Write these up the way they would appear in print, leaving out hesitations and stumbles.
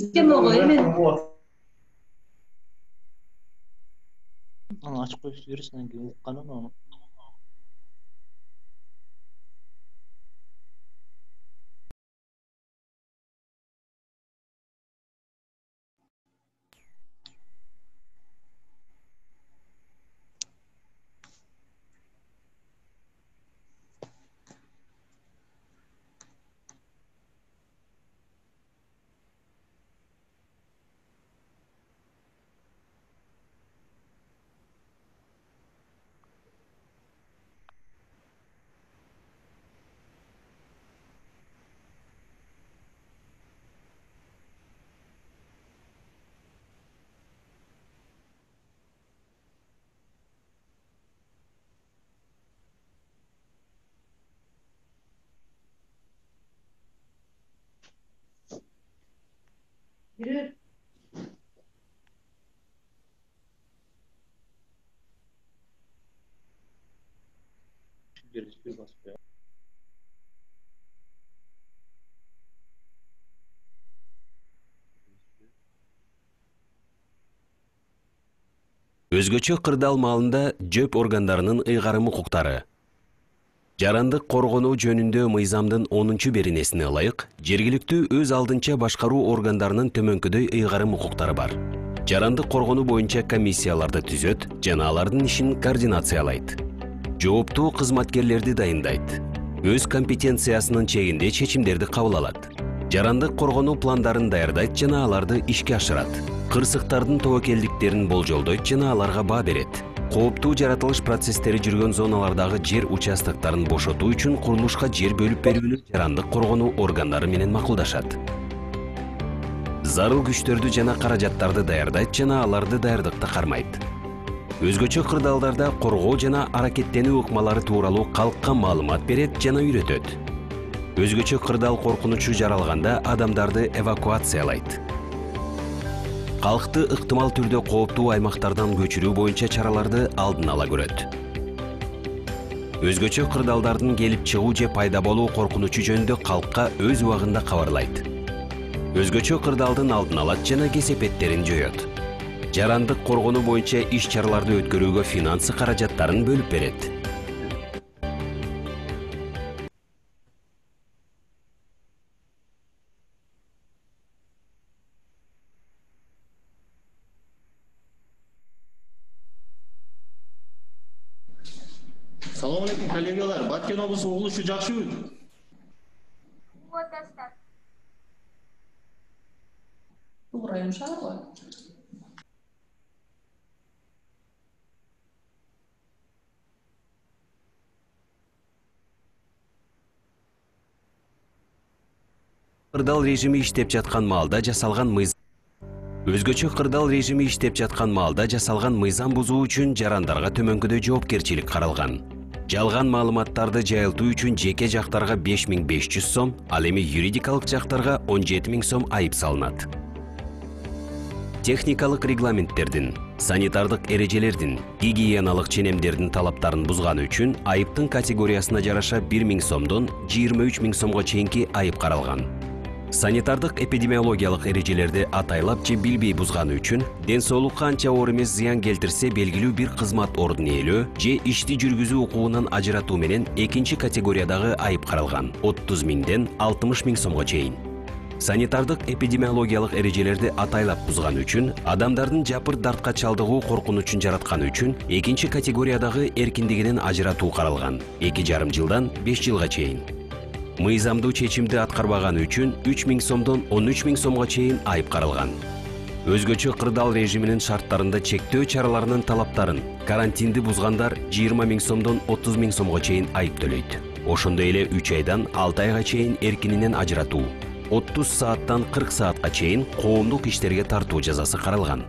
Системага эмен Аны ачып коюп жибересиң, анан кийин укканын аны. Bir basıp koyalım. Өзгөчө кырдаал маалында жөп органдарынын ыйгарым укуктары. Жарандык коргонуу жөнүндө мыйзамдын 10-беренесине ылайык, жергиликтүү өз алдынча башкаруу органдарынын төмөнкүдөй ыйгарым укуктары бар. Жарандык коргонуу боюнча комиссияларды түзөт жана алардын ишин координациялайт. Жооптуу кызматкерлерди дайындайт. Өз компетенциясынын чегинде чечимдерди кабыл алат. Жарандык коргонуу пландарын даярдайт жана аларды ишке ашырат. Кырсыктардын тобокелдиктерин болжолдойт жана аларга баа берет. Кооптуу жаратылыш процесстери жүргөн зоналардагы жер участоктарын бошотуу үчүн курулушка жер бөлүп берүүнү жарандык коргонуу органдары менен макулдашат. Зарыл күчтөрдү жана каражаттарды даярдайт жана аларды даярдыкта кармайт. Өзгөчө кырдаалдарда коргоо жана аракеттенүү ыкмалары тууралуу калкка маалымат берет жана үйрөтөт. Өзгөчө кырдаал коркунучу жаралганда адамдарды эвакуациялайт. Калкты ыктымал түрдө кооптуу аймактардан көчүрүү боюнча чараларды алдын ала көрөт. Өзгөчө кырдаалдардын келип чыгуу же пайда болуу коркунучу жөнүндө калкка өз убагында кабарлайт. Өзгөчө кырдаалдын алдын алат жана кесепеттерин жоёт. Жарандык коргонуу боюнча иш-чараларды өткөрүүгө финансы каражаттарын бөлүп берет. Салам алейкум, коллегалар. Баткен облусу угулушу жакшыбы? Бул район шаар го. Кырдаал режими иштеп жаткан маалда жасалган мыйзам. Өзгөчө кырдаал режими иштеп жаткан маалда жасалган мыйзам бузуу үчүн жарандарга төмөнкүдөй жоопкерчилик каралган. Жалган маалыматтарды жайылтуу үчүн жеке жактарга 5500 сом, ал эми юридикалык жактарга 17000 сом айып салынат. Техникалык регламенттердин, санитардык эрежелердин, гигиеналык ченемдердин талаптарын бузганы үчүн айыптын категориясына жараша 1000 сомдон 23000 сомго чейинки айып каралган. Санитардык эпидемиологиялык эрежелерди атайлап же билбей бузганы үчүн ден соолукка анча оор эмес зыян келтирсе белгилүү бир кызмат ордун ээлөө же ишти жүргүзүү укугунан ажыратуу менен экинчи категориядагы айып каралган 30 000ден 60 000 сомго чейин. Санитардык эпидемиологиялык эрежелерди атайлап бузганы үчүн адамдардын жапыр дартка чалдыгуу коркунучун жаратканы үчүн экинчи категориядагы эркиндигинен ажыратуу каралган 2,5 жылдан 5 жылга чейин. Мыйзамдуу чечимди аткарбаганы үчүн 3000 сомдон 13000 сомго чейин айып каралган. Өзгөчө кырдаал режиминин шарттарында чектөө чараларынын талаптарын карантинди бузгандар 20 000 сомдон 30 000 сомго чейин айып төлөйт. Ошондой эле 3 айдан 6 айга чейин эркининен ажыратуу, 30 сааттан 40 саатка чейин коомдук иштерге тартуу жазасы каралган.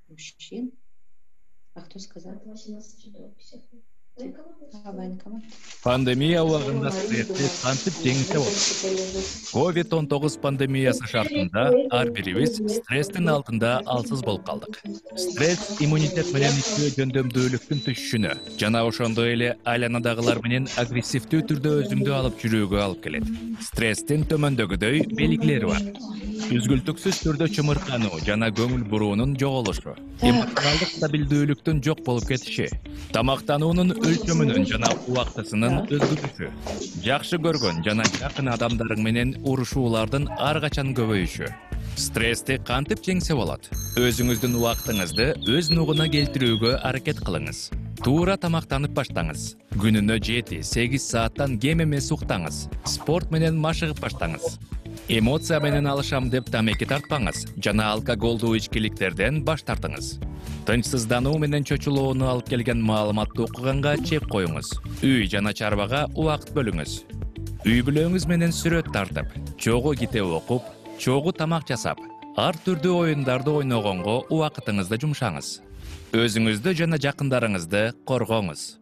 Мужчин? А кто сказал? Военкомат. Пандемия убагында стрессти кантип жеңилсе болот? COVID-19 пандемиясы шартында ар бирибиз стресстин алдында алсыз болуп калдык. Стресс иммунитет менен иштөө жөндөмдүүлүктүн түшүшүнө жана ошондой эле айланадагылар менен агрессивдүү түрдө өзүңдү алып жүрүүгө алып келет. Стресстин төмөндөгүдөй белгилери бар. Үзгүлтүксүз түрдө чымыркануу жана көңүл буруунун жоголушу, эмоционалдык стабилдүүлүктүн жок болуп кетиши, тамактануунун өлчөмүнүн жана убактысынын өзгөрүшү, жакшы көргөн жана жакын адамдарың менен урушуулардын ар качан көбөйүшү. Стрессти кантип жеңсе болот? Өзүңүздүн убактыңызды өз нугуна келтирүүгө аракет кылыңыз. Туура тамактанып баштаңыз. Күнүнө 7-8 сааттан кем эмес уктаңыз. Спорт менен машыгып баштаңыз. Эмоция менен алышам деп тамеки тартпаңыз жана алкоголдуу ичкиликтерден баш тартыңыз. Тынчсыздануу менен чочулоону алып келген маалыматты окуганга чек коюңуз. Үй жана чарбага убакыт бөлүңүз. Үй бүлөңүз менен сүрөт тартып, чогуу китеп окуп, чогуу тамак жасап, ар түрдүү оюндарды ойногонго убакытыңызды жумшаңыз. Өзүңүздү жана жакындарыңызды коргоңуз.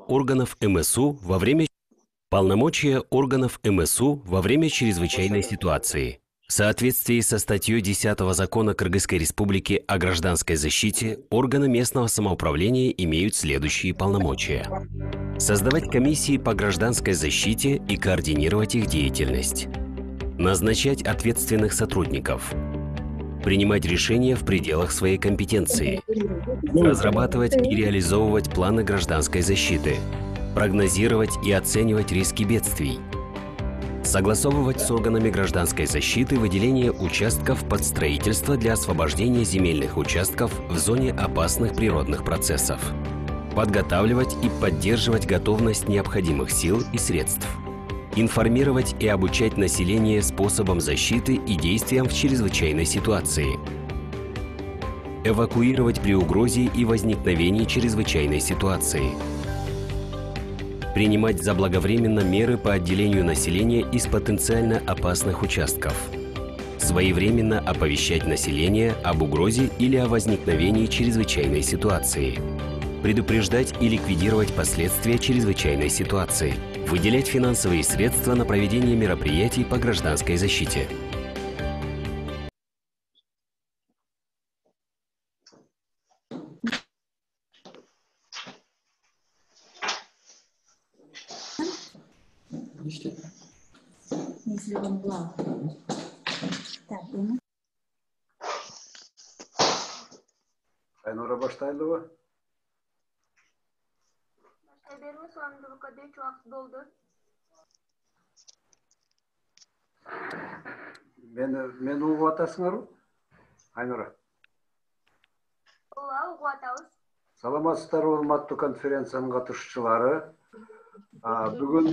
Органов МСУ во время полномочия органов МСУ во время чрезвычайной ситуации. В соответствии со статьей 10 Закона Кыргызской Республики о гражданской защите, органы местного самоуправления имеют следующие полномочия: создавать комиссии по гражданской защите и координировать их деятельность, назначать ответственных сотрудников, принимать решения в пределах своей компетенции, разрабатывать и реализовывать планы гражданской защиты, прогнозировать и оценивать риски бедствий, согласовывать с органами гражданской защиты выделение участков под строительство для освобождения земельных участков в зоне опасных природных процессов, подготавливать и поддерживать готовность необходимых сил и средств, информировать и обучать население способам защиты и действиям в чрезвычайной ситуации, эвакуировать при угрозе и возникновении чрезвычайной ситуации, принимать заблаговременно меры по отделению населения из потенциально опасных участков, своевременно оповещать население об угрозе или о возникновении чрезвычайной ситуации, предупреждать и ликвидировать последствия чрезвычайной ситуации, выделять финансовые средства на проведение мероприятий по гражданской защите. Айнура баштайлыбы? Бермес оңдулукка дечь убакыт болду. Мени угуп атасыңарбы? Айнура. Ооба, угуп атабыз. Саламатсыздарбы, урматтуу конференциянын катышуучулары. Бүгүн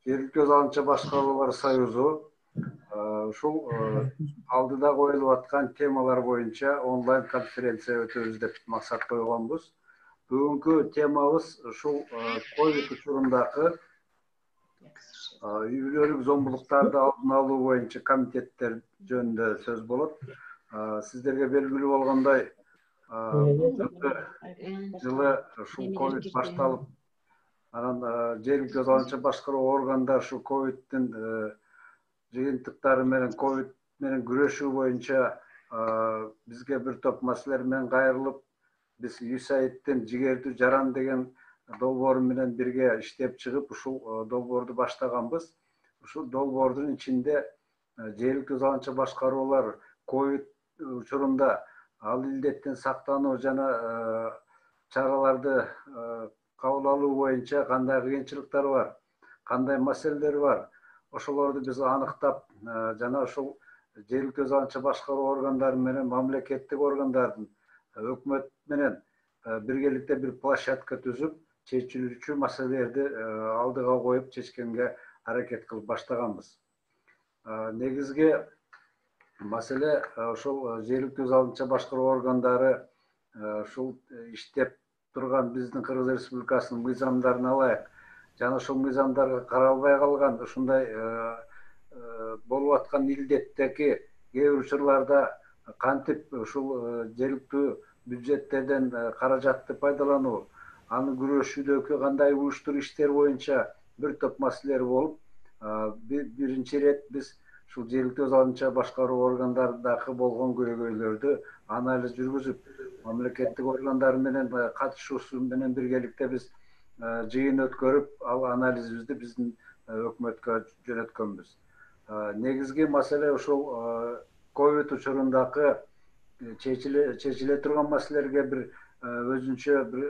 Жергиликтүү көз алынча башкаруулар союзу ушул алдыда коюлуп аткан темалар боюнча онлайн конференция өтөбүз деп максат койгонбуз. Бүгүнкү темабыз ушул ковид учурундагы үй бүлөлүк зомбулуктарды алдын алуу боюнча комитеттер жөнүндө сөз болот. Сиздерге белгилүү болгондой, жылы ушул ковид башталып, анан жергиликтүү көз алынча башкаруу органдар ушул ковидтин жыйынтыктары менен ковид менен күрөшүү боюнча бизге бир топ маселелер менен кайрылып, биз USAID-тен жигердүү жаран деген долбоор менен бирге иштеп чыгып, ушул долбоорду баштаганбыз. Ушул долбоордун ичинде жергиликтүү көз алынча башкаруулар ковид учурунда ал илдеттен сактануу жана чараларды кабыл алуу боюнча кандай кыйынчылыктар бар, кандай маселелер бар, ошолорду биз аныктап жана ошол жергиликтүү өз алгыча башкаруу органдары менен мамлекеттик органдардын өкмөт менен биргеликте бир площадка түзүп чечилүүчү маселелерди алдыга коюп чечкенге аракет кылып баштаганбыз. Негизги маселе ошол жергиликтүү өз алгыча башкаруу органдары ушул иштеп турган биздин Кыргыз Республикасынын мыйзамдарын алайык жана ошол мыйзамдарга каралбай калган ушундай болуп аткан илдеттеги кээ бир учурларда кантип ушул жергиликтүү бюджеттерден каражатты пайдалануу, аны күрөшүүдөгү кандай уюштуруу иштер боюнча бир топ маселелер болуп, биринчи ирет биз ушул жергиликтүү өз алгыча башкаруу органдарындагы болгон көйгөйлөрдү анализ жүргүзүп, мамлекеттик органдар менен катышуусу менен биргеликте биз жыйын өткөрүп, ал анализибизди биздин өкмөткө жөнөткөнбүз. Негизги маселе ушул ковид учурундагы чечиле турган маселелерге бир өзүнчө бир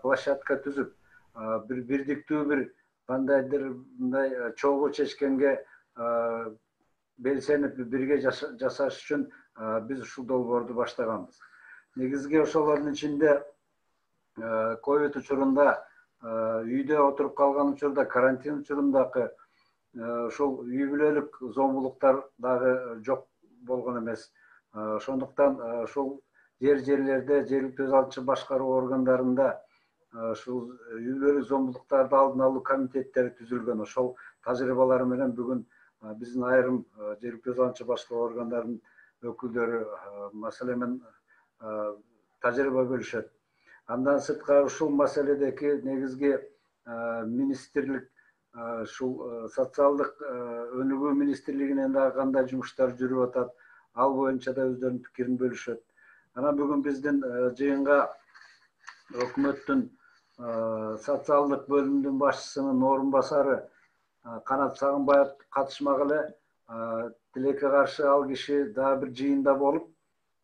площадка түзүп, бир бирдиктүү бир кандайдыр мындай чогуу чечкенге белсенип бирге жасаш үчүн биз ушул долбоорду баштаганбыз. Негизги ошолордун ичинде ковид учурунда үйдө отуруп калган учурда, карантин учурундагы ошол үй бүлөлүк зомбулуктар дагы жок болгон эмес. Ошондуктан ошол жерлерде жергиликтүү өз алгыча башкаруу органдарында ушул үй бүлөлүк зомбулуктарды алдын алуу комитеттери түзүлгөн. Ошол тажрыйбалар менен бүгүн биздин айрым жергиликтүү өз алгыча башкаруу органдарынын өкүлдөрү маселе менен тажрыйба бөлүшөт. Андан сырткары ушул маселедеги негизги министрлик ушул социалдык өнүгүү министрлигинен дагы кандай жумуштар жүрүп атат, ал боюнча да өздөрүнүн пикирин бөлүшөт. Анан бүгүн биздин жыйынга өкмөттүн социалдык бөлүмүнүн башчысынын орун басары Канат Сагынбаев катышмак эле. Тилекке каршы ал киши дагы бир жыйында болуп,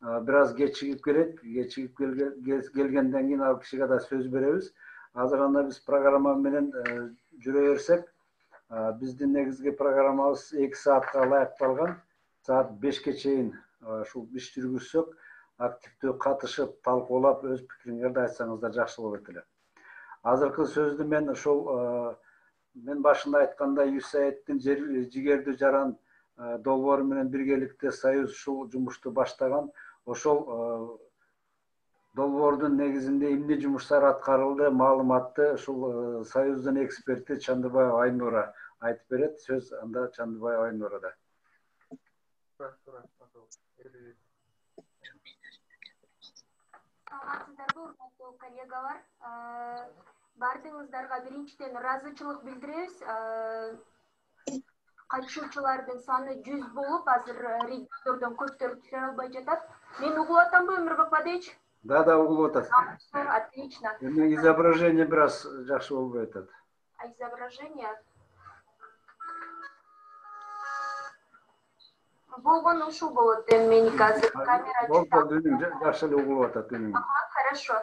бир аз кечигип келет. Кечигип келгенден кийин ал кишиге да сөз беребиз. Азыр анда биз программа менен жүрө берсек, биздин негизги программабыз 2 саатка ылайыкталган. Саат 5ке чейин ушул иш жүргүзсөк, активдүү катышып, талкуулап, өз пикириңерди айтсаңыздар жакшы болот эле. Азыркы сөздү мен ошол мен башында айткандай USAID-тин жигердүү жаран долбоору менен биргеликте Союз ушул жумушту баштаган. Ошол долбоордун негизинде эмне жумуштар аткарылды, маалыматты ушул Союздун эксперти Чандыбаева Айнура айтып берет. Сөз анда Чандыбаева Айнурада. Саламатсыздарбы, урматтуу коллегалар. Бардыгыңыздарга биринчиден ыраазычылык билдиребиз. Катышуучулардын саны 100 болуп, азыр региондордон көптөр түшө албай жатат. Мен угулуп атамбы, Өмүрбек Бадыевич? Да, угулуп атасыз. Отлично. Эми изображение бир аз жакшы болбой атат. Изображение. Болгону ушул болот, меники азыр камера жок. Жакшы эле угулуп атат. Хорошо.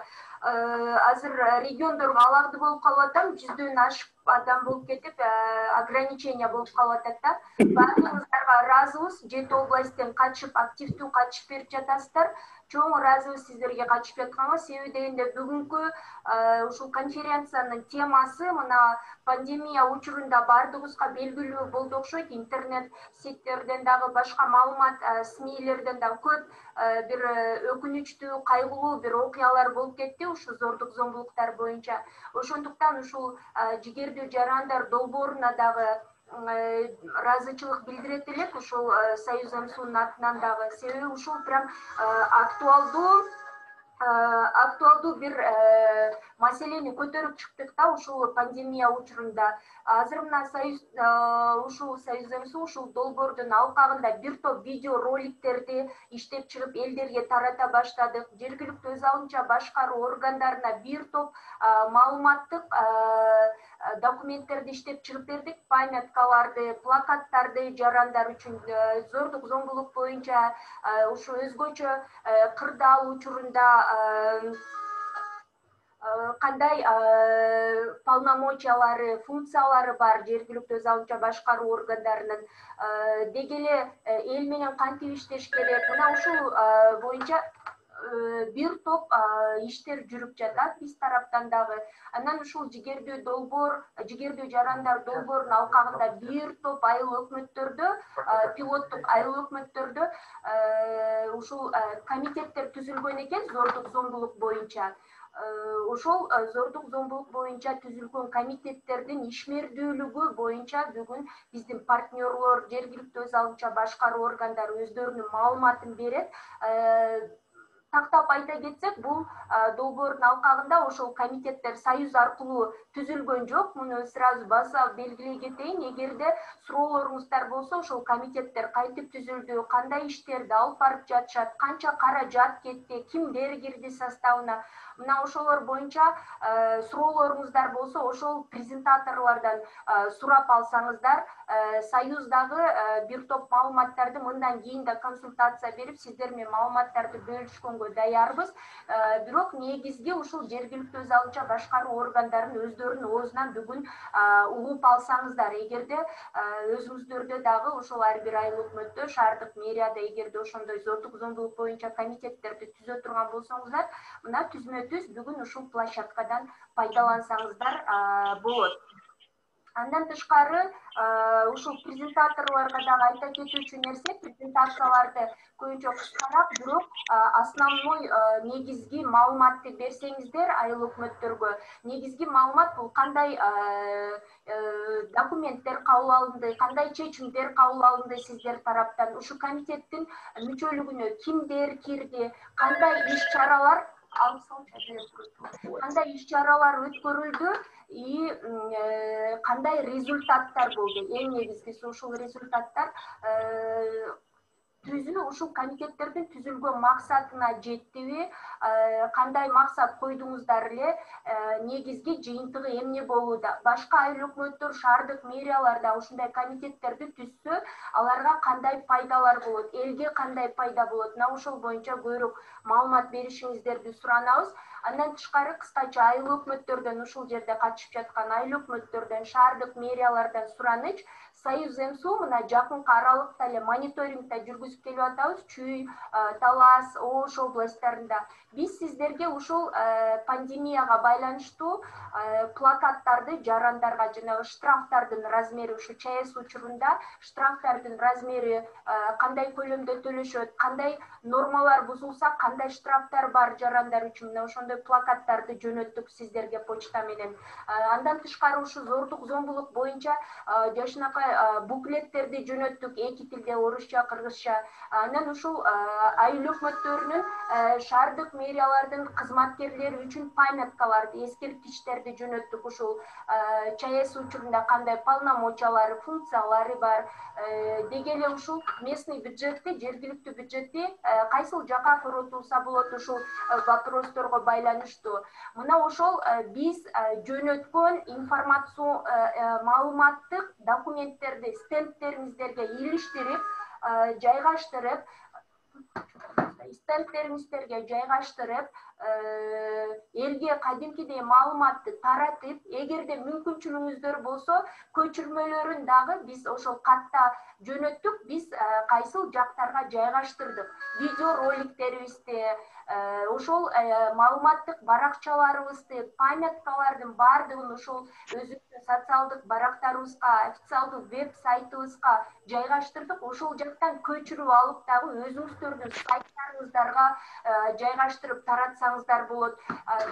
Азыр региондорго аларды болуп калып атам, 100дөн ашып адам болуп кетип, ограничение болуп калып атат да. Бардыгыңыздарга ыраазыбыз. 7 областтен качып, активдүү качып берип жатасыздар. Чоң ыраазыбыз сиздерге качып жатканга. Себеби дегенде бүгүнкү ушул конференциянын темасы мына пандемия учурунда бардыгыбызга белгилүү болду окшойт. Интернет сеттерден дагы башка маалымат, СМИлерден дагы көп бир өкүнүчтүү, кайгылуу бир окуялар болуп кетти ушул зордук зомбулуктар боюнча. Ошондуктан ушул жигердүү жарандар долбооруна дагы ыраазычылык билдирет элек, ушул Союз МСУнун атынан дагы. Себеби ушул прям актуалдуу бир маселени көтөрүп чыктык да ушул пандемия учурунда. Азыр мына Союз МСУ ушул долбоордун алкагында бир топ видео роликтерди иштеп чыгып элдерге тарата баштадык. Жергиликтүү өз алынча башкаруу органдарына бир топ маалыматтык документтерди иштеп чыгып бердик. Памяткаларды, плакаттарды жарандар үчүн зордук зомбулук боюнча ушу өзгөчө кырдаал учурунда кандай полномочиялары, функциялары бар жергиликтүү өз алынча башкаруу органдарынын, деги эле эл менен кантип иштеш керек, мына ушул боюнча бир топ иштер жүрүп жатат биз тараптан дагы. Анан ушул жигердүү жарандар долбоорунун алкагында бир топ айыл өкмөттөрдө, пилоттук айыл өкмөттөрдө ушул комитеттер түзүлгөн экен зордук зомбулук боюнча. Ошол зордук зомбулук боюнча түзүлгөн комитеттердин ишмердүүлүгү боюнча бүгүн биздин партнерлор, жергиликтүү өз алынча башкаруу органдары өздөрүнүн маалыматын берет. Тактап айта кетсек, бул долбоордун алкагында ошол комитеттер союз аркылуу түзүлгөн жок. Муну сразу баса белгилей кетейин. Эгерде суроолоруңуздар болсо, ошол комитеттер кантип түзүлдү, кандай иштерди алып барып жатышат, канча каражат кетти, кимдер кирди составына, мына ошолор боюнча суроолоруңуздар болсо, ошол презентаторлордон сурап алсаңыздар, союздагы бир топ маалыматтарды мындан кийин да консультация берип, сиздер менен маалыматтарды бөлүшкөнгө даярбыз. Бирок негизги ушул жергиликтүү өз алынча башкаруу органдарынын өздөрүнүн оозунан бүгүн угуп алсаңыздар, эгерде өзүңүздөрдө дагы ошол ар бир айыл өкмөттө, шаардык мэрияда эгерде ошондой зордук зомбулук боюнча комитеттерди түзө турган болсоңуздар, мына түзмө-түз бүгүн ушул площадкадан пайдалансаңыздар болот. Андан тышкары ушул презентаторлорго дагы айта кетүүчү нерсе, презентацияларды көбүнчө кыскараак, бирок основной негизги маалыматты берсеңиздер айыл өкмөттөргө. Негизги маалымат бул кандай документтер кабыл алынды, кандай чечимдер кабыл алынды сиздер тараптан, ушу комитеттин мүчөлүгүнө кимдер кирди, кандай иш-чаралар өткөрүлдү и кандай результаттар болду. Эң негизгиси ушул результаттар ушул комитеттердин түзүлгөн максатына жеттиби, кандай максат койдуңуздар эле, негизги жыйынтыгы эмне болууда. Башка айыл өкмөттөр, шаардык мэрияларда ушундай комитеттерди түзсө, аларга кандай пайдалар болот, элге кандай пайда болот, мына ошол боюнча көбүрөөк маалымат беришиңиздерди суранабыз. Андан тышкары кыскача айыл өкмөттөрдөн, ушул жерде катышып жаткан айыл өкмөттөрдөн, шаардык мэриялардан сураныч, Союз МСУ мына жакынкы аралыкта эле мониторингде жүргүзүп келип атабыз, Чүй, Талас, Ош областтарында. Биз сиздерге ушул пандемияга байланыштуу плакаттарды жарандарга, жанагы штрафтардын размери, ушу ЧАЭС учурунда штрафтардын размери кандай көлөмдө төлөшөт, кандай нормалар бузулса, кандай штрафтар бар жарандар үчүн, мына ошондой плакаттарды жөнөттүк сиздерге почта менен. Андан тышкары ушу зордук зомбулук боюнча жашынакай буклеттерди жөнөттүк эки тилде, орусча, кыргызча. Анан ушул айыл өкмөттөрүнүн, шаардык мэриялардын кызматкерлери үчүн памяткаларды, эскерткичтерди жөнөттүк. Ушул ЧАЭС учурунда кандай полномочиялары, функциялары бар. Деги эле ушул местный бюджетти, жергиликтүү бюджетти кайсыл жака коротулса болот ушул вопросторго байланыштуу. Мына ошол биз жөнөткөн информацион маалыматтык документтерди стендтериңиздерге илиштирип, жайгаштырып, элге кадимкидей маалыматты таратып, эгерде мүмкүнчүлүгүңүздөр болсо, көчүрмөлөрүн дагы биз ошол катта жөнөттүк, биз кайсыл жактарга жайгаштырдык. Видео роликтерибизди, ошол маалыматтык баракчаларыбызды, памяткалардын баардыгын ошол өзүбүздүн социалдык барактарыбызга, официалдуу веб-сайтыбызга жайгаштырдык. Ошол жактан көчүрүп алып дагы өзүңүздөрдүн сайттарыңыздарга жайгаштырып таратсаңыздар болот.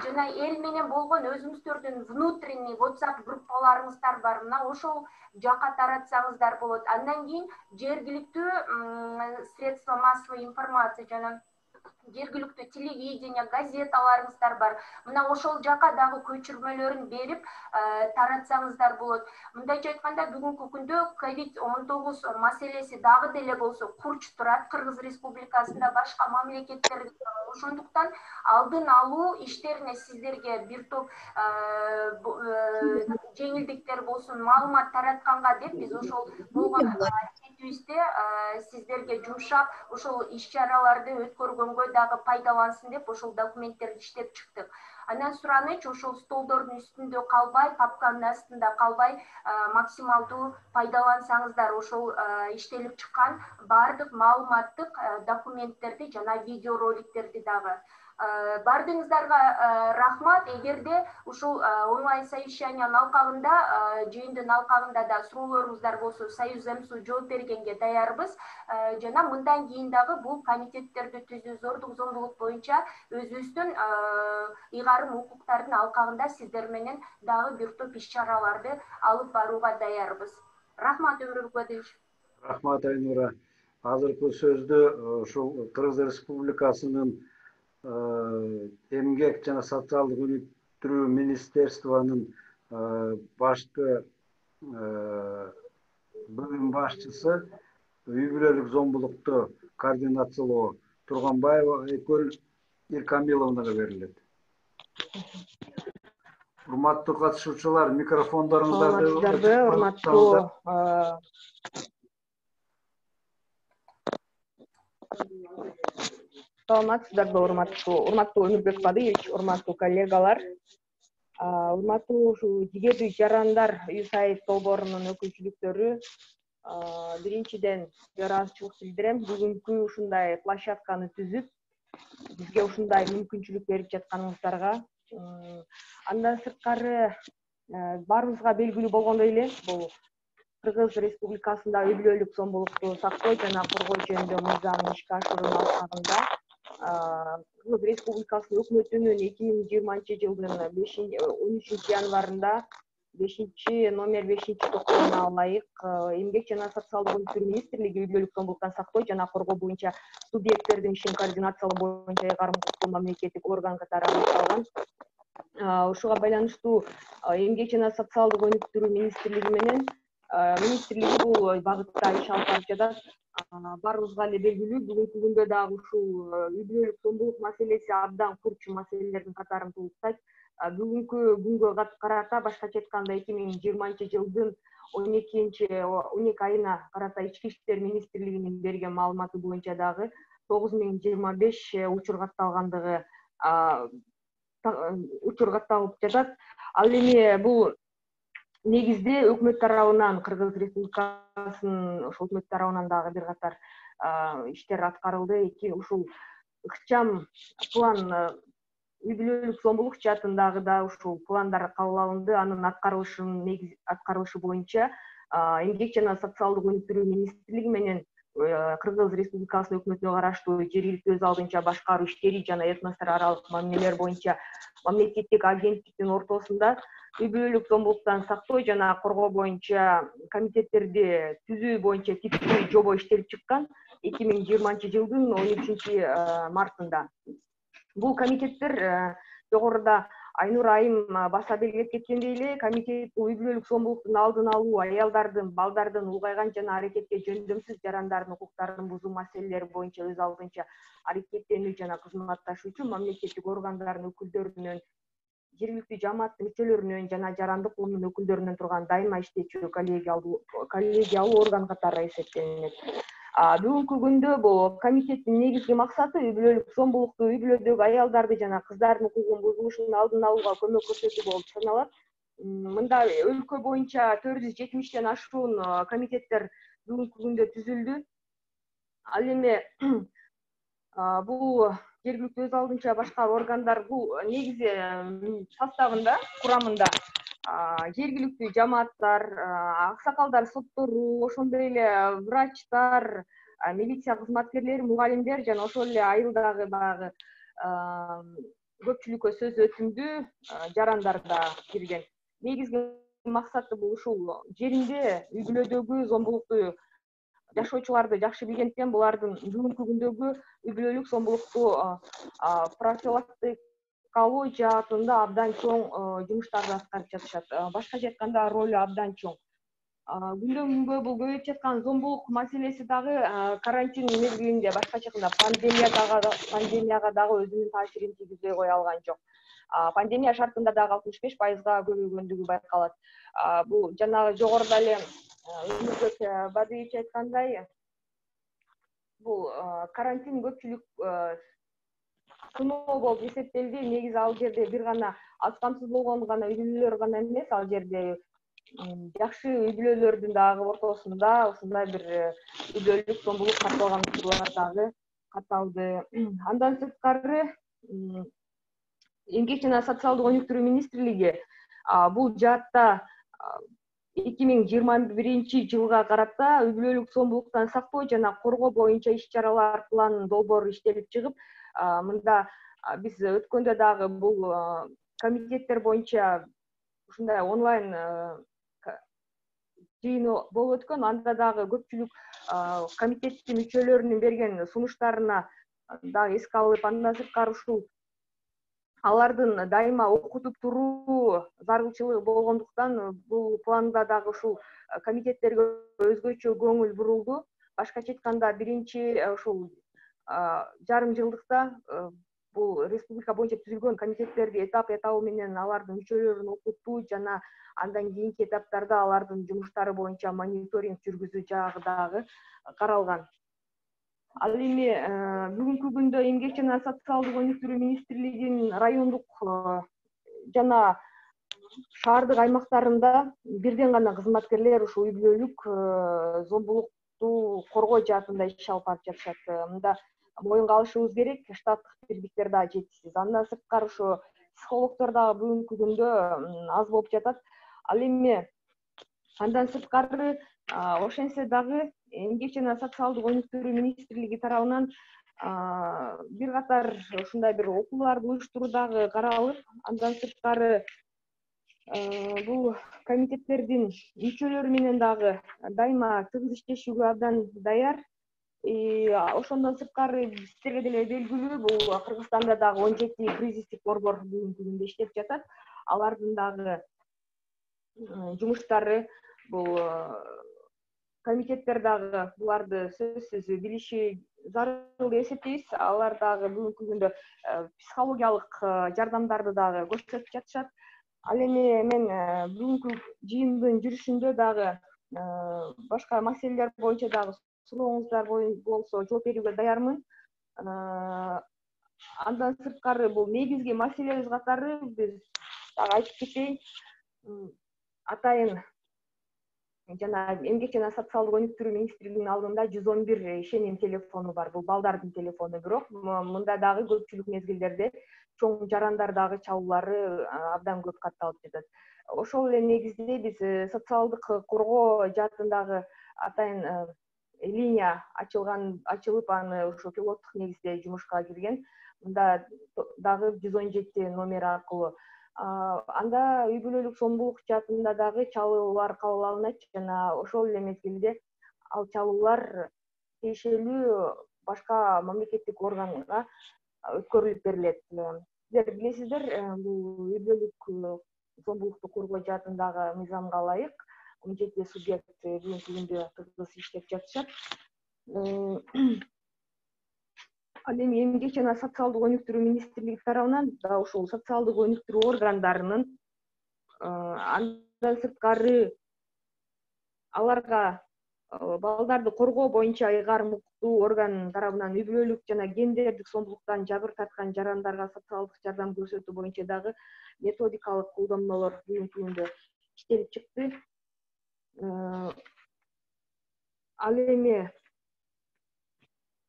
Жана эл менен болгон өзүңүздөрдүн внутренний WhatsApp группаларыңыздар бар. Мына ошол жака таратсаңыздар болот. Андан кийин жергиликтүү средства массовой информации жана жергиликтүү телевидение, газеталарыңыздар бар. Мына ошол жака дагы көчүрмөлөрүн берип таратсаңыздар болот. Мындайча айтканда, бүгүнкү күндө COVID-19 маселеси дагы деле болсо курч турат Кыргыз Республикасында, башка мамлекеттерде. Ошондуктан алдын алуу иштерине сиздерге бир топ жеңилдиктер болсун, маалымат таратканга деп биз ошол болгон аракетибизде сиздерге жумшап, ошол иш-чараларды өткөргөнгө дагы пайдалансын деп ошол документтерди иштеп чыктык. Анан сураныч ошол столдордун үстүндө калбай, папканын астында калбай, максималдуу пайдалансаңыздар ошол иштелип чыккан баардык маалыматтык документтерди жана видеороликтерди дагы. Бардыгыңыздарга рахмат. Эгерде ушул онлайн совещаниянын алкагында, жыйындын алкагында да суроолоруңуздар болсо, Союз МСУ жооп бергенге даярбыз. Жана мындан кийин дагы бул комитеттерди түзүү, зордук зомбулук боюнча өзүбүздүн ыйгарым укуктардын алкагында сиздер менен дагы бир топ иш-чараларды алып барууга даярбыз. Рахмат, Өмүрбек Бадыевич. Рахмат, Айнура. Азыркы сөздү ушул Кыргыз Республикасынын эмгек жана социалдык өнүктүрүү министерствонун башкы бөлүм башчысы, үй бүлөлүк зомбулукту координациялоо Турганбаева Айкөл Иркамиловнага берилет. Урматтуу катышуучулар, микрофондоруңуздарды урматтуу саламатсыздарбы, урматтуу Өмүрбек Бадыевич, урматтуу коллегалар, урматтуу ушул жигердүү жарандар USAID долбоорунун өкүлчүлүктөрү, биринчиден ыраазычылык билдирем. Бүгүнкү ушундай площадканы түзүп, бизге ушундай мүмкүнчүлүк берип жатканыңыздарга. Андан сырткары баарыбызга белгилүү болгондой эле, бул Кыргыз Республикасында үй бүлөлүк зомбулукту сактоо жана коргоо жөнүндө мыйзамын ишке ашыруунун алкагында Кыргыз Республикасынын өкмөтүнүн 2020 жылдын 13 январында 5 токтомуна ылайык Эмгек жана социалдык өнүктүрүү министрлиги үй бүлөлүк зомбулуктан сактоо жана коргоо боюнча субъекттердин ишин координациялоо боюнча ыйгарым укуктуу мамлекеттик орган катары аныкталган. Ушуга байланыштуу Эмгек жана социалдык өнүктүрүү министрлиги менен министрлиги бул багытта иш алып барып жатат. Баарыбызга эле белгилүү, бүгүнкү күндө дагы ушул үй бүлөлүк зомбулук маселеси абдан курч маселелердин катарын толуктайт. Бүгүнкү күнгө карата, башкача айтканда 2020 жылдын 12 айына карата Ички иштер министрлигинин берген маалыматы боюнча дагы 9025 учур катталгандыгы катталып жатат. Ал эми бул негизде өкмөт тарабынан, Кыргыз Республикасынын ошол өкмөт тарабынан дагы бир катар иштер аткарылды. Ушул ыкчам план үй бүлөлүк зомбулук жаатындагы да ушул пландар кабыл алынды. Анын аткарылышы боюнча Эмгек жана социалдык өнүктүрүү министрлиги менен Кыргыз Республикасынын өкмөтүнө караштуу жергиликтүү өз алдынча башкаруу иштери жана этностор аралык мамилелер боюнча мамлекеттик агенттиктин ортосунда үй бүлөлүк зомбулуктан сактоо жана коргоо боюнча комитеттерди түзүү боюнча типтүү жобо иштелип чыккан 2020 жылдын 13 мартында. Бул комитеттер жогоруда Айнура айым баса белгилеп кеткендей эле, комитет бул үй бүлөлүк зомбулуктун алдын алуу, аялдардын, балдардын улгайган жана аракетке жөндөмсүз жарандардын укуктарын бузуу маселелери боюнча өз алдынча аракеттенүү жана кызматташуучу мамлекеттик органдардын өкүлдөрүнөн, жергиликтүү жамааттын мүчөлөрүнөн жана жарандык коомдун өкүлдөрүнөн турган дайыма иштечү коллегиалуу орган катары эсептелинет. Бүгүнкү күндө бул комитеттин негизги максаты үй бүлөлүк зомбулукту, үй бүлөдөгү аялдарды жана кыздардын укугунун бузулушун алдын алууга көмөк көрсөтүү болуп саналат. Мында өлкө боюнча 470тен ашуун комитеттер бүгүнкү күндө түзүлдү. Ал эми бул жергиликтүү өз алдынча башкаруу органдар бул негизи составында, курамында жергиликтүү жамааттар, аксакалдар, соттору, ошондой эле врачтар, милиция кызматкерлери, мугалимдер жана ошол эле айылдагы баягы көпчүлүккө сөз өтүмдүү жарандар да кирген. Негизги максаты бул ушул жеринде үй бүлөдөгү зомбулукту жашоочуларды жакшы билгендиктен булардын бүгүнкү күндөгү үй бүлөлүк зомбулукту профилактикалоо жаатында абдан чоң жумуштарды аткарып жатышат. Башкача айтканда ролу абдан чоң. Күндөн күнгө бул көбөйүп жаткан зомбулук маселеси дагы карантин мезгилинде, башкача айтканда пандемияга дагы өзүнүн таасирин тийгизбей кое алган жок. Пандемия шартында дагы 65%га көбөйгөндүгү байкалат. Бул жанагы жогоруда эле Өмүрбек Бадыевич айткандай, бул карантин көпчүлүк сыноо болуп эсептелди. Негизи ал жерде бир гана аз камсыз болгон гана үй бүлөлөр гана эмес, ал жерде жакшы үй бүлөлөрдүн дагы ортосунда ушундай бир үй бүлөлүк зомбулук катталган учурлар дагы катталды. Андан сырткары Эмгек жана социалдык өнүктүрүү министрлиги бул жаатта 2021 жылга карата үй бүлөлүк зомбулуктан сактоо жана коргоо боюнча иш-чаралар планын долбоору иштелип чыгып, мында биз өткөндө дагы бул комитеттер боюнча ушундай онлайн жыйын болуп өткөн. Анда дагы көпчүлүк комитеттин мүчөлөрүнүн берген сунуштарына дагы эске алып, андан сырткары ушул алардын дайыма окутуп туруу зарылчылыгы болгондуктан бул планда дагы ушул комитеттерге өзгөчө көңүл бурулду. Башкача айтканда, биринчи ушул жарым жылдыкта бул республика боюнча түзүлгөн комитеттерди этап менен алардын мүчөлөрүн окуттуу жана андан кийинки этаптарда алардын жумуштары боюнча мониторинг жүргүзүү жагы дагы каралган. Ал эми бүгүнкү күндө Эмгек жана социалдык өнүктүрүү министрлигинин райондук жана шаардык аймактарында бирден гана кызматкерлер ушул үй бүлөлүк зомбулукту коргоо жаатында иш алып барып жатышат. Мында моюнга алышыбыз керек, штаттык бирдиктер дагы жетишсиз. Андан сырткары ошо психологдор дагы бүгүнкү күндө аз болуп жатат. Ал эми андан сырткары ошентсе дагы Эмгек жана социалдык өнүктүрүү министрлиги тарабынан бир катар ушундай бир окууларды уюштуруу дагы каралып, андан сырткары бул комитеттердин мүчөлөрү менен дагы дайыма тыгыз иштешүүгө абдан даяр. Ошондон сырткары сиздерге деле белгилүү, бул Кыргызстанда дагы 17 кризистик борбор бүгүнкү күндө иштеп жатат. Алардын дагы жумуштары, бул комитеттер дагы буларды сөзсүз билиши зарыл деп эсептейбиз. Алар дагы бүгүнкү күндө психологиялык жардамдарды дагы көрсөтүп жатышат. Ал эми мен бүгүнкү жыйындын жүрүшүндө дагы башка маселелер боюнча дагы сурооңуздар болсо жооп берүүгө даярмын. Андан сырткары бул негизги маселебиз катары биз дагы айтып кетейин. Атайын жана Эмгек жана социалдык өнүктүрүү министрлигинин алдында 111 ишеним телефону бар. Бул балдардын телефону, бирок мында дагы көпчүлүк мезгилдерде чоң жарандар дагы чалуулары абдан көп катталып жатат. Ошол эле негизде биз социалдык коргоо жаатындагы атайын линия ачылып, аны ошо пилоттук негизде жумушка кирген. Мында дагы 117 номер аркылуу анда үй бүлөлүк зомбулук жаатында дагы чалуулар кабыл алынат жана ошол эле мезгилде ал чалуулар тиешелүү башка мамлекеттик органга өткөрүлүп берилет. Сиздер билесиздер, бул үй бүлөлүк зомбулукту коргоо жаатындагы мыйзамга ылайык 17 субъект бүгүнкү күндө тыгыз иштеп жатышат. Ал эми Эмгек жана социалдык өнүктүрүү министрлиги тарабынан да ушул социалдык өнүктүрүү органдарынын андан сырткары аларга балдарды коргоо боюнча ыйгарым укуктуу орган тарабынан үй бүлөлүк жана гендердик зомбулуктан жабыр тарткан жарандарга социалдык жардам көрсөтүү боюнча дагы методикалык колдонмолор бүгүнкү күндө иштелип чыкты. Ал эми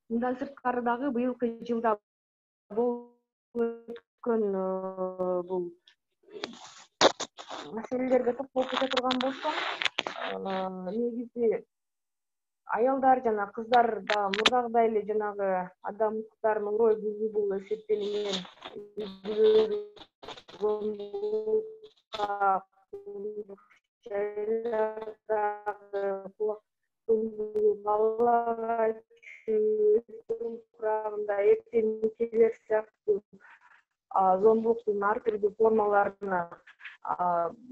мындан сырткары дагы быйылкы жылда болуп өткөн бул маселелерге токтолуп кете турган болсом, негизи аялдар жана кыздар да мурдагыдай эле жанагы адам укуктарынын орой бузуул эсептелинген балага курагында эртең келер сыяктуу зомбулуктун ар түрдүү формаларына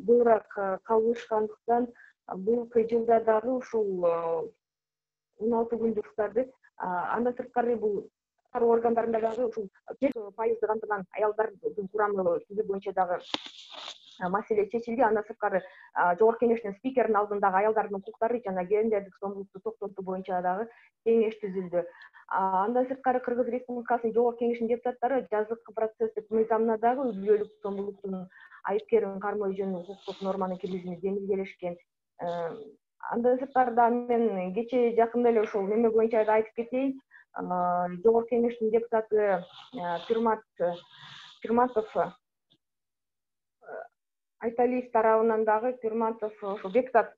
быйраак кабылышкандыктан быйылкы жылда дагы ушул 16 күндүктарды андан сырткары бул органдарында дагы ушул 1% камтылган аялдардын курамы түзүү боюнча дагы маселе чечилди. Андан сырткары жогорку кеңештин спикеринин алдындагы аялдардын укуктары жана гендердик зомбулукту токтотуу боюнча дагы кеңеш түзүлдү. Андан сырткары Кыргыз Республикасынын жогорку кеңешинин депутаттары жазгы процесстик мыйзамына дагы үй бүлөлүк зомбулуктун айыпкерин кармоо жөнүндө укуктук норманы киргизүүнү жеңилдетишкен. Андан сырткары да мен кечээ жакында эле ушул неме боюнча да айтып кетейин. Жогорку кеңештин депутаты Пирматов Айталиев тарабынан дагы Пирматов ошо депутат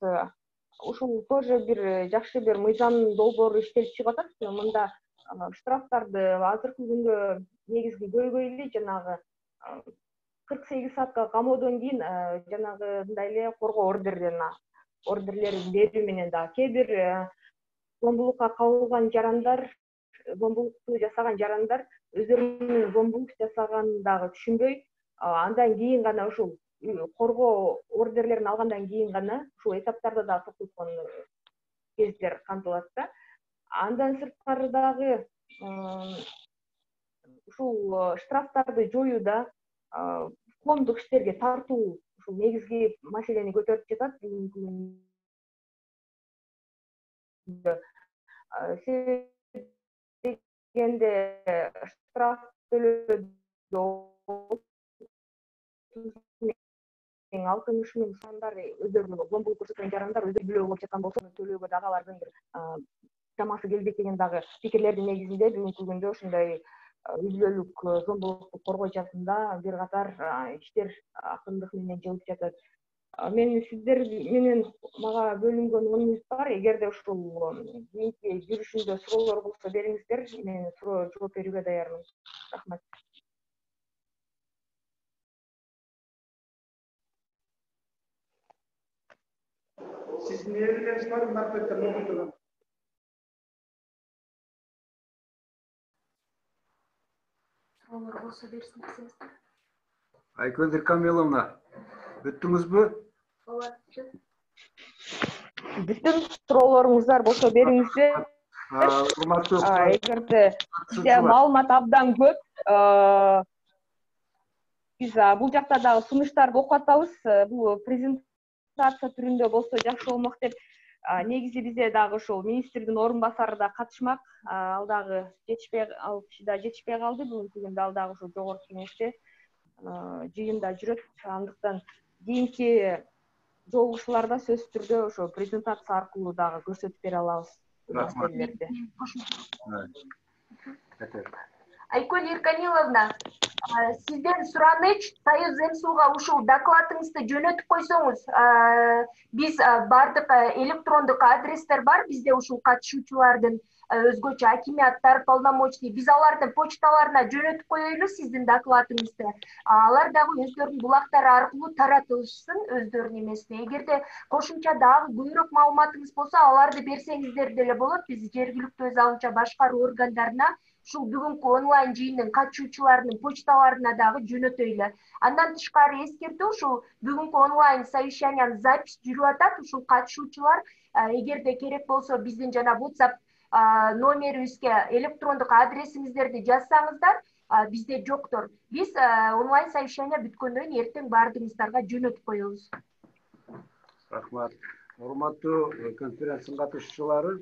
ушул тоже бир жакшы бир мыйзам долбоору иштелип чыгып атат. Мында штрафтарды азыркы күндө негизги көйгөй эле жанагы 48 саатка камоодон кийин жанагы мындай эле коргоо ордерлерин берүү менен да кээ бир зомбулукка кабылган жарандар, зомбулукту жасаган жарандар өздөрүнүн зомбулук жасаганын дагы түшүнбөй, андан кийин гана ушул коргоо ордерлерин алгандан кийин гана ушул этаптарда да токтоткон кездер камтылат да. Андан сырткары дагы ушул штрафтарды жоюуда коомдук иштерге тартуу ушул негизги маселени көтөрүп жатат бүгүнкү күндө. Дегенде штраф төлөөдө 60 миң сомдар өздөрүнүн зомбулук көрсөткөн жарандар өздөрү билүү болуп жаткан болсо төлөөгө дагы алардын бир чамасы келбейт деген дагы пикирлердин негизинде бүгүнкү күндө ушундай үй бүлөлүк зомбулукту коргоо жаатында бир катар иштер акырындык менен жылып жатат. Мен сиздер менен мага бөлүнгөн 10 мүнөт бар. Эгерде ушул кийинки жүрүшүндө суроолор болсо бериңиздер, мен жооп берүүгө даярмын. Рахмат. Sizin evleriniz var mı? Marketten okudunuz. Sorular olsa versin siz. Ayköndir Kamilовна, бүттүңүзбү? Бүттүм. Суроолоруңуздар болсо бериңиздер. Эгерде бизде маалымат абдан көп, биз бул жакта дагы сунуштарды окуп атабыз. Бул презентация түрүндө болсо жакшы болмок деп негизи бизде дагы ушул министрдин орун басары да катышмак. Ал дагы ал киши да жетишпей калды. Бүгүнкү күндө ал дагы ушул жогорку кеңеште жыйында жүрөт. Андыктан кийинки жолугушууларда сөзсүз түрдө ошо презентация аркылуу дагы көрсөтүп бере алабыз. Айкөл Ирканиловна, сизден сураныч, Союз МСУга ушул докладыңызды жөнөтүп койсоңуз, биз бардык электрондук адрестер бар бизде ушул катышуучулардын өзгөчө акиматтар, полномочный, биз алардын почталарына жөнөтүп коелу сиздин докладыңызды. Алар дагы өздөрүнүн булактары аркылуу таратылышсын өздөрүнүн эмесине. Эгерде кошумча дагы көбүрөөк маалыматыңыз болсо, аларды берсеңиздер деле болот. Биз жергиликтүү өз алынча башкаруу органдарына ушул бүгүнкү онлайн жыйындын катышуучуларынын почталарына дагы жөнөтөйлү. Андан тышкары эскертүү, ушул бүгүнкү онлайн совещаниянын запись жүрүп атат. Ушул катышуучулар эгерде керек болсо биздин жана WhatsApp номерибизге электрондук адресиңиздерди жазсаңыздар, бизде жоктор. Биз онлайн совещание бүткөндөн кийин эртең баардыгыңыздарга жөнөтүп коебуз. Рахмат. Урматтуу конференциянын катышуучулары,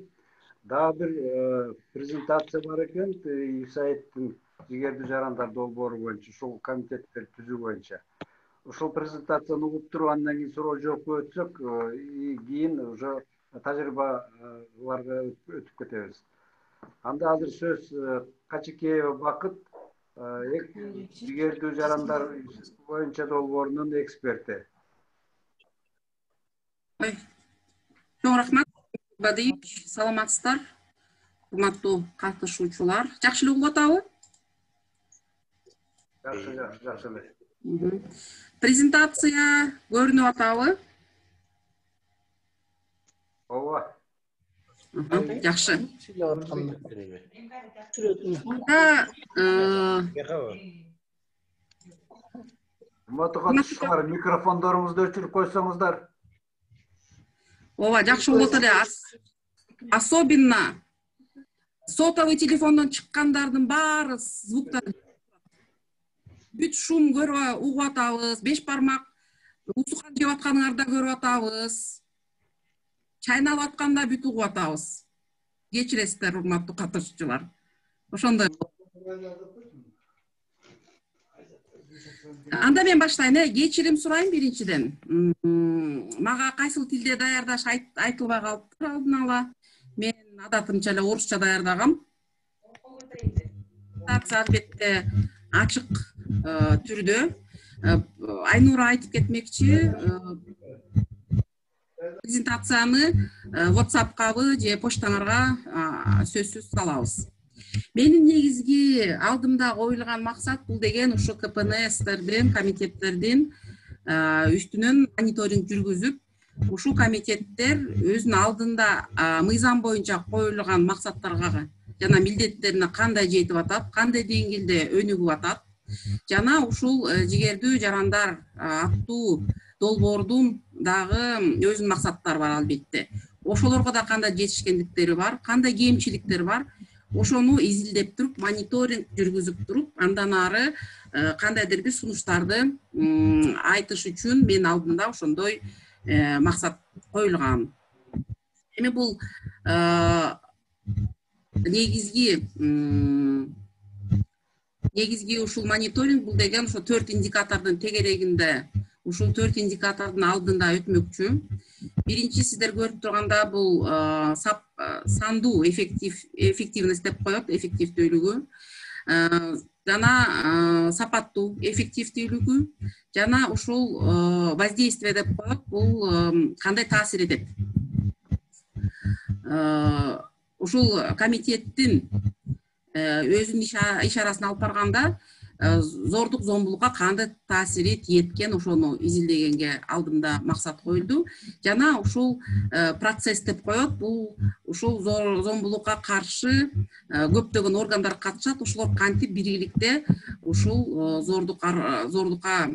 дагы бир презентация бар экен, USAID-тин жигердүү жарандар долбоору боюнча, ушул комитеттер түзүү боюнча. Ушул презентацияны угуп туруп, андан кийин суроо жоопко өтсөк, кийин уже тажрыйбаларга өтүп кетебиз. Анда азыр сөз Качыкеева Бакыт, жигердүү жарандар боюнча долбоорунун эксперти. Чоң рахмат. Саламатсыздар, урматтуу катышуучулар. Жакшы эле угуп атабы? Жакшы эле. Презентация көрүнүп атабы? Ооба. Жакшы. Урматтуу катышуучулар, микрофондоруңузду өчүрүп койсоңуздар. Ооба, жакшы болот эле. Особенно сотовый телефондон чыккандардын баары звуктар бүт шум көрүп угуп атабыз, беш бармак усукан жеп атканыңарды көрүп атабыз. Чайналып атканда бүт угуп атабыз. Кечиресиздер, урматтуу катышуучулар. Ошондой. Анда мен баштайын, кечирим сурайм биринчиден. Мага кайсыл тилде даярдаш айтылбай калыптыр алдын ала. Мен адатымча эле орусча даярдагам. Албетте ачык түрдө. Айнура айтып кетмекчи, презентацияны WhatsApp-кабы же почтаңарга сөзсүз салабыз. Менин негизги алдымда коюлган максат бул деген ушу КПНСтердин, комитеттердин үстүнөн мониторинг жүргүзүп, ушул комитеттер өзүнүн алдында мыйзам боюнча коюлган максаттарга жана милдеттерине кандай жетип атат, кандай деңгээлде өнүгүп атат, жана ушул жигердүү жарандар аттуу долбоордун дагы өзүнүн максаттары бар албетте. Ошолорго да кандай жетишкендиктери бар, кандай кемчиликтер бар, ошону изилдеп туруп, мониторинг жүргүзүп туруп, андан ары кандайдыр бир сунуштарды айтыш үчүн мен алдымда ошондой максат коюлган. Эми бул негизги ушул мониторинг бул деген ошо 4 индикатордун тегерегинде, ушул 4 индикатордун алдында өтмөкчү. Биринчи сиздер көрүп турганда бул сандуу эффективность деп коет, эффективдүүлүгү, жана сапаттуу эффективдүүлүгү, жана ушул воздействие деп коет, бул кандай таасир этет. Ушул комитеттин өзүнүн ишарасын алып барганда зордук зомбулукка кандай таасири тиеткен ошону изилдегенге алдымда максат коюлду. Жана ушул процесс деп коет, бул ушул зомбулукка каршы көптөгөн органдар катышат, ошолор кантип биргеликте ушул зордукка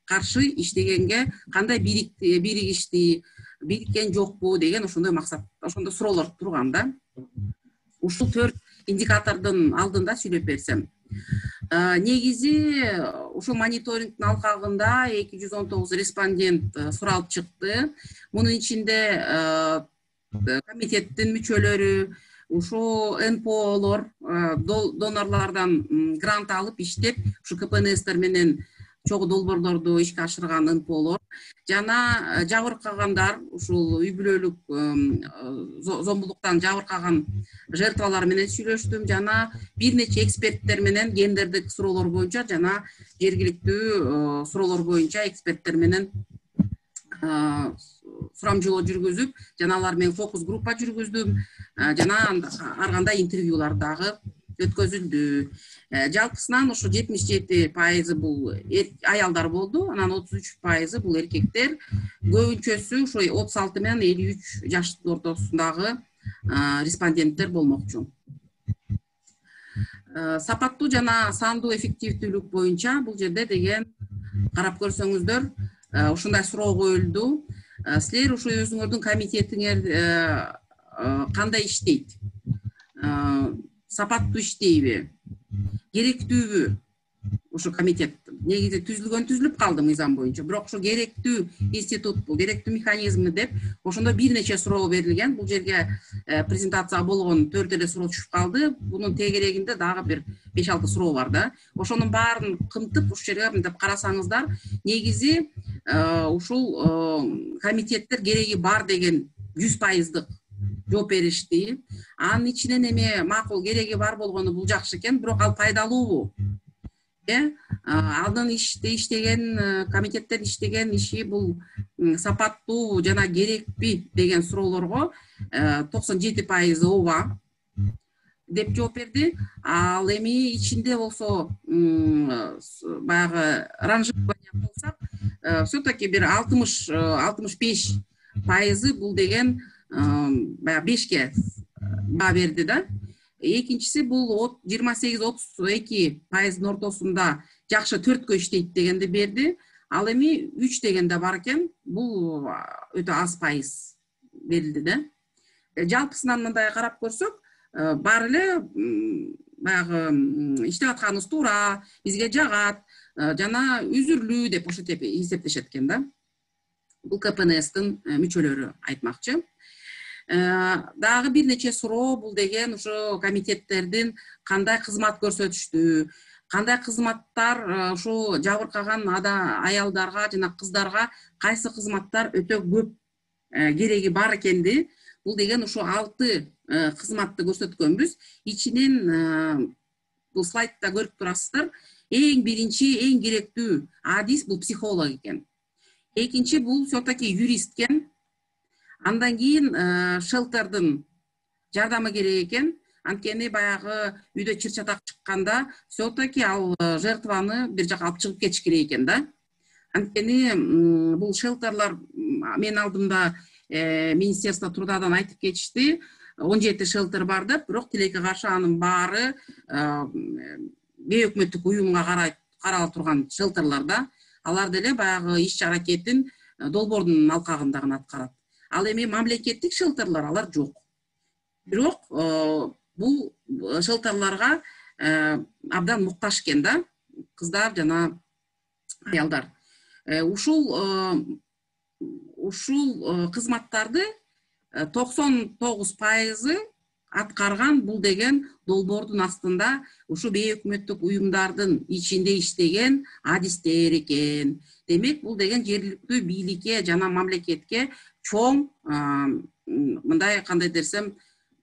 каршы иштегенге кандай биригишти, бириккен жокпу деген ошондой максат, ошондой суроолор турган да. Ушул 4 индикатордун алдында сүйлөп берсем. Негизи ушул мониторингдин алкагында 219 респондент суралып чыкты. Мунун ичинде комитеттин мүчөлөрү, ушу НПОлор, донорлордон грант алып иштеп, ушу КПНСтер менен чогуу долбоорлорду ишке ашырган НПОлор, жана жабыркагандар, ушул үй бүлөлүк зомбулуктан жабыркаган жертвалар менен сүйлөштүм, жана бир нече эксперттер менен гендердик суроолор боюнча жана жергиликтүү суроолор боюнча эксперттер менен сурамжылоо жүргүзүп, жана алар менен фокус группа жүргүздүм, жана ар кандай интервьюлар дагы өткөзүлдү. Жалпысынан ошо 77% бул аялдар болду, анан 33% бул эркектер, көбүнчөсү ошо 36 менен 53 жаштын ортосундагы респонденттер болмокчу. Сапаттуу жана сандуу эффективдүүлүк боюнча бул жерде деген карап көрсөңүздөр ушундай суроо коюлду. Силер ушу өзүңөрдүн комитетиңер кандай иштейт? Сапаттуу иштейби? Керектүүбү? Ушу комитет негизи түзүлүп калды мыйзам боюнча, бирок ошо керектүү институтпу, керектүү механизмби деп ошондо бир нече суроо берилген. Бул жерге презентацияга болгон 4 эле суроо түшүп калды. Бунун тегерегинде дагы бир 5-6 суроо бар да. Ошонун баарын кымтып ушул жерге мынтип карасаңыздар, негизи ушул комитеттер кереги бар деген 100%дык жооп беришти. Анын ичинен эми макул кереги бар болгону бул жакшы экен, бирок ал пайдалуубу? Алдын иштеген комитеттер иштеген иши бул сапаттуу жана керекпи деген суроолорго 97% ооба деп жооп берди. Ал эми ичинде болсо баягы ранжирование кылсак, все-таки бир 60-65% бул деген баягы 5ке баа берди да. Экинчиси бул 28-32% ортосунда жакшы 4кө иштейт дегенди берди. Ал эми 3 дегенде бар экен. Бул өтө аз пайыз берилди да. Жалпысынан мындай карап көрсөк, баары эле баягы иштеп атканыбыз туура, бизге жагат жана үзүрлүү деп ошентип эсептешет экен да. Бул КПНСтин мүчөлөрү айтмакчы. Дагы бир нече суроо бул деген ушу комитеттердин кандай кызмат көрсөтүштү, кандай кызматтар ушу жабыркаган аялдарга жана кыздарга кайсы кызматтар өтө көп кереги бар экенди. Бул деген ушу 6 кызматты көрсөткөнбүз. Ичинен бул слайдта көрүп турасыздар. Эң биринчи, эң керектүү адис бул психолог экен. Экинчи бул все-таки юрист экен. Андан кийин шелтердин жардамы керек экен. Анткени баягы үйдө чыр-чатак чыкканда все-таки ал жертваны бир жака алып чыгып кетиш керек экен да. Анткени бул шелтерлар менин алдымда Министерство трудадан айтып кетишти. 17 шелтер бар деп, бирок тилекке каршы анын баары бейөкмөттүк уюмга карала турган шелтерлар да. Алар деле баягы иш аракетин долбоордун алкагында гана аткарат. Ал эми мамлекеттик шелтерлар алар жок. Бирок бул шелтерларга абдан муктаж экен да, кыздар жана аялдар. Ушул кызматтарды 99% аткарган бул деген долбоордун астында ушу бейөкмөттүк уюмдардын ичинде иштеген адистер экен. Демек, бул деген жергиликтүү бийликке жана мамлекетке чоң, мындай кандай десем,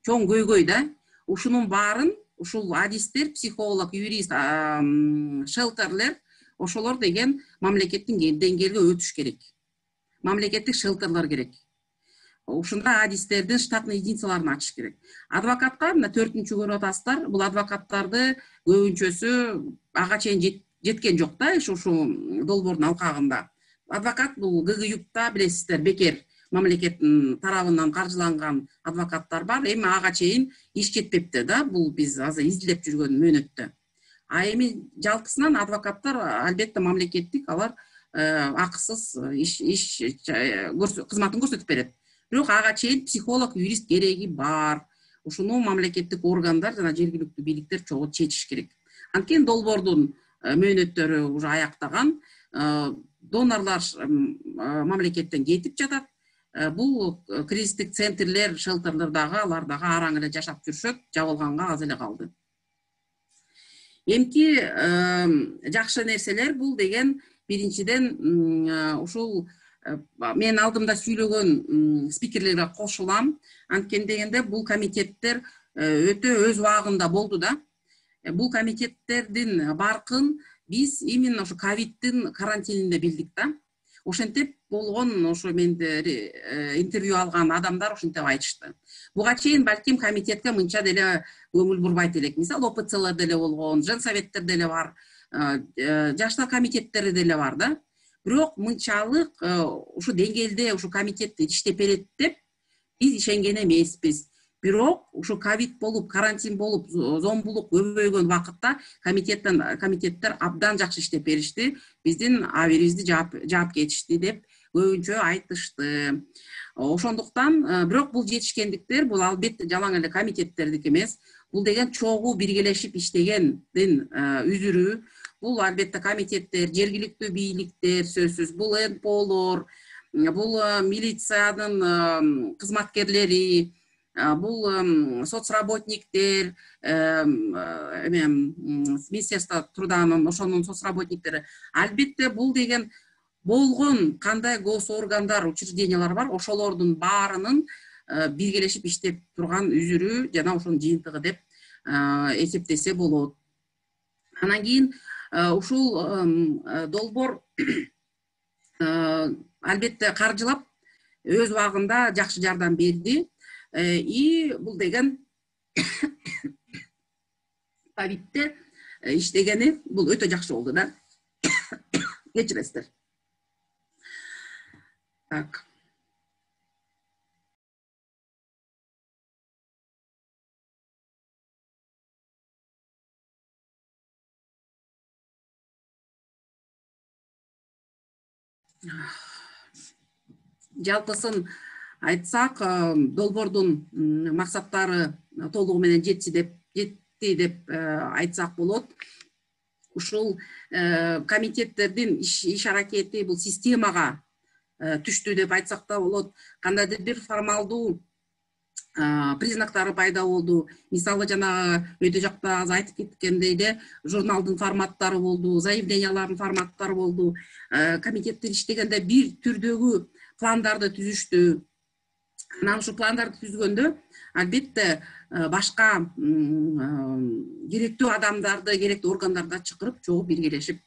чоң көйгөй да. Ушунун баарын ушул адистер, психолог, юрист, шелтерлер, ошолор деген мамлекеттин деңгээлге өтүш керек. Мамлекеттик шелтерлер керек. Ушунда адистердин штатный единицаларын ачыш керек. Адвокатка мына 4-чү көрүп атасыздар. Бул адвокаттарды көбүнчөсү ага чейин жеткен жок да, ушу долбоордун алкагында. Адвокат бул ГГЮКта билесиздер, бекер мамлекеттин тарабынан каржыланган адвокаттар бар. Эми ага чейин иш жетпепти да, бул биз азыр изилдеп жүргөн мөөнөттө. А эми жалпысынан адвокаттар албетте мамлекеттик, алар акысыз кызматын көрсөтүп берет. Бирок ага чейин психолог, юрист кереги бар. Ушуну мамлекеттик органдар жана жергиликтүү бийликтер чогуу чечиш керек. Анткени долбоордун мөөнөттөрү уже аяктаган, донорлар мамлекеттен кетип жатат. Бул кризистик центрлер, шелтерлер дагы, алар дагы араң эле жашап жүрүшөт, жабылганга аз эле калды. Эмки жакшы нерселер бул деген биринчиден ушул мен алдымда сүйлөгөн спикерлерге кошулам. Анткени дегенде бул комитеттер өтө өз убагында болду да. Бул комитеттердин баркын биз именно ошо ковидтин карантининде билдик да. Ошентип болгон, ошо менде интервью алган адамдар ошентип айтышты. Буга чейин балким комитетке мынча деле көңүл бурбайт элек. Мисалы ОПЦлар деле болгон, женсоветтер деле бар, жаштар комитеттери деле бар да. Бирок мынчалык ушу деңгээлде ушу комитет иштеп берет деп биз ишенген эмеспиз. Бирок ушу ковид болуп, карантин болуп, зомбулук көбөйгөн убакытта комитеттер абдан жакшы иштеп беришти. Биздин абийибизди жаап кетишти деп көбүнчө айтышты. Ошондуктан бирок бул жетишкендиктер бул албетте жалаң эле комитеттердики эмес. Бул деген чогуу биргелешип иштегендин үзүрү. Бул албетте комитеттер, жергиликтүү бийликтер, сөзсүз, бул НПОлор, бул милициянын кызматкерлери, бул соцработниктер, Министерство труданын ошонун соцработниктери. Албетте бул деген болгон кандай госоргандар, учреждениялар бар, ошолордун баарынын биргелешип иштеп турган үзүрү жана ошонун жыйынтыгы деп эсептесе болот. Анан кийин ушул долбоор албетте каржылап өз убагында жакшы жардам берди. И бул деген ковидте иштегени бул өтө жакшы болду да. Кечиресиздер. Так. жалпысын айтсак, долбоордун максаттары толугу менен жетти деп айтсак болот. Ушул комитеттердин иш аракети бул системага түштү деп айтсак да болот. Кандайдыр бир формалдуу признактары пайда болду. Мисалы жанагы өтө жакта аз айтып кеткендей эле журналдын форматтары болду, заявлениялардын форматтары болду. Комитеттер иштегенде бир түрдөгү пландарды түзүштү. Анан ушу пландарды түзгөндө албетте башка керектүү адамдарды, керектүү органдарды чакырып, чогуу биргелешип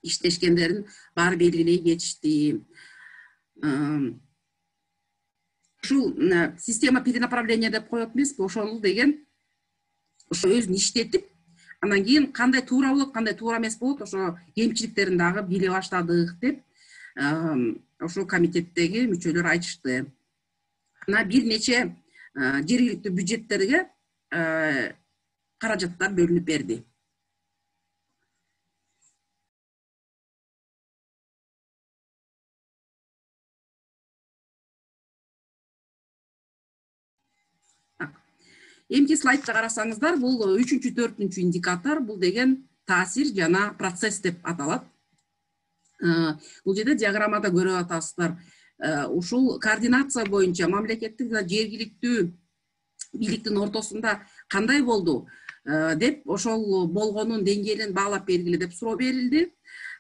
иштешкендерин баары белгилей кетишти. Ушул система перенаправления деп коет эмеспи, ошол деген ошо өзүн иштетип, анан кийин кандай туура болот, кандай туура эмес болот, ошо кемчиликтерин дагы биле баштадык деп ошол комитеттеги мүчөлөр айтышты. Анан бир нече жергиликтүү бюджеттерге каражаттар бөлүнүп берди. Эмки слайдты карасаңыздар, бул 3-4 индикатор, бул деген таасир жана процесс деп аталат. Бул жерде диаграммада көрүп атасыздар. Ушул координация боюнча мамлекеттик жана жергиликтүү бийликтин ортосунда кандай болду деп, ошол болгонун деңгээлин баалап бергиле деп суроо берилди.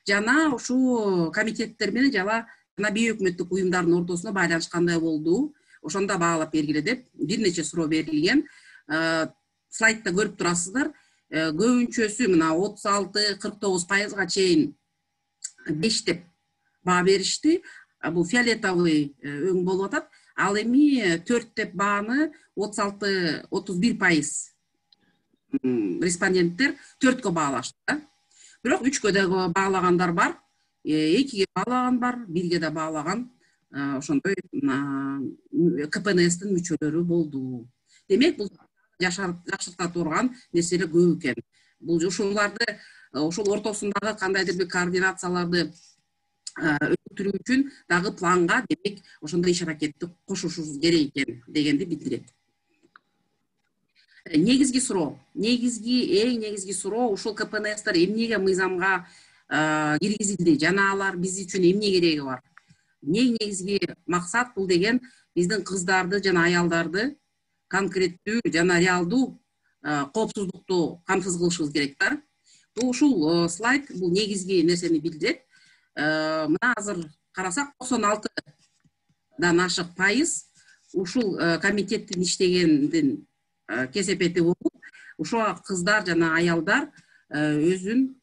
Жана ушул комитеттер менен жана бейөкмөттүк уюмдардын ортосунда байланыш кандай болду, ошондо баалап бергиле деп бир нече суроо берилген. Слайдта көрүп турасыздар. Көбүнчөсү мына 36-49% чейин 5 деп баа беришти. Бул фиолетовый өң болуп атат. Ал эми 4 деп бааны 36-31% респонденттер 4кө баалашты. Бирок 3кө дагы баалагандар бар, 2ге баалаган бар, 1ге да баалаган ошондой КПНСтин мүчөлөрү болду. Демек, бул жакшырта турган нерселер көп экен. Бул ушуларды ошол ортосундагы кандайдыр бир координацияларды өтүрүү үчүн дагы планга, демек, ошондой иш аракетти кошушубуз керек экен дегенди билдирет. Негизги суроо, эң негизги суроо ушул КПНСтер эмнеге мыйзамга киргизилди жана алар биз үчүн эмне кереги бар? Эң негизги максат бул деген биздин кыздарды жана аялдарды конкреттүү жана реалдуу коопсуздукту камсыз кылышыбыз керек да. Ушул слайд бул негизги нерсени билдирет. Мына азыр карасак 96дан ашык пайыз ушул комитеттин иштегендин кесепети болуп, ушул кыздар жана аялдар өзүн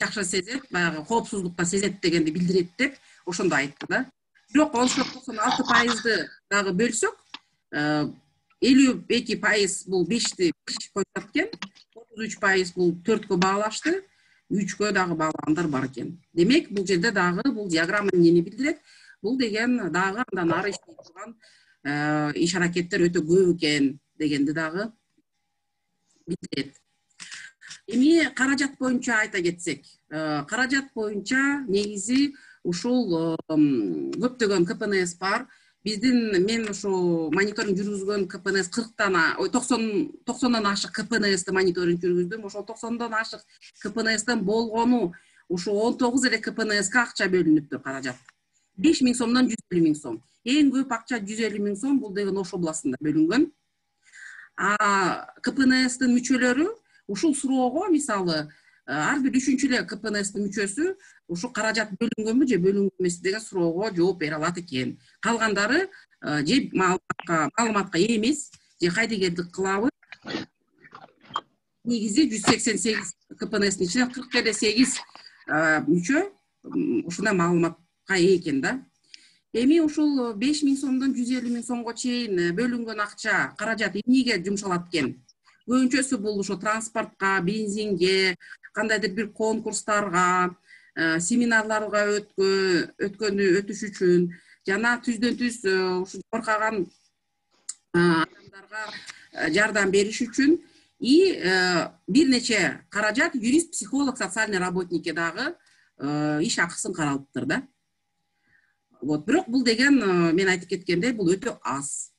жакшы сезет, баягы коопсуздукта сезет дегенди билдирет деп ошондо айтты да. Бирок ошол 96%ды дагы бөлсөк, 52% бул 5 коюшат экен, 33% бул 4кө баалашты, 3кө дагы баалагандар бар экен. Демек, бул жерде дагы бул диаграмма эмнени билдирет? Бул деген дагы андан ары иштей турган иш аракеттер өтө көп экен дегенди дагы билдирет. Эми каражат боюнча айта кетсек, каражат боюнча негизи ушул көптөгөн КПНС бар. Мен ушу мониторинг жүргүзгөн КПНС 90-дан ашык КПНСти мониторинг жүргүздүм. Ошол 90-дан ашык КПНСтен болгону ушу 19 эле КПНСке акча бөлүнүптүр, каражат. 5.000 сомдон 150.000 сом. Эң көп акча 150.000 сом, бул деген Ош областында бөлүнгөн. КПНСтин мүчөлөрү ушул суроого, мисалы, ар бир 3-чү эле КПНСтин мүчөсү ушу каражат бөлүнгөнбү же бөлүнгөн эмеспи деген суроого жооп бере алат экен. Калгандары же маалыматка ээ эмес, же кайдыгерлик кылабы. Негизи 188 КПНСтин ичинен 48 мүчө ушундай маалыматка ээ экен да. Эми ушул 5.000 сомдон 150.000 сомго чейин бөлүнгөн акча, каражат эмнеге жумшалат экен? Көбүнчөсү бул ошо транспортко, бензинге, кандайдыр бир конкурстарга, семинарларга өтүш үчүн, жана түздөн түз ушу коркаган адамдарга жардам бериш үчүн и бир нече каражат юрист, психолог, социальный работникке дагы иш акысын каралыптыр да. Вот, бирок бул деген мен айтып кеткендей бул өтө аз.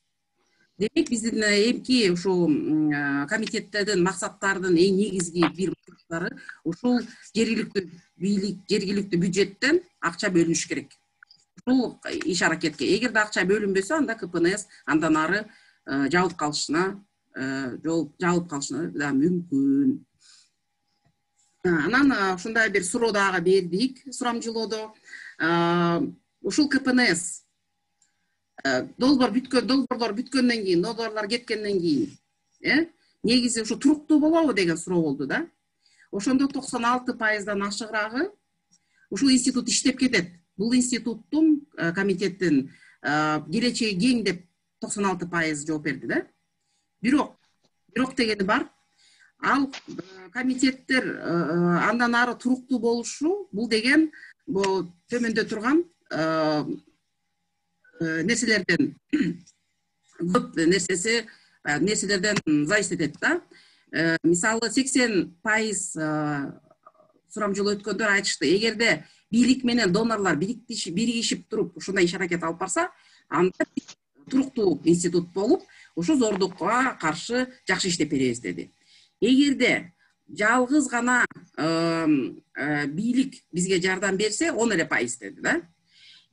Демек биздин эмки ушул комитеттердин максаттарынын эң негизги бир максаттары ушул жергиликтүү бийлик, жергиликтүү бюджеттен акча бөлүнүш керек. Ушул иш аракетке эгерде акча бөлүнбөсө, анда КПНС андан ары жабылып калышына да мүмкүн. Анан ушундай бир суроо дагы бердик сурамжылоодо. Ушул КПНС долбоорлор бүткөндөн кийин, долбоорлор кеткенден кийин, негизи ушу туруктуу болобу деген суроо болду да. Ошондо 96%дан ашыгыраагы ушул институт иштеп кетет. Бул институттун комитеттин келечеги кең деп 96% жооп берди да. Бирок дегени бар. Ал комитеттер андан ары туруктуу болушу, бул деген бул төмөндө турган нерселерден көп нерселерден зависит этет да. Мисалы 80% сурамжылоо өткөндөр айтышты, эгерде бийлик менен донорлор биригишип туруп ушундай иш аракет алып барса, анда туруктуу институт болуп, ушу зордукка каршы жакшы иштеп беребиз деди. Эгерде жалгыз гана бийлик бизге жардам берсе, 10% деди да.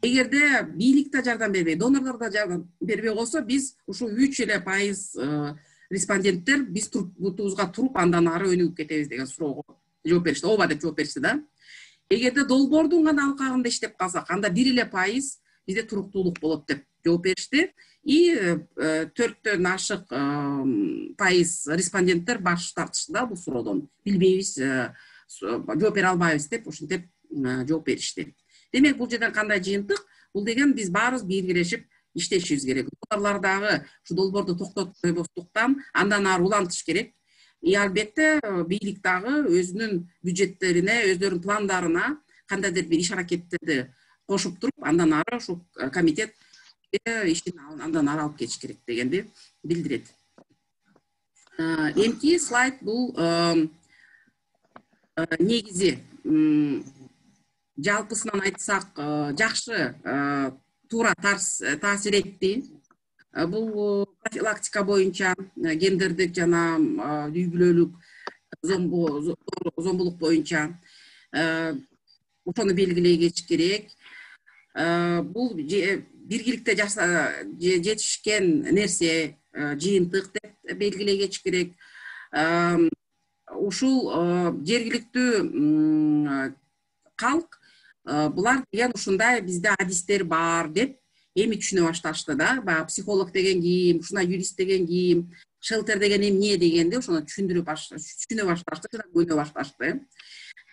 Эгерде бийлик да жардам бербей, донорлор да жардам бербей койсо, биз ушул 3% респонденттер биз бутубузга туруп андан ары өнүгүп кетебиз деген суроого жооп беришти. Ооба деп жооп беришти да. Эгерде долбоордун гана алкагында иштеп калсак, анда 1% бизде туруктуулук болот деп жооп беришти. И 4-төн ашык пайыз респонденттер баш тартышты да бул суроодон. Билбейбиз, жооп бере албайбыз деп ушинтип жооп беришти. Демек бул жерден кандай жыйынтык? Бул деген биз баарыбыз биргелешип иштешибиз керек. Донорлор дагы ушу долбоорду токтотпостуктан андан ары улантыш керек. И албетте бийлик дагы өзүнүн бюджеттерине, өздөрүнүн пландарына кандайдыр бир иш аракеттерди кошуп туруп, андан ары ушу комитет иштин андан ары алып кетиш керек дегенди билдирет. Эмки слайд бул негизи жалпысынан айтсак жакшы туура таасир этти. Бул профилактика боюнча гендердик жана үй бүлөлүк зомбулук боюнча ошону белгилей кетиш керек. Бул биргиликте жетишкен нерсе жыйынтык деп белгилей кетиш керек. Ушул жергиликтүү калк булар деген ушундай бизде адистер бар деп эми түшүнө башташты да. Баягы психолог деген ким, ушундай юрист деген ким, шелтер деген эмне дегенди ошону түшүнө башташты жана көнө башташты.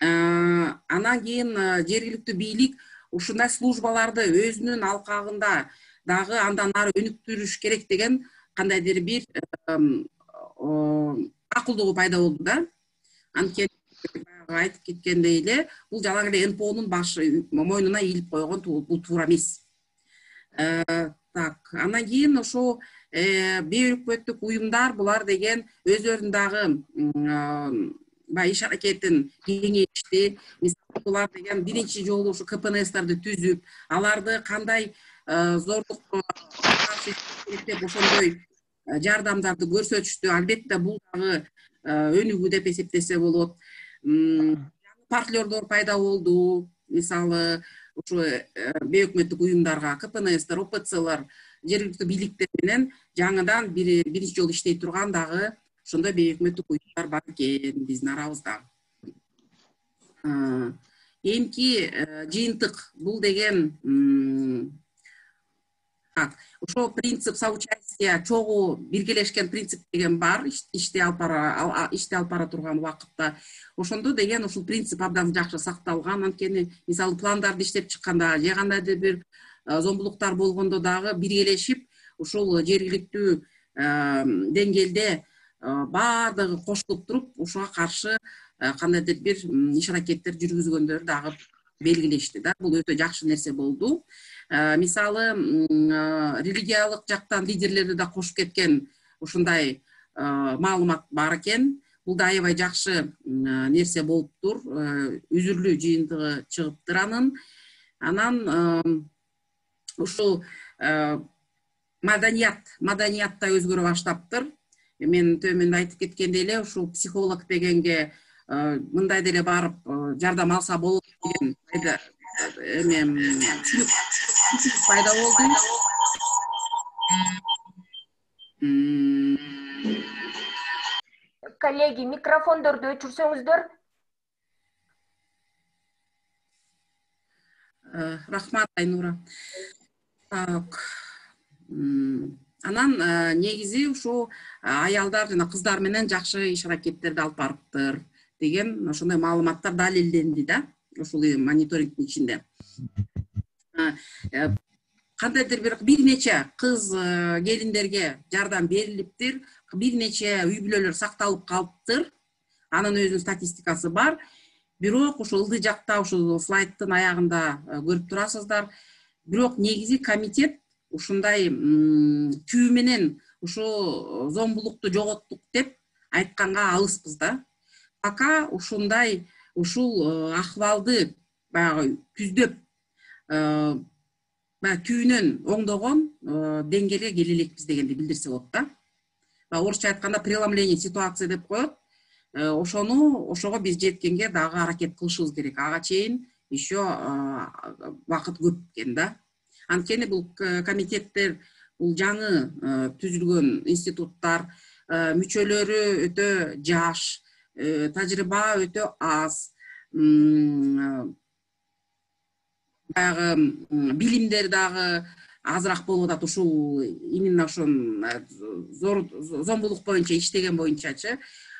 Анан кийин жергиликтүү бийлик ушундай службаларды өзүнүн алкагында дагы андан ары өнүктүрүш керек деген кандайдыр бир акылдуу пайда болду да. Анткени айтып кеткендей эле, бул жалаң эле НПОнун башы мойнуна ийилип койгон бул туура эмес. Анан кийин ошо бейөкмөттүк уюмдар булар деген өздөрүнүн дагы баягы иш аракетин кеңейтишти. Мисалы булар деген биринчи жолу ушу КПНСтерди түзүп, аларды кандай зордукка каршы керек деп ошондой жардамдарды көрсөтүштү. Албетте бул дагы өнүгүү деп эсептесе болот. Партнерлор пайда болду. Мисалы ушу бейөкмөттүк уюмдарга КПНСтер, ОПЦлар, жергиликтүү бийликтер менен жаңыдан биринчи жолу иштей турган дагы ошондой бейөкмөттүк уюмдар бар экен биздин арабызда. Эмки жыйынтык бул деген ошо принцип соучастия, чогуу биргелешкен принцип деген бар ишти алып бара турган убакытта. Ошондо деген ушул принцип абдан жакшы сакталган. Анткени мисалы пландарды иштеп чыкканда же кандайдыр бир зомбулуктар болгондо дагы биргелешип ушул жергиликтүү деңгээлде баардыгы кошулуп туруп ушуга каршы кандайдыр бир иш аракеттер жүргүзгөндөр дагы белгилешти да. Бул өтө жакшы нерсе болду. Мисалы религиялык жактан лидерлерди да кошуп кеткен ушундай маалымат бар экен. Бул да аябай жакшы нерсе болуптур. Үзүрлүү жыйынтыгы чыгыптыр анын. Анан ушул маданият да өзгөрө баштаптыр. Мен төмөндө айтып кеткендей эле ушул психолог дегенге мындай деле барып жардам алса болот деген түшүнүк пайда болду. Коллеги, микрофондорду өчүрсөңүздөр. Рахмат, Айнура. Так. Анан негизи ушул аялдар жана кыздар менен жакшы иш аракеттерди алып барыптыр деген ошондой маалыматтар далилденди да, ушул мониторингдин ичинде. Кандайдыр бир нече кыз келиндерге жардам берилиптир, бир нече үй бүлөлөр сакталып калыптыр. Анын өзүнүн статистикасы бар. Бирок ушул ылдый жакта ушул слайдтын аягында көрүп турасыздар. Бирок негизи комитет ушундай түбү менен ушул зомбулукту жоготтук деп айтканга алыспыз да. Пока ушундай ушул акыбалды баягы түздөп түбүнөн оңдогон деңгээлге келе элекпиз дегенди билдирсе болот да. Орусча айтканда преломление ситуации деп коет. Ошого биз жеткенге дагы аракет кылышыбыз керек. Ага чейин еще убакыт көп экен да. Анткени бул комитеттер, бул жаңы түзүлгөн институттар, мүчөлөрү өтө жаш, тажрыйба өтө аз, баягы билимдер дагы азыраак болуп атат. Ушул именно ошон зомбулук боюнча иштеген боюнчачы.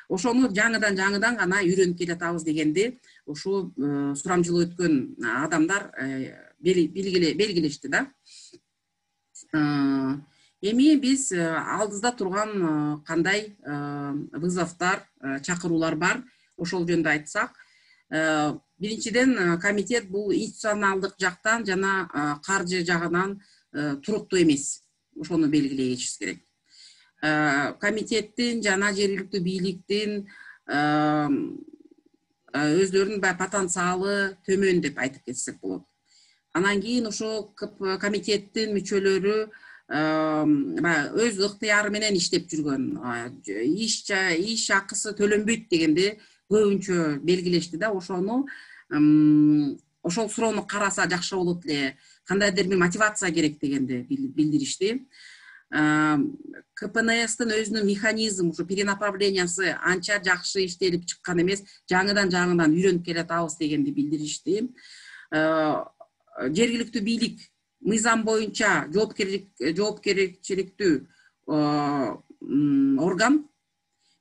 Ошону жаңыдан гана үйрөнүп келатабыз дегенди ушул сурамжылоо өткөн адамдар белгилешти да. Эми биз алдыбызда турган кандай вызовдор, чакыруулар бар, ошол жөнүндө айтсак. Биринчиден, комитет бул институционалдык жактан жана каржы жагынан туруктуу эмес. Ошону белгилей кетишибиз керек. Комитеттин жана жергиликтүү бийликтин өздөрүнүн потенциалы төмөн деп айтып кетсек болот. Анан кийин ошол комитеттин мүчөлөрү өз ыктыяры менен иштеп жүргөн, иш акысы төлөнбөйт дегенди көбүнчө белгилешти да. Ошол суроону караса жакшы болот эле, кандайдыр бир мотивация керек дегенди билдиришти. КПНСтин өзүнүн механизм, ушу перенаправлениясы анча жакшы иштелип чыккан эмес, жаңыдан үйрөнүп келатабыз дегенди билдиришти. Жергиликтүү бийлик мыйзам боюнча жоопкерчиликтүү орган,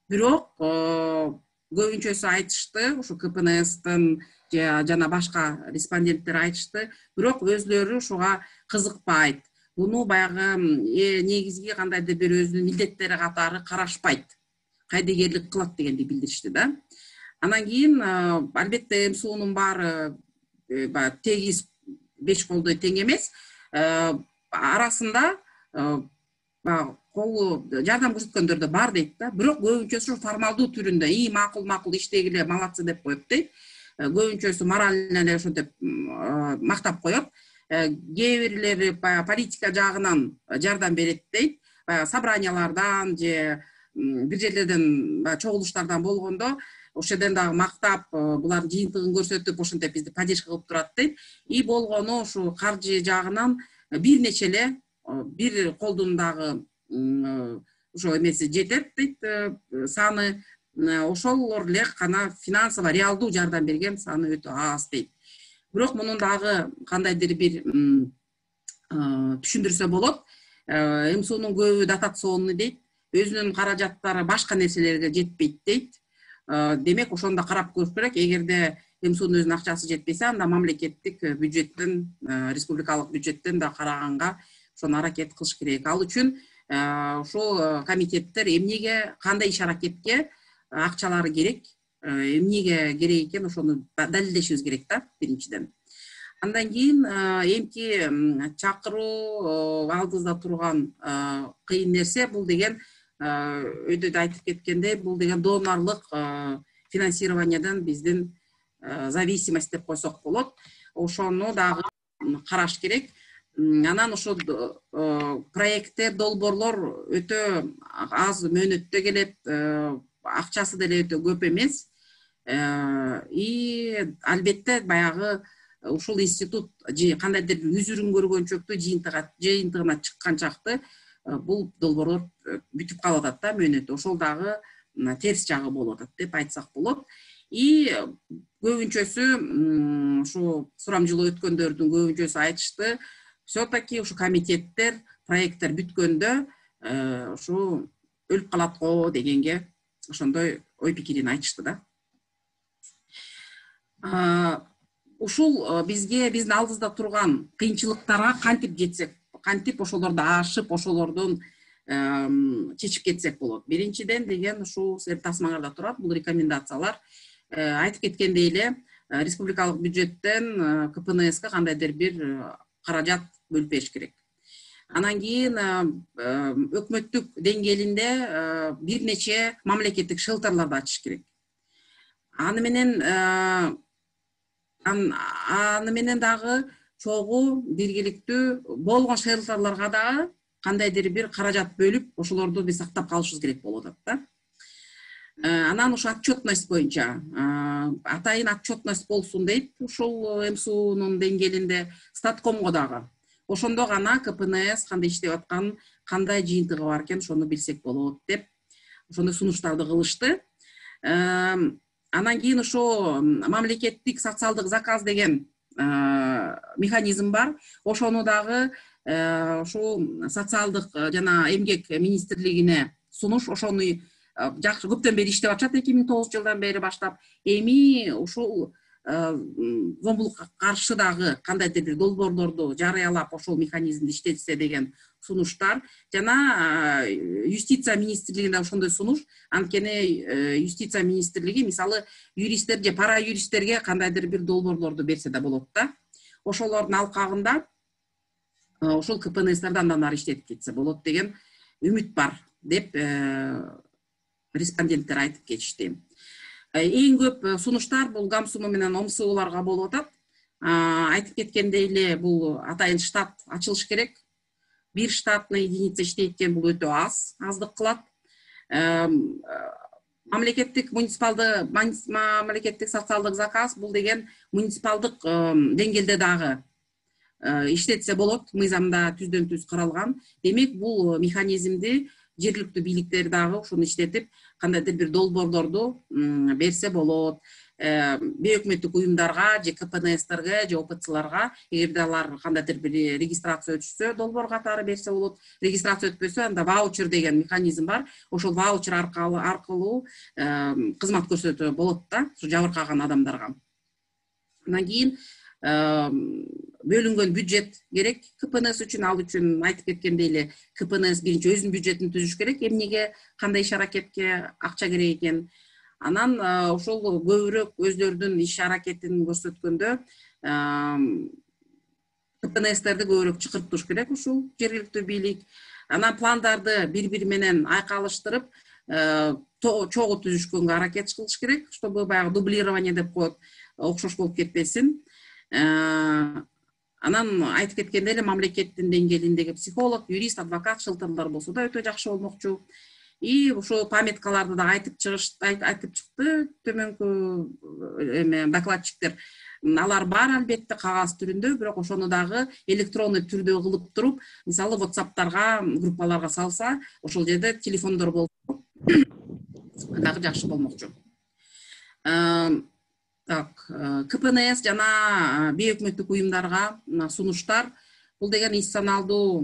бирок көбүнчөсү айтышты, ушу КПНСтин жана башка респонденттер айтышты, бирок өзлөрү ушуга кызыкпайт. Буну баягы негизги кандайдыр бир өзүнүн милдеттери катары карашпайт, кайдыгерлик кылат дегенди билдиришти да. Анан кийин албетте МСУнун баары тегиз беш колдой тең эмес. Арасында колу жардам көрсөткөндөр да бар дейт да. Бирок көбүнчөсү формалдуу түрүндө макул иштегиле, молодцы деп коет дейт. Көбүнчөсү морально эле ошентип мактап коет. Кээ бирлери политика жагынан жардам берет дейт. Собраниялардан же бир жерлерден чогулуштардан болгондо ошол жерден дагы мактап, булардын жыйынтыгын көрсөтүп, ошентип бизди поддержка кылып турат дейт. И болгону ушу каржы жагынан бир нече эле бир колдун дагы ошо эмеси жетет дейт, саны. Ошолор эле гана финансово реалдуу жардам берген саны өтө аз дейт. Бирок мунун дагы кандайдыр бир түшүндүрсө болот. МСУнун көбү дотационный дейт, өзүнүн каражаттары башка нерселерге жетпейт дейт. Демек, ошондо карап көрүш керек. Эгерде МСУнун өзүнүн акчасы жетпесе, анда мамлекеттик бюджеттен, республикалык бюджеттен да караганга ошону аракет кылыш керек. Ал үчүн ушул комитеттер эмнеге, кандай иш аракетке акчалары керек, эмнеге керек экен, ошону далилдешибиз керек да, биринчиден. Андан кийин эмки чакыруу алдыбызда турган кыйын нерсе бул деген өйдө да айтып кеткендей, бул деген донорлук финансированиядан биздин зависимость деп койсок болот. Ошону дагы караш керек. Анан ошо проекттер, долбоорлор өтө аз мөөнөттө келет, акчасы деле өтө көп эмес. И албетте баягы ушул институт кандайдыр бир үзүрүн көргөн чөктү жыйынтыгына чыккан чакты бул долбоорлор бүтүп калып атат да мөөнөтү. Ошол дагы терс жагы болуп атат деп айтсак болот. И көбүнчөсү ушу сурамжылоо өткөндөрдүн көбүнчөсү айтышты, все-таки ушу комитеттер, проекттер бүткөндө ушу өлүп калат го дегенге ошондой ой пикирин айтышты да. Ушул бизге биздин алдыбызда турган кыйынчылыктарга кантип жетсек, кантип ошолорду ашып, ошолордун чечип кетсек болот. Биринчиден деген ушул силердин тасмаңарда турат, бул рекомендациялар. Айтып кеткендей эле, республикалык бюджеттен КПНСка кандайдыр бир каражат бөлүп бериш керек. Анан кийин өкмөттүк деңгээлинде бир нече мамлекеттик шелтерларды ачыш керек. Аны менен дагы чогуу биргиликтүү болгон шелтерларга дагы кандайдыр бир каражат бөлүп, ошолорду биз сактап калышыбыз керек болуп атат да. Анан ушу отчетность боюнча атайын отчетность болсун дейт ушул МСУнун деңгээлинде, статкомго дагы. Ошондо гана КПНС кандай иштеп атканын, кандай жыйынтыгы бар экен ошону билсек болот деп ошондой сунуштарды кылышты. Анан кийин ошо мамлекеттик социалдык заказ деген механизм бар. Ошону дагы ушул социалдык жана эмгек министрлигине сунуш, ошону жакшы көптөн бери иштеп атышат, 2009-жылдан бери баштап. Эми ушул зомбулукка каршы дагы кандайдыр бир долбоорлорду жарыялап ошол механизмди иштетсе деген сунуштар, жана юстиция министрлигине ошондой сунуш. Анткени юстиция министрлиги мисалы юристтер же пара юристтерге кандайдыр бир долбоорлорду берсе да болот да. Ошолордун алкагында ошол КПНСтерди андан ары иштетип кетсе болот деген үмүт бар деп респонденттер айтып кетишти. Эң көп сунуштар бул ГАМСУМ менен ОМСУларга болуп атат. Айтып кеткендей эле, бул атайын штат ачылыш керек. Бир штатный единица иштейт экен, бул өтө аздык кылат. Мамлекеттик социалдык заказ бул деген муниципалдык деңгээлде дагы иштетсе болот, мыйзамда түздөн түз каралган. Демек, бул механизмди жергиликтүү бийликтер дагы ушуну иштетип, кандайдыр бир долбоорлорду берсе болот. Бейөкмөттүк уюмдарга же КПНСтерге же ОПЦларга, эгерде алар кандайдыр бир регистрация өтүшсө, долбоор катары берсе болот. Регистрация өтпөсө, анда ваучер деген механизм бар. Ошол ваучер аркылуу кызмат көрсөтө болот да, ушу жабыркаган адамдарга. Андан кийин бөлүнгөн бюджет керек КПНС үчүн. Ал үчүн айтып кеткендей эле, КПНС биринчи өзүнүн бюджетин түзүш керек. Эмнеге, кандай иш аракетке акча керек экен. Анан ошол көбүрөөк өздөрүнүн иш аракетин көрсөткөндө КПНСтерди көбүрөөк чакыртыш керек ушул жергиликтүү бийлик. Анан пландарды бири-бири менен айкалыштырып, чогуу түзүшкөнгө аракет кылыш керек, чтобы баягы дублирование деп коет, окшош болуп кетпесин. Анан айтып кеткендей эле, мамлекеттин деңгээлиндеги психолог, юрист, адвокат шылтырлар болсо да өтө жакшы болмокчу. И ошо памяткаларды да айтып чыкты төмөнкү докладчиктер. Алар бар албетте кагаз түрүндө, бирок ошону дагы электронный түрдө кылып туруп, мисалы WhatsApp'тарга, группаларга салса, ошол жерде телефондор болсо дагы жакшы болмокчу. КПНС жана бейөкмөттүк уюмдарга сунуштар, бул деген институционалдуу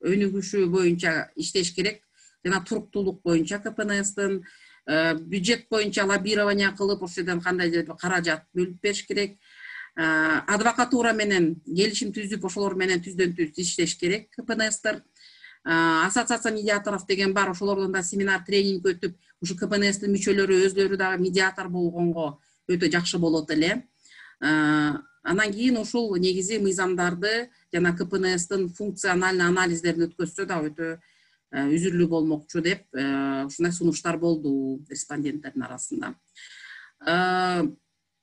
өнүгүшү боюнча иштеш керек. Жана туруктуулук боюнча КПНСтин бюджет боюнча лоббирование кылып, ошол жерден кандайдыр бир каражат бөлүп бериш керек. Адвокатура менен келишим түзүп, ошолор менен түздөн түз иштеш керек КПНСтер. Ассоциация медиаторов деген бар, ошолордон да семинар, тренинг өтүп, ушу КПНСтин мүчөлөрү өзлөрү дагы медиатор болгонго өтө жакшы болот эле. Анан кийин ушул негизи мыйзамдарды жана КПНСтин функциональный анализдерин өткөзсө да өтө үзүрлүү болмокчу деп ушундай сунуштар болду респонденттердин арасында.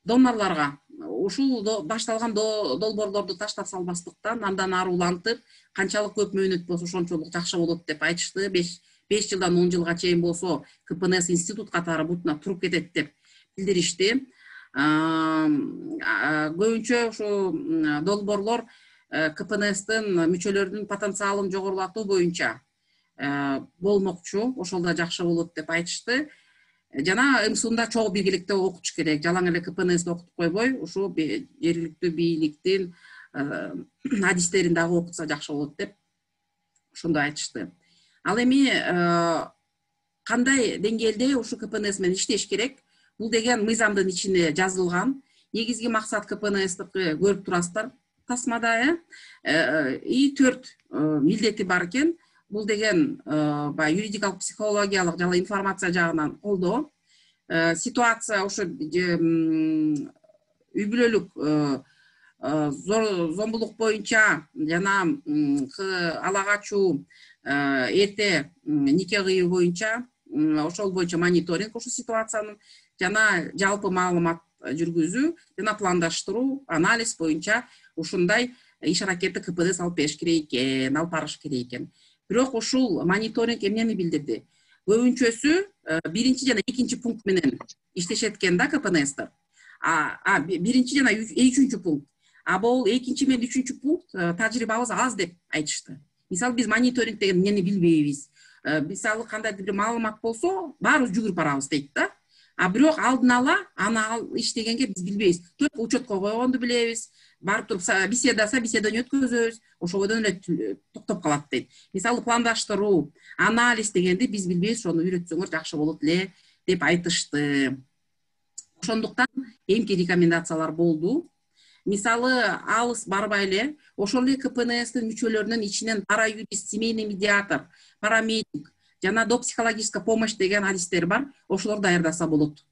Донорлорго ушул башталган долбоорлорду таштап салбастыктан андан ары улантып, канчалык көп мөөнөт болсо ошончолук жакшы болот деп айтышты. 5 жылдан 10 жылга чейин болсо КПНС институт катары бутуна туруп кетет деп билдиришти. Көбүнчө ушу долбоорлор КПНСтин мүчөлөрүнүн потенциалын жогорулатуу боюнча болмокчу, ошол да жакшы болот деп айтышты. Жана МСУнда чогуу биргеликте окутуш керек. Жалаң эле КПНСти окутуп койбой, ушу жергиликтүү бийликтин адистерин дагы окутса жакшы болот деп ошондой айтышты. Ал эми кандай деңгээлде ушу КПНС менен иштеш керек? Бул деген мыйзамдын ичине жазылган. Негизги максат КПНСтики көрүп турасыздар тасмада, 4 милдети бар экен. Бул деген баягы юридикалык, психологиялык жана информация жагынан колдоо. Ситуация ошо үй бүлөлүк зомбулук боюнча жана ала качуу, эрте нике кыюу боюнча, ошол боюнча мониторинг ушул ситуациянын жана жалпы маалымат жүргүзүү жана пландаштыруу, анализ боюнча ушундай иш аракетти КПНС алып бериш керек экен, алып барыш керек экен. Бирок ушул мониторинг эмнени билдирди? Көбүнчөсү 1 жана 2 пункт менен иштешет экен да КПНСтер. 1 жана 3 пункт. Бул 2 менен 3 пункт тажрыйбабыз аз деп айтышты. Мисалы биз мониторинг деген эмнени билбейбиз. Мисалы кандайдыр бир маалымат болсо, баарыбыз жүгүрүп барабыз дейт да. Бирок алдын ала аны иштегенге биз билбейбиз. Төрт учетко койгонду билебиз. Барып туруп беседаны өткөзөбүз, ошол бойдон эле токтоп калат дейт. Мисалы пландаштыруу, анализ дегенди биз билбейбиз, ошону үйрөтсөңөр жакшы болот эле деп айтышты. Ошондуктан эмки рекомендациялар болду. Мисалы алыс барбай эле, ошол эле КПНСтин мүчөлөрүнүн ичинен параюрист, семейный медиатор, парамедик жана допсихологическая помощь деген адистер бар, ошолор даярдаса болот.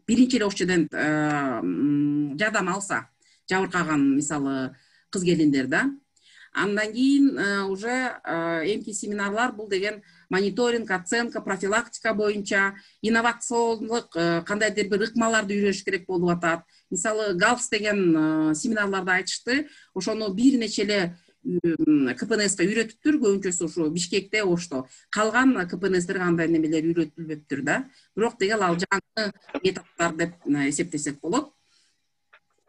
Биринчи эле ошол жерден жардам алса, жабыркаган мисалы кыз келиндер да. Андан кийин уже эмки семинарлар бул деген мониторинг, оценка, профилактика боюнча инновациондук кандайдыр бир ыкмаларды үйрөнүш керек болуп атат. Мисалы ГАЛС деген семинарларды айтышты. Ошону бир нече эле КПНСка үйрөтүптүр, көбүнчөсү ушу Бишкекте, Ошто. Калган КПНСтерге андай немелер үйрөтүлбөптүр да. Бирок деген ал жаңы методдор деп эсептесек болот.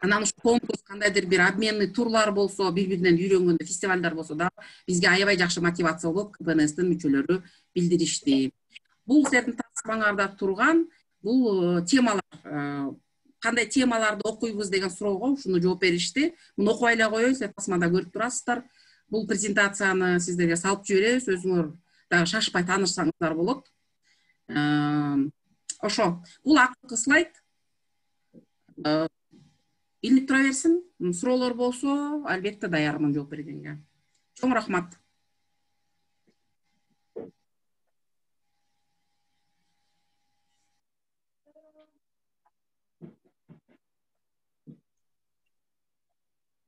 Анан ушу конкурс, кандайдыр бир обменный турлар болсо, бири-биринен үйрөнгөндө фестивалдар болсо да, бизге аябай жакшы мотивация болуп, КПНСтин мүчөлөрү билдиришти. Бул силердин тасмаңарда турган бул темалар, кандай темаларды окуйбуз деген суроого ушуну жооп беришти. Муну окубай эле коеюн, силер тасмада көрүп турасыздар. Бул презентацияны сиздерге салып жиберебиз, өзүңөр дагы шашпай таанышсаңыздар болот. Ошо, бул акыркы слайд. Илинип тура берсин. Суроолор болсо, албетте даярмын жооп бергенге. Чоң рахмат.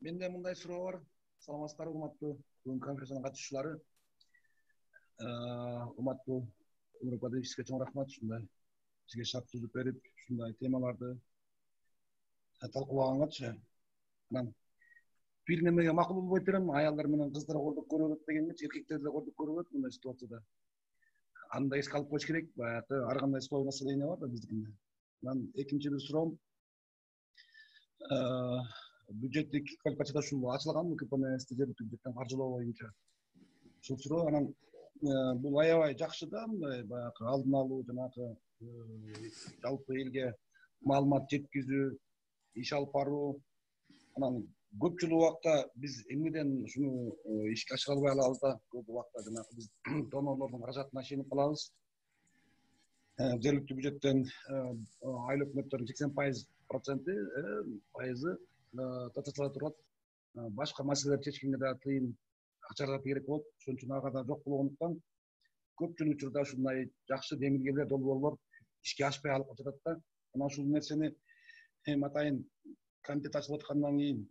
Менде мындай суроо бар. Саламатсыздарбы, урматтуу бүгүнкү конференциянын катышуучулары. Урматтуу Өмүрбек Бадыевич, сизге чоң рахмат. Ушундай бизге шарт түзүп берип, ушундай темаларды талкуулагангачы. Анан бир немеге макул болбой турам, аялдар менен кыздар кордук көрөбөт дегенчи, эркектер деле кордук көрөбөт мындай ситуацияда. Аны да эске алып коюш керек. Баягы ар кандай сылоо маселелер бар да биздикинде. Анан экинчи бир суроом, бюджеттик квалификацияда ушул ачылганбы КПНСти жергиликтүү бюджеттен каржылоо боюнча? Ушул суроо. Анан бул аябай жакшы да, мындай баягы алдын алуу, жанагы жалпы элге маалымат жеткизүү, иш алып баруу. Анан көпчүлүк убакта биз эмнеден ушуну ишке ашыра албай калабыз да, көп убакта жанагы биз донорлордун каражатына ишенип калабыз. Жергиликтүү бюджеттен айыл өкмөттөрдүн 80% пайызы татыла турат. Башка маселелерди чечкенге да тыйын акча каражаты керек болот. Ошон үчүн ага да жок болгондуктан көпчүлүк учурда ушундай жакшы демилгелер, долбоорлор ишке ашпай алып жатат да. Анан ушул нерсени атайын комитет ачылып аткандан кийин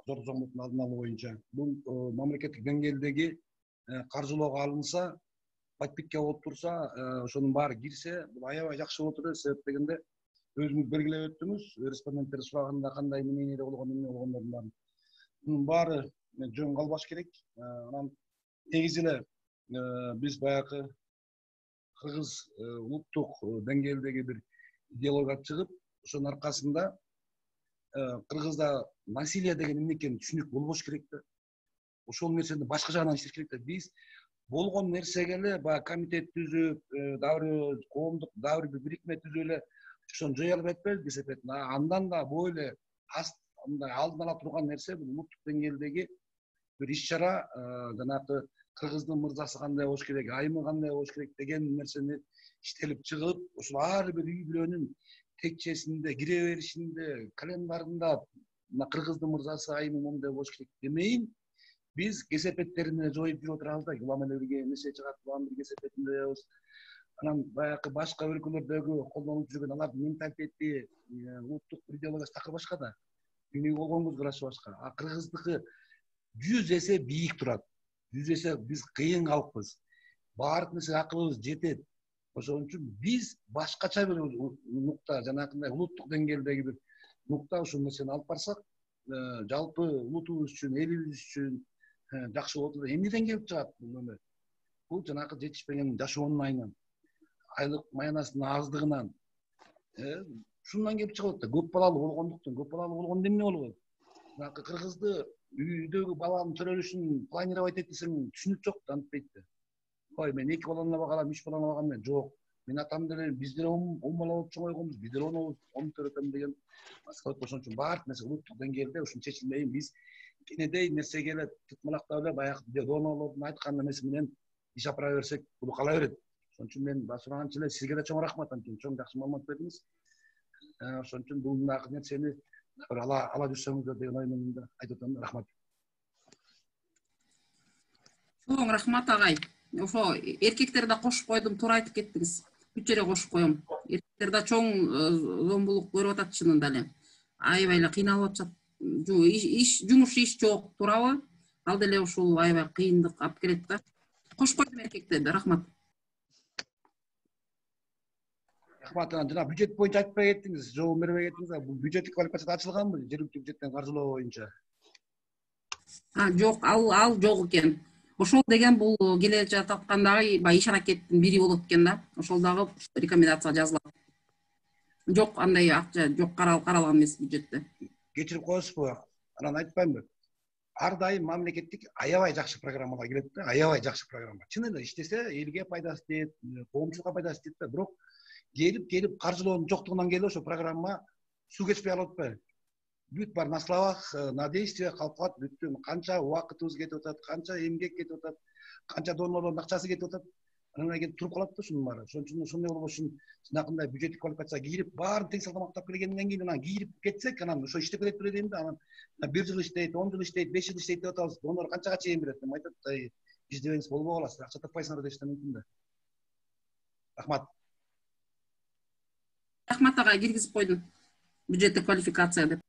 зор зомбулуктун алдын алуу боюнча бул мамлекеттик деңгээлдеги каржылоого алынса, подпитка болуп турса, ошонун баары кирсе, бул аябай жакшы болот эле. Себеп дегенде өзүңүз белгилеп өттүңүз, респонденттер сураганында кандай мнениеде болгон, эмне болгондордун баарын. Мунун баары жөн калбаш керек. Анан негизи эле биз баягы кыргыз улуттук деңгээлдеги бир идеологияга чыгып, ошонун аркасында кыргызда насилие деген эмне экенин түшүнүк болбош керек да. Ошол нерсени башка жагынан иштеш керек да. Биз болгон нерсеге эле баягы комитет түзүп, дагы коомдук дагы бир бирикме түзүп эле ошону жоя албай атпайбызбы эсептейт. Андан да бойле мындай алдын ала турган нерсе бул улуттук деңгээлдеги бир иш-чара, жанагы кыргыздын мырзасы кандай болуш керек, айымы кандай болуш керек деген нерсени иштелип чыгып, ошол ар бир үй бүлөнүн текчесинде, кире беришинде, календарында кыргыздын мырзасы, айымы моундай болуш керек демейин, биз кесепеттерин жоюп жүрүп отурабыз да. Улам эле бирге нерсе чыгат, улам бир кесепетинде жоебуз. Анан баягы башка өлкөлөрдөгү колдонуп жүргөн алардын менталитети, улуттук идеологиясы такыр башка да. Дүнүйгө болгон көз карашы башка. А кыргыздыкы 100 эсе бийик турат. 100 эсе биз кыйын калкпыз. Баардык нерсе акылыбыз жетет. Ошон үчүн биз башкача бир нукта, жанагындай улуттук деңгээлдеги бир нукта ушул нерсени алып барсак, жалпы улутубуз үчүн, элибиз үчүн жакшы болот эле. Эмнеден келип чыгат бул эме? Бул жанагы жетишпеген жашоонун айынан, айлык маянасынын аздыгынан, ушундан келип чыгат да. Көп балалуу болгондуктан, көп балалуу болгондо эмне болот? Жанагы кыргызды үйдөгү баланын төрөлүшүн планировать эт десең түшүнүк жок да, антпейт да. Ой, мен 2 баланы багалам, 3 баланы багам мен жок. Мен атам деле биз деле 10 бала болуп чоңойгонбуз, биз деле 10 төрөтөм деген маскалат. Ошон үчүн баардык нерсе улуттук деңгээлде ушун чечилмейин. Биз кенедей нерсеге эле тытмалактап эле баягы донорлордун айткан эмеси менен иш апара берсек, бул кала берет. Ошон үчүн мен сураганча эле сизге да чоң рахмат, анткени чоң жакшы маалымат бердиңиз. Ошон үчүн бул мындагы нерсени бир ала жүрсөңүздөр деген ой менен да айтып атам. Рахмат. Чоң рахмат агай. Ошо эркектерди да кошуп койдум, туура айтып кеттиңиз. Бүт жерге кошуп коем. Эркектер да чоң зомбулук көрүп атат чынында эле. Аябай эле кыйналып атышат. Жумуш иш жок, туурабы? Ал деле ушул аябай кыйындык алып келет да. Кошуп койдум эркектерди. Рахмат. Рахмат. Жана бюджет боюнча айтпай кеттиңиз, жооп бербей кеттиңиз. Бул бюджеттик квалификация ачылганбы? Жергиликтүү бюджеттен каржылоо боюнча? Жок, ал жок экен. Ошол деген бул келе жататкандагы баягы иш аракеттин бири болот экен да. Ошол дагы рекомендация жазылат. Жок, андай акча жок, каралган эмес бюджетте. Кечирип коесузбу? Анан айтпаймынбы? Ар дайым мамлекеттик аябай жакшы программалар келет да, аябай жакшы программа. Чын эле иштесе элге пайдасы тиет, коомчулукка пайдасы тиет да, бирок келип каржылоонун жоктугунан келип ошо программа суу кечпей калып атпайбы? Бүт бар на словах, на действиях калып калат, бүттү канча убакытыбыз кетип атат, канча эмгек кетип атат, канча донорлордун акчасы кетип атат. Анан келип туруп калат да ушунун баары. Ошон үчүн ошондой болбошун жанагындай бюджеттик квалификация кийирип, баарын тең салгамактап келгенден кийин анан кийирип кетсек, анан ошо иштеп кетет беле дейм да. Анан 1 жыл иштейт, 10 жыл иштейт, 5 жыл иштейт деп атабыз. Донор канчага чейин берет деп айтат да. Биз дебеңиз болбой каласыздар, акча таппайсыңар дешти мүмкүн да. Рахмат. Рахмат агай, киргизип койдум. Бюджеттик квалификация деп.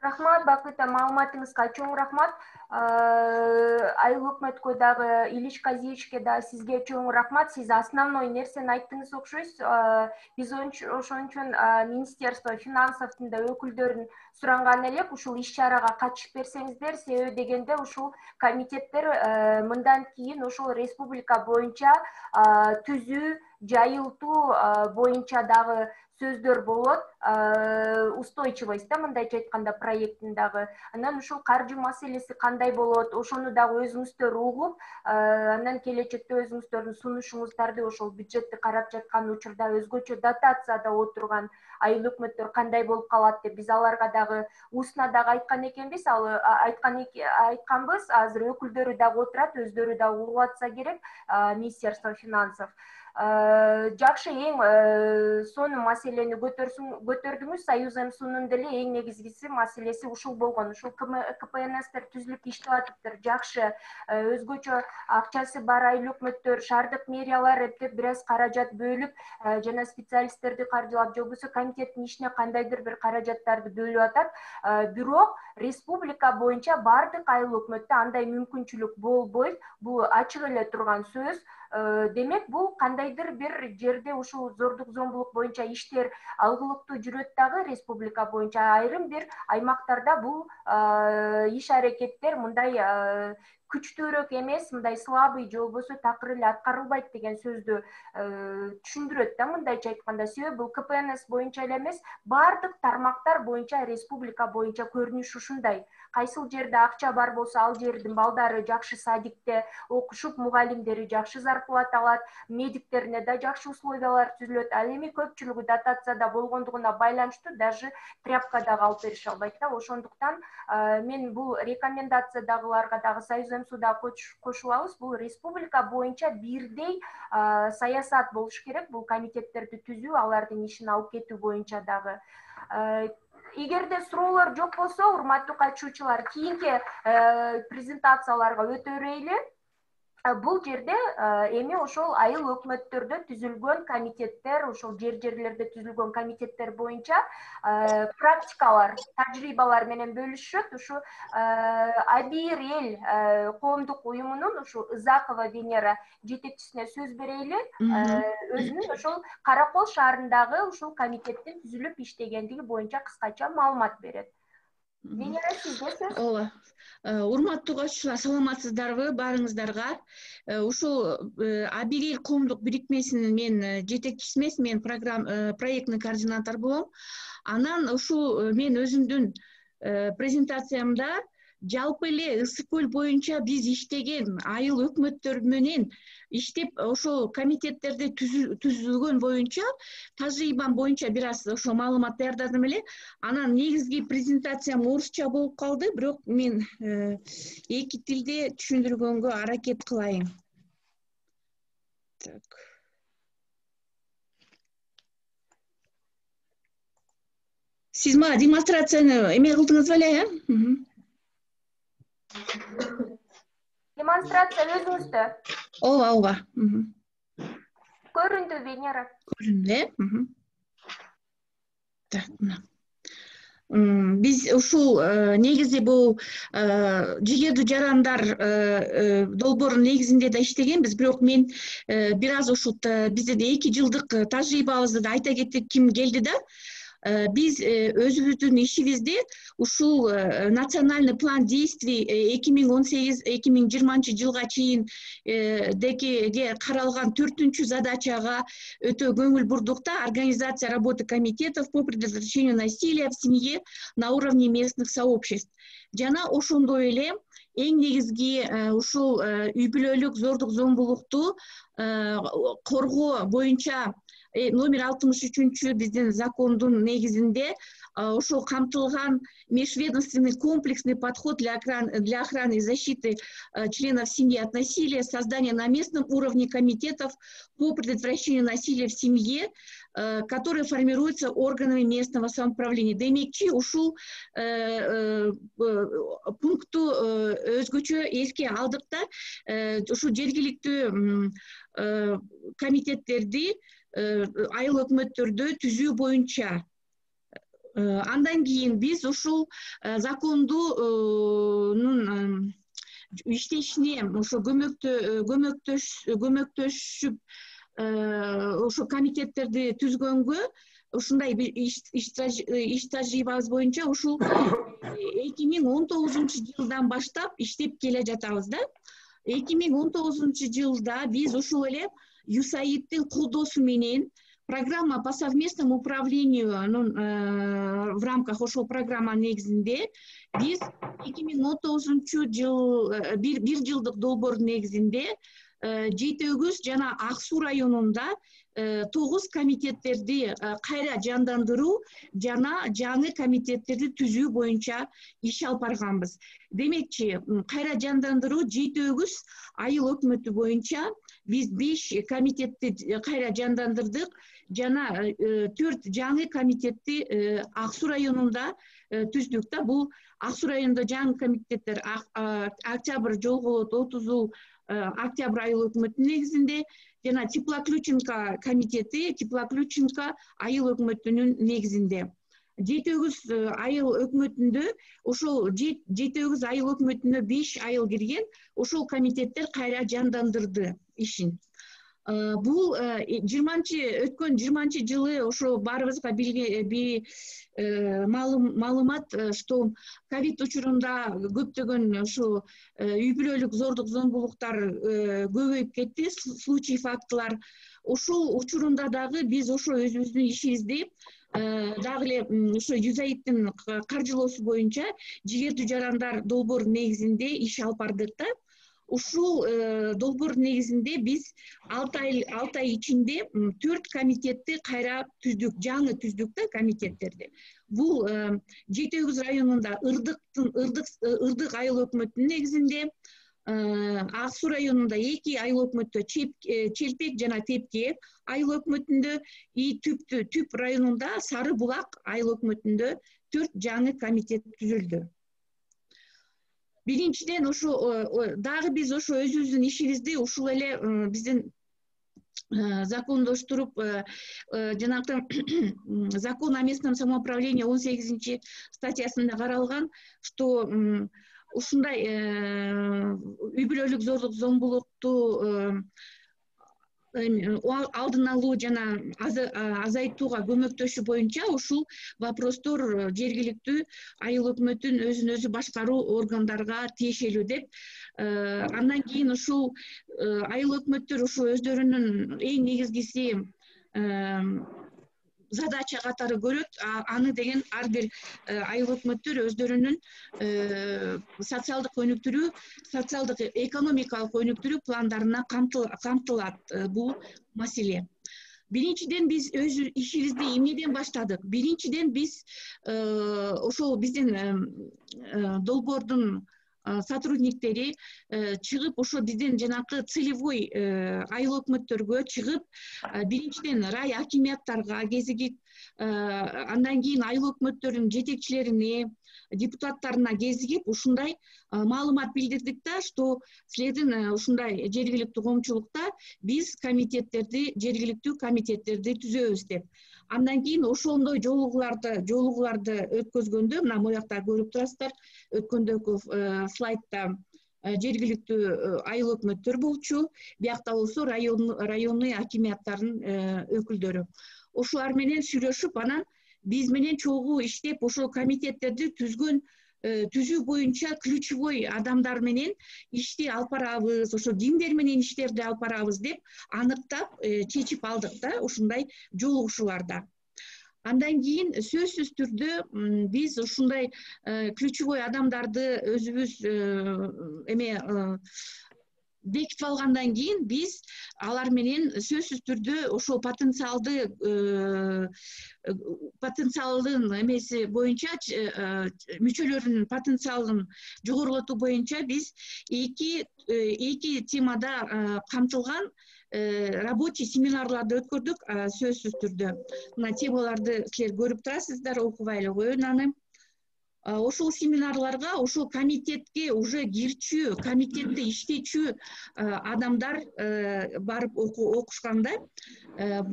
Рахмат, Бакыта, маалыматыңызга чоң рахмат. Айыл өкмөткө дагы, Илиш Казиевичке да сизге чоң рахмат. Сиз основной нерсени айттыңыз окшойсуз. Биз ошон үчүн Министерство финансовдун да өкүлдөрүн суранган элек, ушул иш-чарага катышып берсеңиздер, себеби дегенде ушул комитеттер мындан кийин ушул республика боюнча түзүү, жайылтуу боюнча дагы сөздөр болот, устойчивость да, мындайча айтканда проекттин дагы. Анан ушул каржы маселеси кандай болот, ошону дагы өзүңүздөр угуп, анан келечекте өзүңүздөрдүн сунушуңуздарды ошол бюджетти карап жаткан учурда өзгөчө дотацияда отурган айыл өкмөттөр кандай болуп калат деп биз аларга дагы устно дагы айткан экенбиз. Ал айтканбыз, азыр өкүлдөрү дагы отурат, өздөрү дагы угуп атса керек, Министерство финансов. Жакшы, эң сонун маселени көтөрдүңүз. Союз МСУнун деле эң негизгиси маселеси ушул болгон. Ушул КПНСтер түзүлүп иштеп атыптыр. Жакшы, өзгөчө акчасы бар айыл өкмөттөр, шаардык мэриялар эптеп бир аз каражат бөлүп, жана специалисттерди каржылап, же болбосо комитеттин ишине кандайдыр бир каражаттарды бөлүп атат. Бирок республика боюнча бардык айыл өкмөттө андай мүмкүнчүлүк болбойт. Бул ачык эле турган сөз. Демек, бул кандайдыр бир жерде ушул зордук зомбулук боюнча иштер алгылыктуу жүрөт дагы республика боюнча. Айрым бир аймактарда бул иш аракеттер мындай күчтүүрөөк эмес, мындай слабый же болбосо такыр эле аткарылбайт деген сөздү түшүндүрөт да, мындайча айтканда. Себеби бул КПНС боюнча эле эмес, бардык тармактар боюнча республика боюнча көрүнүш ушундай. Кайсыл жерде акча бар болсо, ал жердин балдары жакшы садикте окушуп, мугалимдери жакшы зарплата алат, медиктерине да жакшы условиялар түзүлөт. Ал эми көпчүлүгү дотацияда болгондугуна байланыштуу даже тряпка дагы алып берише албайт да. Ошондуктан мен бул рекомендациядагыларга дагы Союз МСУда кошулабыз. Бул республика боюнча бирдей саясат болуш керек. Бул комитеттерди түзүү, алардын ишин алып кетүү боюнча дагы. Эгерде суроолор жок болсо, урматтуу катышуучулар, кийинки презентацияларга өтө берели. Бул жерде эми ошол айыл өкмөттөрдө түзүлгөн комитеттер, ошол жерлерде түзүлгөн комитеттер боюнча практикалар, тажрыйбалар менен бөлүшөт. Ушу Абир эл коомдук уюмунун ушу Ызакова Венера жетекчисине сөз берели. Өзүнүн ошол Каракол шаарындагы ушул комитеттин түзүлүп иштегендиги боюнча кыскача маалымат берет. Венера, сизде сөз. Ооба. Урматтуу катышуучулар, саламатсыздарбы баарыңыздарга? Ушул Абир эл коомдук бирикмесинин мен жетекчиси эмес, мен проектный координатор болом. Анан ушул мен өзүмдүн презентациямда жалпы эле Ысык көл боюнча биз иштеген айыл өкмөттөр менен иштеп ошол комитеттерди түзүлгөн боюнча тажрыйбам боюнча бир аз ошо маалымат даярдадым эле. Анан негизги презентациям орусча болуп калды, бирок мен эки тилде түшүндүргөнгө аракет кылайын. Так. Сиз мага демонстрацияны эме кылдыңызбы эле, Демонстрация өзүңүздө. Ооба. Көрүндү, Венера. Көрүндү, Так, мына. Биз ушул негизи бул жигердүү жарандар долбоорунун негизинде да иштегенбиз, бирок мен бир аз ушул биздин 2 жылдык тажрыйбабызды да айта кетип ким келди да. Биз өзүбүздүн ишибизде ушул национальный план действий 2018-2020 жылга чейин деге каралган 4-чү задачага өтө көңүл бурдук да. Организация работы комитетов по предотвращению насилия в семье на уровне местных сообществ. Жана ошондой эле эң негизги ушул үй бүлөлүк зордук зомбулукту коргоо боюнча номер 63 биздин закондун негизинде ошол камтылган межведомственный комплексный подход для охраны и защиты членов семьи от насилия, создание на местном уровне комитетов по предотвращению насилия в семье, которые формируются органами местного самоуправления. Демекчи ушул пункту өзгөчө эске алдык да, ушул жергиликтүү комитеттерди айыл өкмөттөрдө түзүү боюнча. Андан кийин биз ушул закондун иштешине ошо көмөктөшүп ошо комитеттерди түзгөнгө ушундай иш тажрыйбабыз боюнча ушул 2019 жылдан баштап иштеп келе жатабыз да. 2019 жылда биз ушул эле ЮСАИДтин колдоосу менен программа по совместному управлению в рамках ошол программа негизинде биз 2019 жыл бир жылдык долбоордун негизинде Жети Өгүз жана Ак Суу районунда 9 комитеттерди кайра жандандыруу жана жаңы комитеттерди түзүү боюнча иш алып барганбыз. Демекчи, кайра жандандыруу 7 айыл өкмөтү боюнча биз 5 комитетти кайра жандандырдык жана 4 жаңы комитетти Ак Суу районунда түздүк да. Бул Ак Суу районунда жаңы комитеттер Октябрь Жолголот 30 Октябрь айыл өкмөтүнүн негизинде жана Теплоключенко комитети Теплоключенко айыл өкмөтүнүн негизинде. 7 айыл өкмөтүндө ошол 7 айыл өкмөтүнө 5 айыл кирген, ошол комитеттер кайра жандандырды ишин. Бул өткөн 20 жылы ошо баарыбызга маалымат, что ковид учурунда көптөгөн ошо үй бүлөлүк зордук зомбулуктар көбөйүп кетти, случай фактылар. Ошол учурунда дагы биз ошо өзүбүздүн ишибизди дагы эле ошо ЮСАИДтин каржылоосу боюнча жигердүү жарандар долбоору негизинде иш алып бардык да. Ушул долбоор негизинде биз 6 ай ичинде 4 комитетти кайра түздүк, жаңы түздүк да комитеттерди. Бул 7 районунда Ырдык айыл өкмөтүнүн негизинде, Ак Суу районунда 2 айыл өкмөттө Челпек жана Тепке айыл өкмөтүндө, Түп районунда Сары Булак айыл өкмөтүндө 4 жаңы комитет түзүлдү. Биринчиден ошо дагы биз ошо өзүбүздүн ишибизди ушул эле биздин закондоштуруп, жанагы закон о местном самоуправлении 18 статьясында каралган, что ушундай үй бүлөлүк зордук зомбулукту алдын алуу жана азайтууга көмөктөшүү боюнча ушул вопростор жергиликтүү айыл өкмөтүн өзүн өзү башкаруу органдарга тиешелүү деп. Андан кийин ушул айыл өкмөттөр ошо өздөрүнүн эң негизгиси задача катары көрөт. Аны деген ар бир айыл өкмөттөр өздөрүнүн социалдык өнүктүрүү, социалдык экономикалык өнүктүрүү пландарына камтылат бул маселе. Биринчиден биз өз ишибизди эмнеден баштадык? Биринчиден биз ошол биздин долбоордун сотрудниктери чыгып, ошо биздин жанакы целевой айыл өкмөттөргө чыгып, биринчиден рай акимияттарга кезигип, андан кийин айыл өкмөттөрүнүн жетекчилерине, депутаттарына кезигип, ушундай маалымат билдирдик да, что силердин ушундай жергиликтүү коомчулукта биз жергиликтүү комитеттерди түзөбүз деп. Андан кийин ошондой жолугууларды өткөзгөндө, мына моякта көрүп турасыздар, өткөндөгү слайдта жергиликтүү айыл өкмөттөр болчу, биякта болсо районный акимияттардын өкүлдөрү. Ошолар менен сүйлөшүп, анан биз менен чогуу иштеп, ошол комитеттерди түзүү боюнча ключевой адамдар менен ишти алып барабыз, ошо кимдер менен иштерди алып барабыз деп аныктап чечип алдык да ушундай жолугушууларда. Андан кийин сөзсүз түрдө биз ушундай ключевой адамдарды өзүбүз бекитип алгандан кийин биз алар менен сөзсүз түрдө ошол потенциалдын эмеси боюнча, мүчөлөрүнүн потенциалын жогорулатуу боюнча биз эки темада камтылган рабочий семинарларды өткөрдүк сөзсүз түрдө. Мына темаларды силер көрүп турасыздар, окубай эле коеюн аны. Ошол семинарларга ошол комитетке уже кирчү, комитетте иштечү адамдар барып окушканда,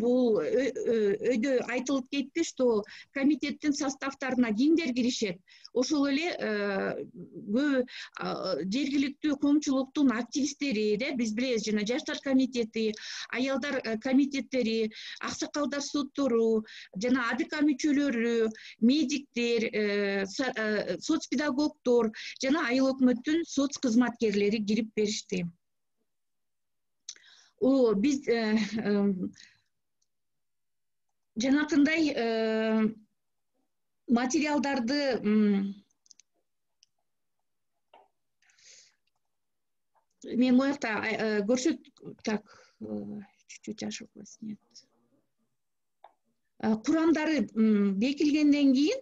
бул өйдө айтылып кетти, что комитеттин составтарына кимдер киришет. Ошол эле жергиликтүү коомчулуктун активисттери, биз билебиз, жана жаштар комитети, аялдар комитеттери, аксакалдар соттору, жана АДК мүчөлөрү, медиктер, соцпедагогдор жана айыл өкмөттүн соц кызматкерлери кирип беришти. Биз жанакындай материалдарды мен моякта көрсөт, так, чуть-чуть ошибалась, нет. курамдары бекилгенден кийин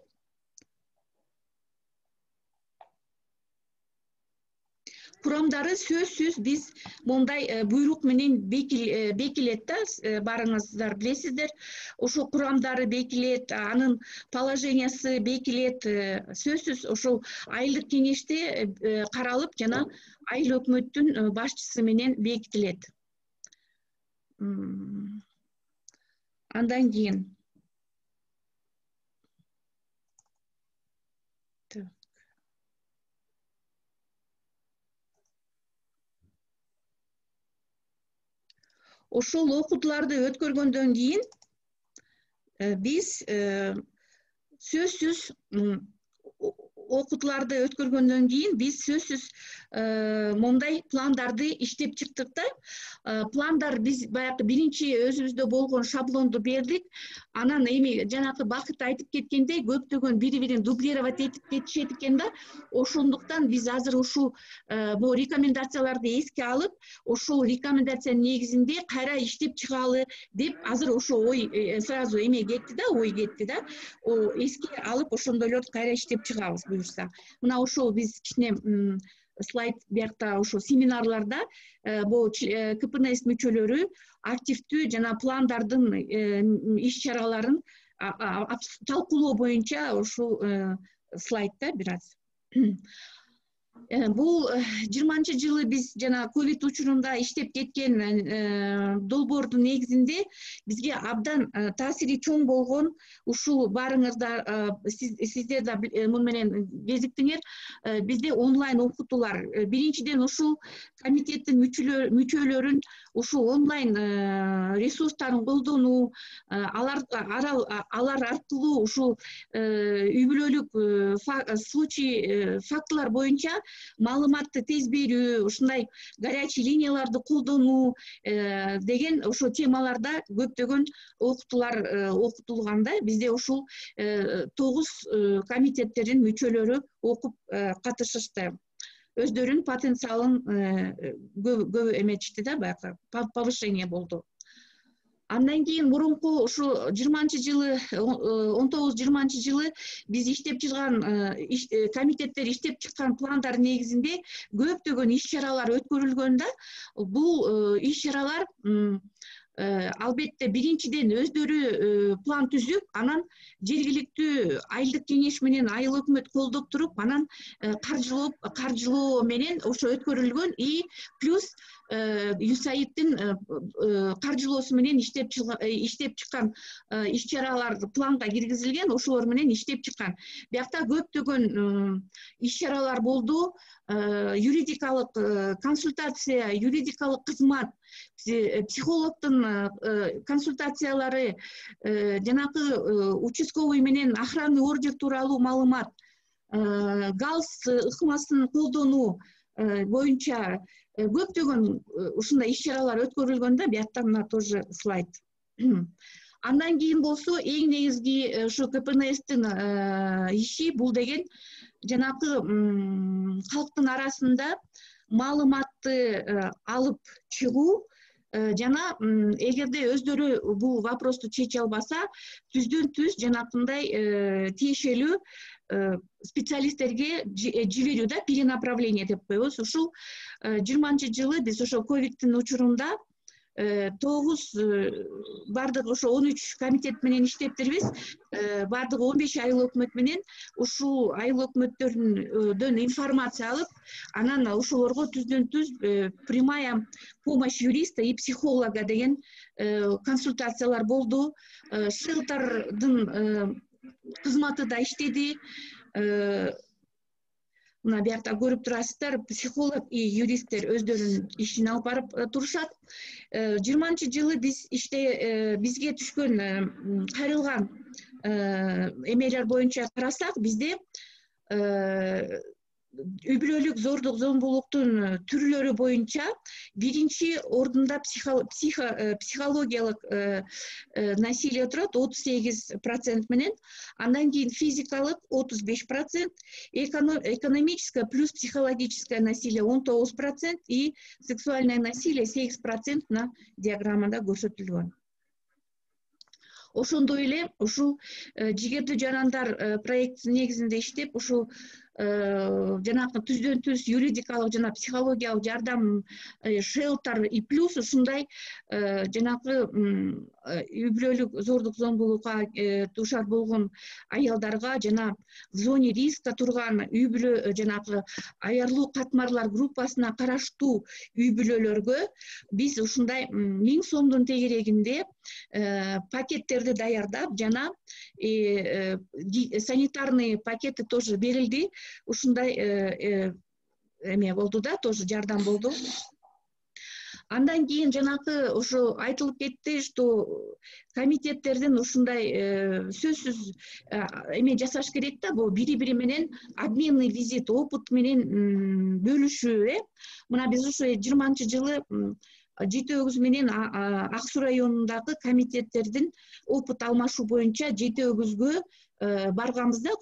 курамдары сөзсүз биз мондай буйрук менен бекилет да, баарыңыздар билесиздер. Ошо курамдары бекилет, анын положениясы бекилет, сөзсүз ошол айылдык кеңеште каралып жана айыл өкмөттүн башчысы менен бекитилет. Андан кийин ошол окутууларды өткөргөндөн кийин биз сөзсүз окутууларды өткөргөндөн кийин биз сөзсүз мондай пландарды иштеп чыктык да. Пландар биз баягы биринчи өзүбүздө болгон шаблонду бердик. Анан эми жанакы Бакыт айтып кеткендей, көптөгөн бири-бирин дублировать этип кетишет экен да. Ошондуктан биз азыр ушул бул рекомендацияларды эске алып, ошол рекомендациянын негизинде кайра иштеп чыгалы деп азыр ошо ой сразу эме кетти да, ой кетти да. Эске алып ошондойлорду кайра иштеп чыгабыз буюрса. Мына ошол биз кичине слайд биякта ошо семинарларда бул КПНС мүчөлөрү активдүү жана пландардын иш чараларын талкуулоо боюнча ушул слайдда бир аз. Бул 20-жылы биз жана ковид учурунда иштеп кеткен долбоордун негизинде бизге абдан таасири чоң болгон ушул баарыңыздар сиздер да муну менен кезиктиңер, бизде онлайн окутуулар. Биринчиден ушул комитеттин мүчөлөрүн ушул онлайн ресурстарын колдонуу, алар аркылуу ушул үй бүлөлүк случай фактылар боюнча маалыматты тез берүү, ушундай горячий линияларды колдонуу деген ошо темаларда көптөгөн окутуулар окутулган да. Бизде ушул 9 комитеттердин мүчөлөрү окуп катышышты. Өздөрүнүн потенциалын көп эметишти да, баягы повышение болду. Андан кийин мурунку ушу 20-жылы 19-20 биз иштеп чыккан комитеттер иштеп чыккан пландар негизинде көптөгөн иш чаралар өткөрүлгөн да. Бул иш чаралар албетте биринчиден өздөрү план түзүп, анан жергиликтүү айылдык кеңеш менен айыл өкмөт колдоп туруп, анан каржылоо менен ошо өткөрүлгөн. И плюс ЮСАИДтин каржылоосу менен иштеп чыккан иш чаралар планга киргизилген, ошолор менен иштеп чыккан. Биякта көптөгөн иш чаралар болду. Юридикалык консультация, юридикалык кызмат, психологдун консультациялары, жанакы участковый менен охранный ордер тууралуу маалымат, галс ыкмасын колдонуу боюнча көптөгөн ушундай иш чаралар өткөрүлгөн да. Биякта мына тоже слайд. Андан кийин болсо эң негизги ушу КПНСтин иши бул деген жанакы калктын арасында маалыматты алып чыгуу жана эгерде өздөрү бул вопросту чече албаса, түздөн түз жанакындай тиешелүү специалисттерге жиберүү да, перенаправление деп коебуз. Ушул 20-жылы биз ошо ковидтин учурунда 9 бардык ошо 13 комитет менен иштептирбиз. Бардыгы 15 айыл өкмөт менен ушул айыл өкмөттөрдөн информация алып, анан ошолорго түздөн түз прямая помощь юриста и психолога деген консультациялар болду. Шелтердин кызматы да иштеди. Мына биякта көрүп турасыздар, психолог и юристтер өздөрүнүн ишин алып барып турушат. 20-жылы биз бизге түшкөн кайрылган эмелер боюнча карасак, бизде үй бүлөлүк зордук зомбулуктун түрлөрү боюнча биринчи ордунда психологиялык насилие турат 38% менен, андан кийин физикалык 35%, экономическое плюс психологическое насилие 19% и сексуальное насилие 8% на диаграммада көрсөтүлгөн. ошондой эле ушул жигердүү жарандар проекти негизинде иштеп ушул жанагы түздөн түз юридикалык жана психологиялык жардам шелтер и плюс ушундай жанагы үй бүлөлүк зордук зомбулукка дуушар болгон аялдарга жана в зоне риска турган үй бүлө жанагы аярлуу катмарлар группасына караштуу үй бүлөлөргө биз ушундай 1000 сомдун тегерегинде пакеттерди даярдап жана санитарный пакети тоже берилди. Ушундай эме болду да, тоже жардам болду. Андан кийин жанагы ошо айтылып кетти, что комитеттердин ушундай сөзсүз эме жасаш керек да, бул бири-бири менен обменный визит, опыт менен бөлүшүү. Мына биз ошо 20-жылы жети-өгүз менен Ак Суу районундагы комитеттердин опыт алмашуу боюнча жети-өгүзгө барганбыз да,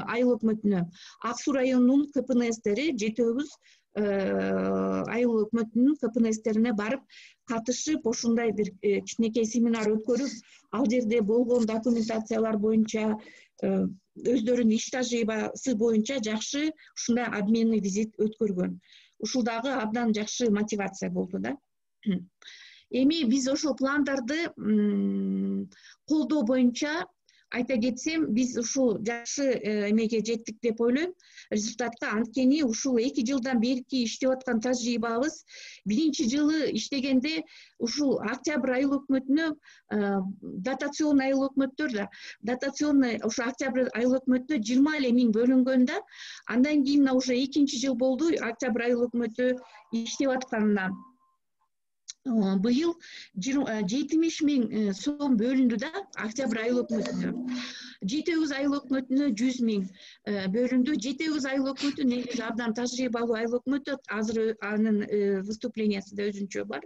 айыл өкмөтүнө. Ак Суу районунун КПНСтери жети-өгүз айыл өкмөтүнүн КПНСтерине барып катышып, ошундай бир кичинекей семинар өткөрүп, ал жерде болгон документациялар боюнча өздөрүнүн иш тажрыйбасы боюнча жакшы ушундай обменный визит өткөргөн. Ушул дагы абдан жакшы мотивация болду да. Эми биз ошол пландарды колдоо боюнча айта кетсем, биз ушул жакшы эмеге жеттик деп ойлойм, результатка. Анткени ушул 2 жылдан берки иштеп аткан тажрыйбабыз, биринчи жылы иштегенде ушул Октябрь айыл өкмөтүнө дотационный айыл өкмөттөр да, дотационный ошо Октябрь айыл өкмөтүнө 20 миң бөлүнгөн да. Андан кийин уже 2-чи жыл болду Октябрь айыл өкмөтү иштеп атканына. Быйыл 70 миң сом бөлүндү да Октябрь айыл өкмөтүнө. Жети-өгүз айыл өкмөтүнө 100 миң бөлүндү. Жети-өгүз айыл өкмөтү негизи абдан тажрыйбалуу айыл өкмөтү, азыр анын выступлениясы да өзүнчө бар.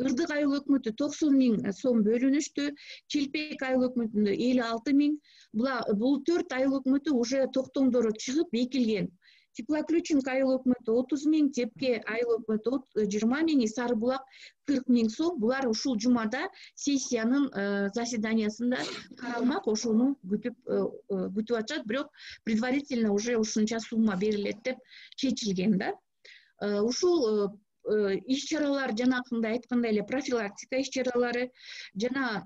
Ырдык айыл өкмөтү 90 миң сом бөлүнүштү. Челпек айыл өкмөтүндө 56 миң. Бул 4 айыл өкмөтү уже токтомдору чыгып бекилген. Теплоключенко айыл өкмөтү 30 миң, Тепке айыл өкмөтү 20 миң, Сары Булак 40 миң сом. Булар ушул жумада сессиянын заседаниясында каралмак, ошону күтүп атышат, бирок предварительно уже ушунча сумма берилет деп чечилген да. Ушул иш-чаралар жанакындай айткандай эле профилактика иш-чаралары жана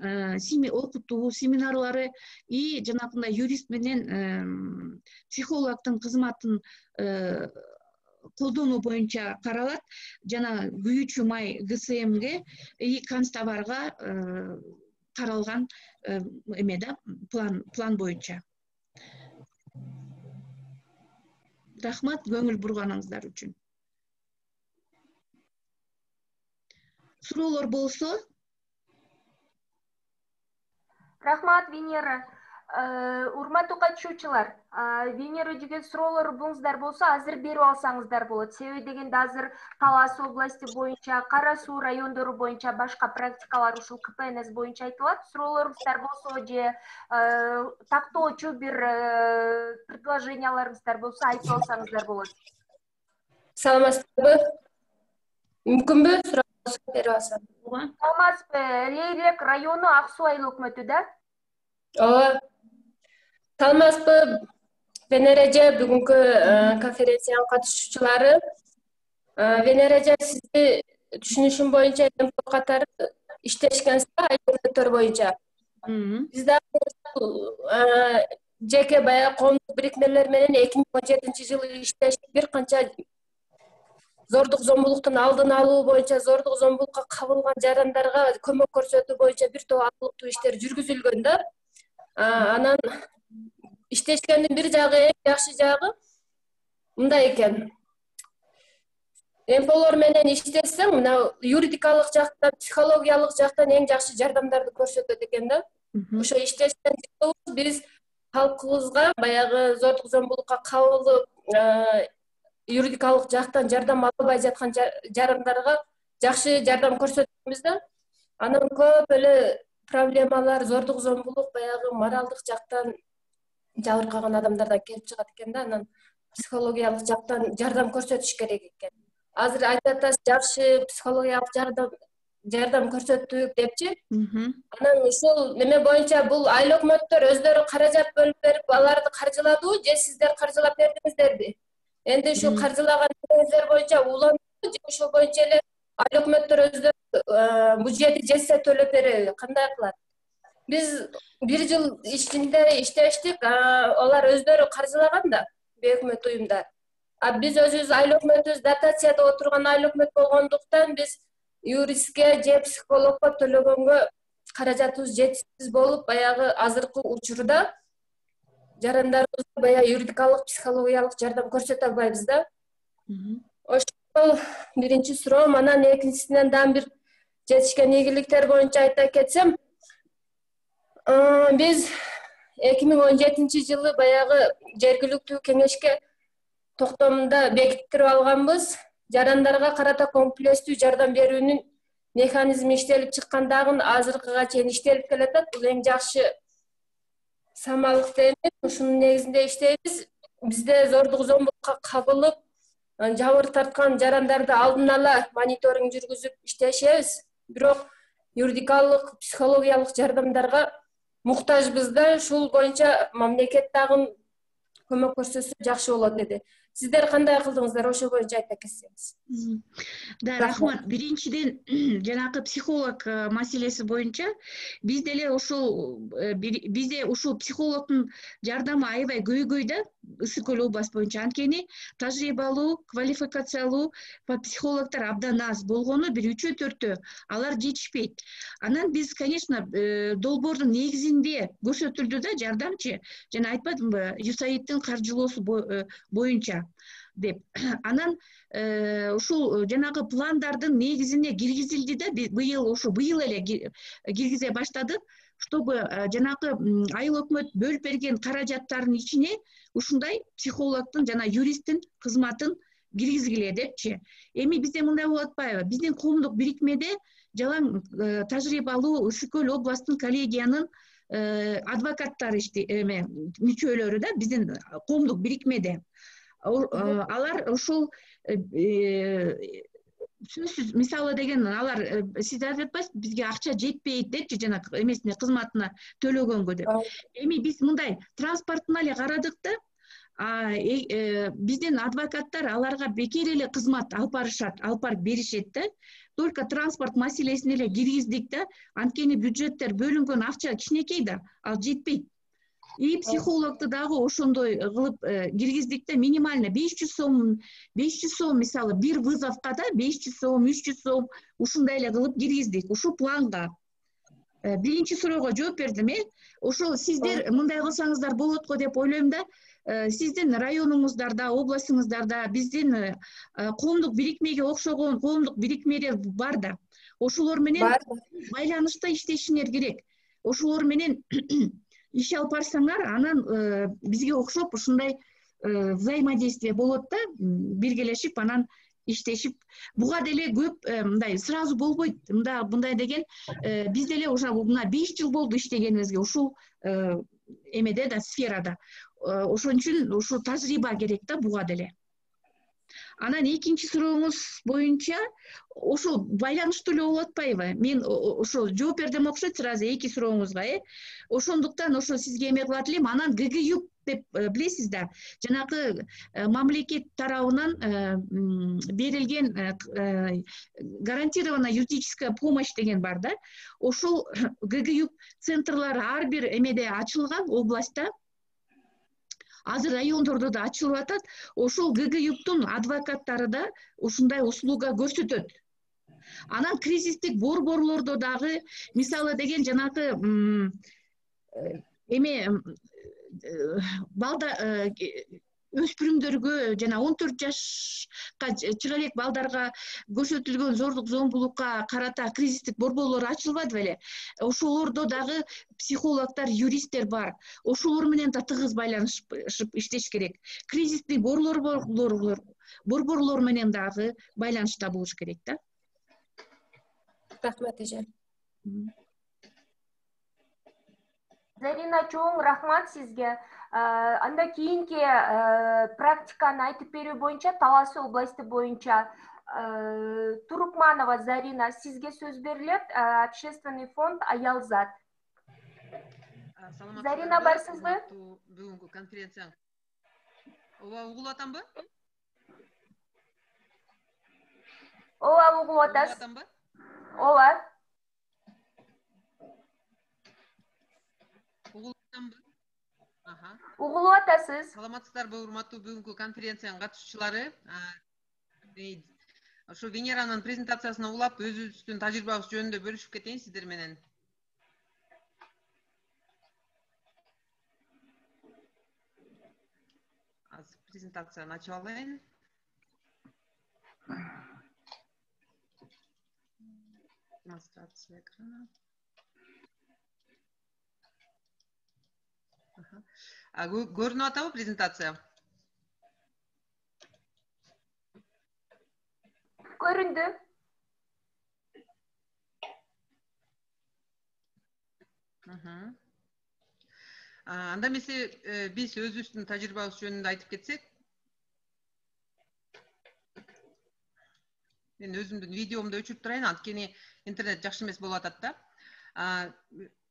окутуу семинарлары и жанакындай юрист менен психологдун кызматын колдонуу боюнча каралат. Жана күйүүчү май ГСМге и канцтоварга каралган эме да, план боюнча. Рахмат көңүл бурганыңыздар үчүн. Суроолор болсо? Рахмат, Венера. Урматтуу катышуучулар, Венера жүгөн суроолор болуңуздар болсо, азыр берип алсаңыздар болот. Себеби дегенде азыр Талас области боюнча, Кара Суу райондору боюнча башка практикалар ушул КПНС боюнча айтылат. Суроолоруңуздар болсо же тактоочу бир предложенияларыңыздар болсо айтып алсаңыздар болот. Саламатсызбы? Мүмкүнбү суроо берип алсам? Саламатсызбы? Лейлек району Ак Суу айыл өкмөтү да? Ооба. Саламатсызбы? Венера эже, бүгүнкү конференциянын катышуучулары. Венера эже, сизди түшүнүшүм боюнча МПО катары иштешкенсиз айыл өкмөттөр боюнча. Биз дагы жеке баягы коомдук бирикмелер менен 2017-жылы иштештик. Бир канча зордук зомбулуктун алдын алуу боюнча, зордук зомбулукка кабылган жарандарга көмөк көрсөтүү боюнча бир топ алыктуу иштер жүргүзүлгөн да. Анан иштешкендин бир жагы, эң жакшы жагы мындай экен. МПОлор менен иштесең, мына юридикалык жактан, психологиялык жактан эң жакшы жардамдарды көрсөтөт экен да. Ошо иштешкен биз халкыбызга баягы зордук зомбулукка кабылып, юридикалык жактан жардам албай жаткан жарандарга жакшы жардам көрсөтөбүз да. Анан көп эле проблемалар, зордук зомбулук баягы моралдык жактан жабыркаган адамдардан келип чыгат экен да. Анан психологиялык жактан жардам көрсөтүш керек экен. Азыр айтып атасыз, жакшы психологиялык жардам көрсөттүк депчи. Анан ушул неме боюнча бул айstыл өкмөттөр өздөрү каражат бөлүп берип аларды каржыладыбы же сиздер каржылап бердиңиздерби? Энди ушу каржылаган нерселер боюнча улантыбы же ошол боюнча эле айыл өкмөттөр өздөрү бюджети жетсе төлөп береби? Кандай кылат? Биз 1 жыл ичинде иштештик, алар өздөрү каржылаган да бейөкмөт уюмдар. Биз өзүбүз айыл өкмөтүбүз дотацияда отурган айыл өкмөт болгондуктан биз юристке же психологко төлөгөнгө каражатыбыз жетишсиз болуп, баягы азыркы учурда жарандарыбызга баягы юридикалык, психологиялык жардам көрсөтө албайбыз да. Ошол биринчи суроом. Анан экинчисинен дагы бир жетишкен ийгиликтер боюнча айта кетсем, биз 2017-жылы баягы жергиликтүү кеңешке токтомунда бекиттирип алганбыз. Жарандарга карата комплекстүү жардам берүүнүн механизми иштелип чыккандагы азыркыга чейин иштелип келатат. Бул эң жакшы самалдык дейм. Ушунун негизинде иштейбиз. Бизде зордук зомбулукка кабылып, жабыр тарткан жарандарды алдын ала мониторинг жүргүзүп иштешебиз. Бирок юридикалык, психологиялык жардамдарга муктажбыз да. Ушул боюнча мамлекет дагы көмөк көрсөтсө жакшы болот эди. Сиздер кандай кылдыңыздар, ошол боюнча айта кетсеңиз. Да, рахмат. Биринчиден жанакы психолог маселеси боюнча бизде эле ушул психологдун жардамы аябай көйгөй да, Ысык Көл область боюнча. Анткени тажрыйбалуу, квалификациялуу психологдор абдан аз болгону, бир 3-4 алар жетишпейт. Анан биз, конечно, долбоордун негизинде көрсөтүлдү да жардамчы. Жана айтпадымбы, USAID-тин каржылоосу боюнча деп. Анан ушул жанагы пландардын негизине киргизилди да, быйыл эле киргизе баштадык, чтобы жанагы айыл өкмөт бөлүп берген каражаттардын ичине ушундай психологдун жана юристтин кызматын киргизгиле депчи. Эми бизде мындай болуп атпайбы? Биздин коомдук бирикмеде жалаң тажрыйбалуу Ысык Көл областтын коллегиянын адвокаттары мүчөлөрү да, биздин коомдук бирикмеде. Алар ушул сөзсүз, мисалы деген, алар сиз айтып атпайсызбы, бизге акча жетпейт депчи, жана эмесине кызматына төлөгөнгө деп. Эми биз мындай транспортун эле карадык да, биздин адвокаттар аларга бекер эле кызмат алып барып беришет да. Только транспорт маселесин эле киргиздик да, анткени бюджеттер бөлүнгөн акча кичинекей да, ал жетпейт. И психологду дагы ошондой кылып киргиздик да, минимально 500 сом, мисалы бир вызовка да 500 сом, 300 сом ушундай эле кылып киргиздик ушул планга. Биринчи суроого жооп бердим, ошол сиздер мындай кылсаңыздар болот го деп ойлойм да. Сиздин районуңуздарда, областыңыздарда биздин коомдук бирикмеге окшогон коомдук бирикмелер бар да. Ошолор менен байланышта иштешиңер керек. Ошолор менен иш алып барсаңар, анан бизге окшоп ушундай взаимодействие болот да, биргелешип, анан иштешип. Буга деле көп мындай сразу болбойт. Мындай деген бизде эле уже 5 жыл болду иштегенибизге ушул эмеде да, сферада. Ошон үчүн ушул тажрыйба керек да буга деле. Анан экинчи сурооңуз боюнча ошол байланыштуу эле болуп атпайбы? Мен ошол жооп бердим окшойт сразу эки сурооңузга, Ошондуктан ошо сизге эме кылат элем. Анан ГГЮП деп билесиз да, жанагы мамлекет тарабынан берилген гарантированная юридическая помощь деген бар да. Ошол ГГЮП центрлары ар бир эмеде ачылган областта. Азыр райондордо да ачылып атат. Ошол ГГЮПтун адвокаттары да ушундай услуга көрсөтөт. Анан кризистик борборлордо дагы, мисалы деген жанагы балда өспүрүмдөргө жана 14 жашка чыга элек балдарга көрсөтүлгөн зордук зомбулукка карата кризистик борборлор ачылбады беле? Ошолордо дагы психологдор, юристтер бар. Ошолор менен да тыгыз байланышып иштеш керек. Кризистик борборлор менен дагы байланышта болуш керек да. Рахмат эже. Зарина чоң рахмат сизге. Анда кийинки практиканы айтып берүү боюнча Талас областы боюнча Турукманова Зарина, сизге сөз берилет. Общественный фонд Аялзат. Зарина, барсызбы? Бүгүнкү конференцияң. Ооба, угулуп атамбы? Ооба, угулуп атасыз. Ооба. Угулуп атамбы? Угулуп атасыз. Саламатсыздарбы, урматтуу бүгүнкү конференциянын катышуучулары? Ошо Венеранын презентациясына улап, өзүбүздүн тажрыйбабыз жөнүндө бөлүшүп кетейин сиздер менен. Азыр презентацияны ачып алайын. Демонстрация экрана. Көрүнүп атабы презентация? Көрүндү. Анда эмесе биз өзүбүздүн тажрыйбабыз жөнүндө айтып кетсек. Мен өзүмдүн видеомду өчүрүп турайын, анткени интернет жакшы эмес болуп атат да.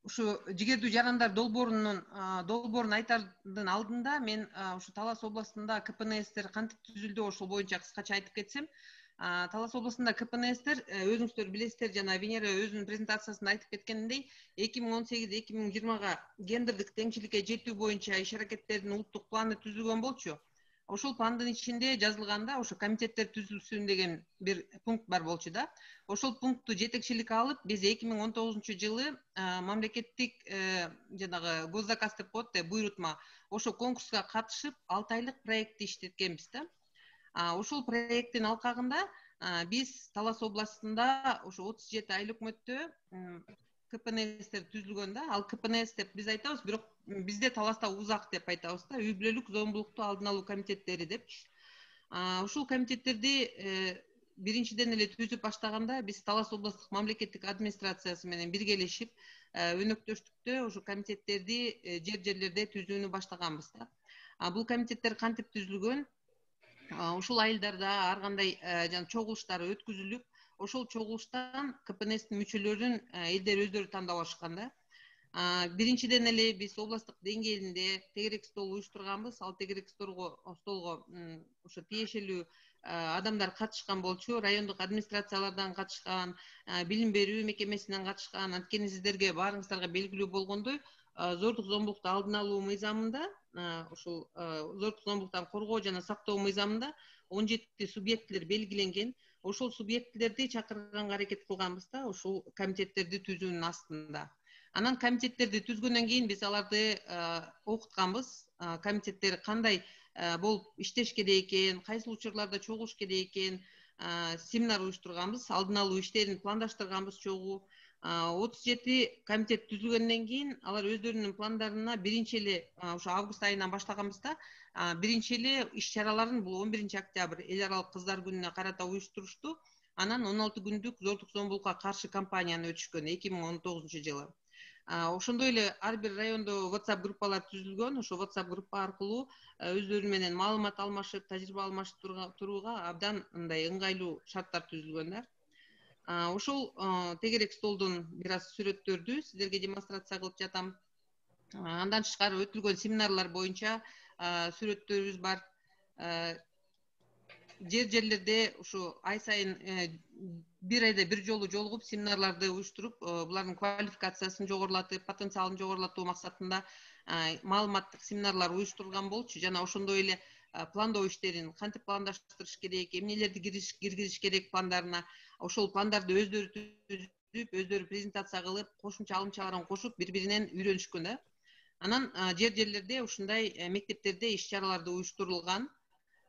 Ушу жигердүү жарандар долбоорун айтардын алдында мен ушу Талас областында КПНСтер кантип түзүлдү, ошол боюнча кыскача айтып кетсем. Талас областында КПНСтер өзүңүздөр билесиздер, жана Венера өзүнүн презентациясында айтып кеткениндей 2018-2020 гендердик теңчиликке жетүү боюнча иш аракеттердин улуттук планы түзүлгөн болчу. Ошол пландын ичинде жазылганда ошо комитеттер түзүлсүн деген бир пункт бар болчу да. Ошол пунктту жетекчиликке алып, биз 2019-жылы мамлекеттик жанагы госзаказ деп коет да, буйрутма, ошо конкурска катышып 6 айлык проектти иштеткенбиз да. Ошол проекттин алкагында биз Талас областында ошо 37 айыл өкмөттө КПНСтер түзүлгөн да. Ал КПНС деп биз айтабыз, бирок бизде Таласта УЗАК деп айтабыз да, үй бүлөлүк зомбулукту алдын алуу комитеттери депчи. Ушул комитеттерди биринчиден эле түзүп баштаганда биз Талас областтык мамлекеттик администрациясы менен биргелешип, өнөктөштүктө ошо комитеттерди жерлерде түзүүнү баштаганбыз да. Бул комитеттер кантип түзүлгөн? Ушул айылдарда ар кандай чогулуштар өткүзүлүп, ошол чогулуштан КПНСтин мүчөлөрүн элдер өздөрү тандап алышкан да. Биринчиден эле биз областтык деңгээлинде тегерек стол уюштурганбыз. Ал тегерек столго ошо тиешелүү адамдар катышкан болчу, райондук администрациялардан катышкан, билим берүү мекемесинен катышкан. Анткени сиздерге баарыңыздарга белгилүү болгондой, зордук зомбулукту алдын алуу мыйзамында, ушул зордук зомбулуктан коргоо жана сактоо мыйзамында 17 субъектилер белгиленген. Ошол субъектилерди чакырганга аракет кылганбыз да, ушул комитеттерди түзүүнүн астында. Анан комитеттерди түзгөндөн кийин биз аларды окутканбыз. Комитеттер кандай болуп иштеш керек экен, кайсыл учурларда чогулуш керек экен, семинар уюштурганбыз, алдын алуу иштерин пландаштырганбыз чогуу. 37 комитет түзүлгөндөн кийин алар өздөрүнүн пландарына биринчи эле ошо август айынан баштаганбыз да. Биринчи эле иш чараларын бул 11 октябрь эл аралык кыздар күнүнө карата уюштурушту. Анан 16 күндүк зордук зомбулукка каршы кампанияны өтүшкөн 2019-жылы. Ошондой эле ар бир райондо WhatsApp группалар түзүлгөн. Ошо WhatsApp группа аркылуу өздөрү менен маалымат алмашып, тажрыйба алмашып турууга абдан мындай ыңгайлуу шарттар түзүлгөн да. Ошол тегерек столдун бир аз сүрөттөрдү сиздерге демонстрация кылып жатам. Андан тышкары өтүлгөн семинарлар боюнча сүрөттөрүбүз бар. Жерлерде ушу ай сайын бир айда бир жолу жолугуп семинарларды уюштуруп, булардын квалификациясын жогорулатып, потенциалын жогорулатуу максатында маалыматтык семинарлар уюштурулган болчу. Жана ошондой эле пландоо иштерин кантип пландаштырыш керек, эмнелерди киргизиш керек пландарына, ошол пландарды өздөрү түзүп, өздөрү презентация кылып, кошумча алымчаларын кошуп, бири-биринен үйрөнүшкөн да. Анан жерлерде ушундай мектептерде иш чараларды уюштурулган.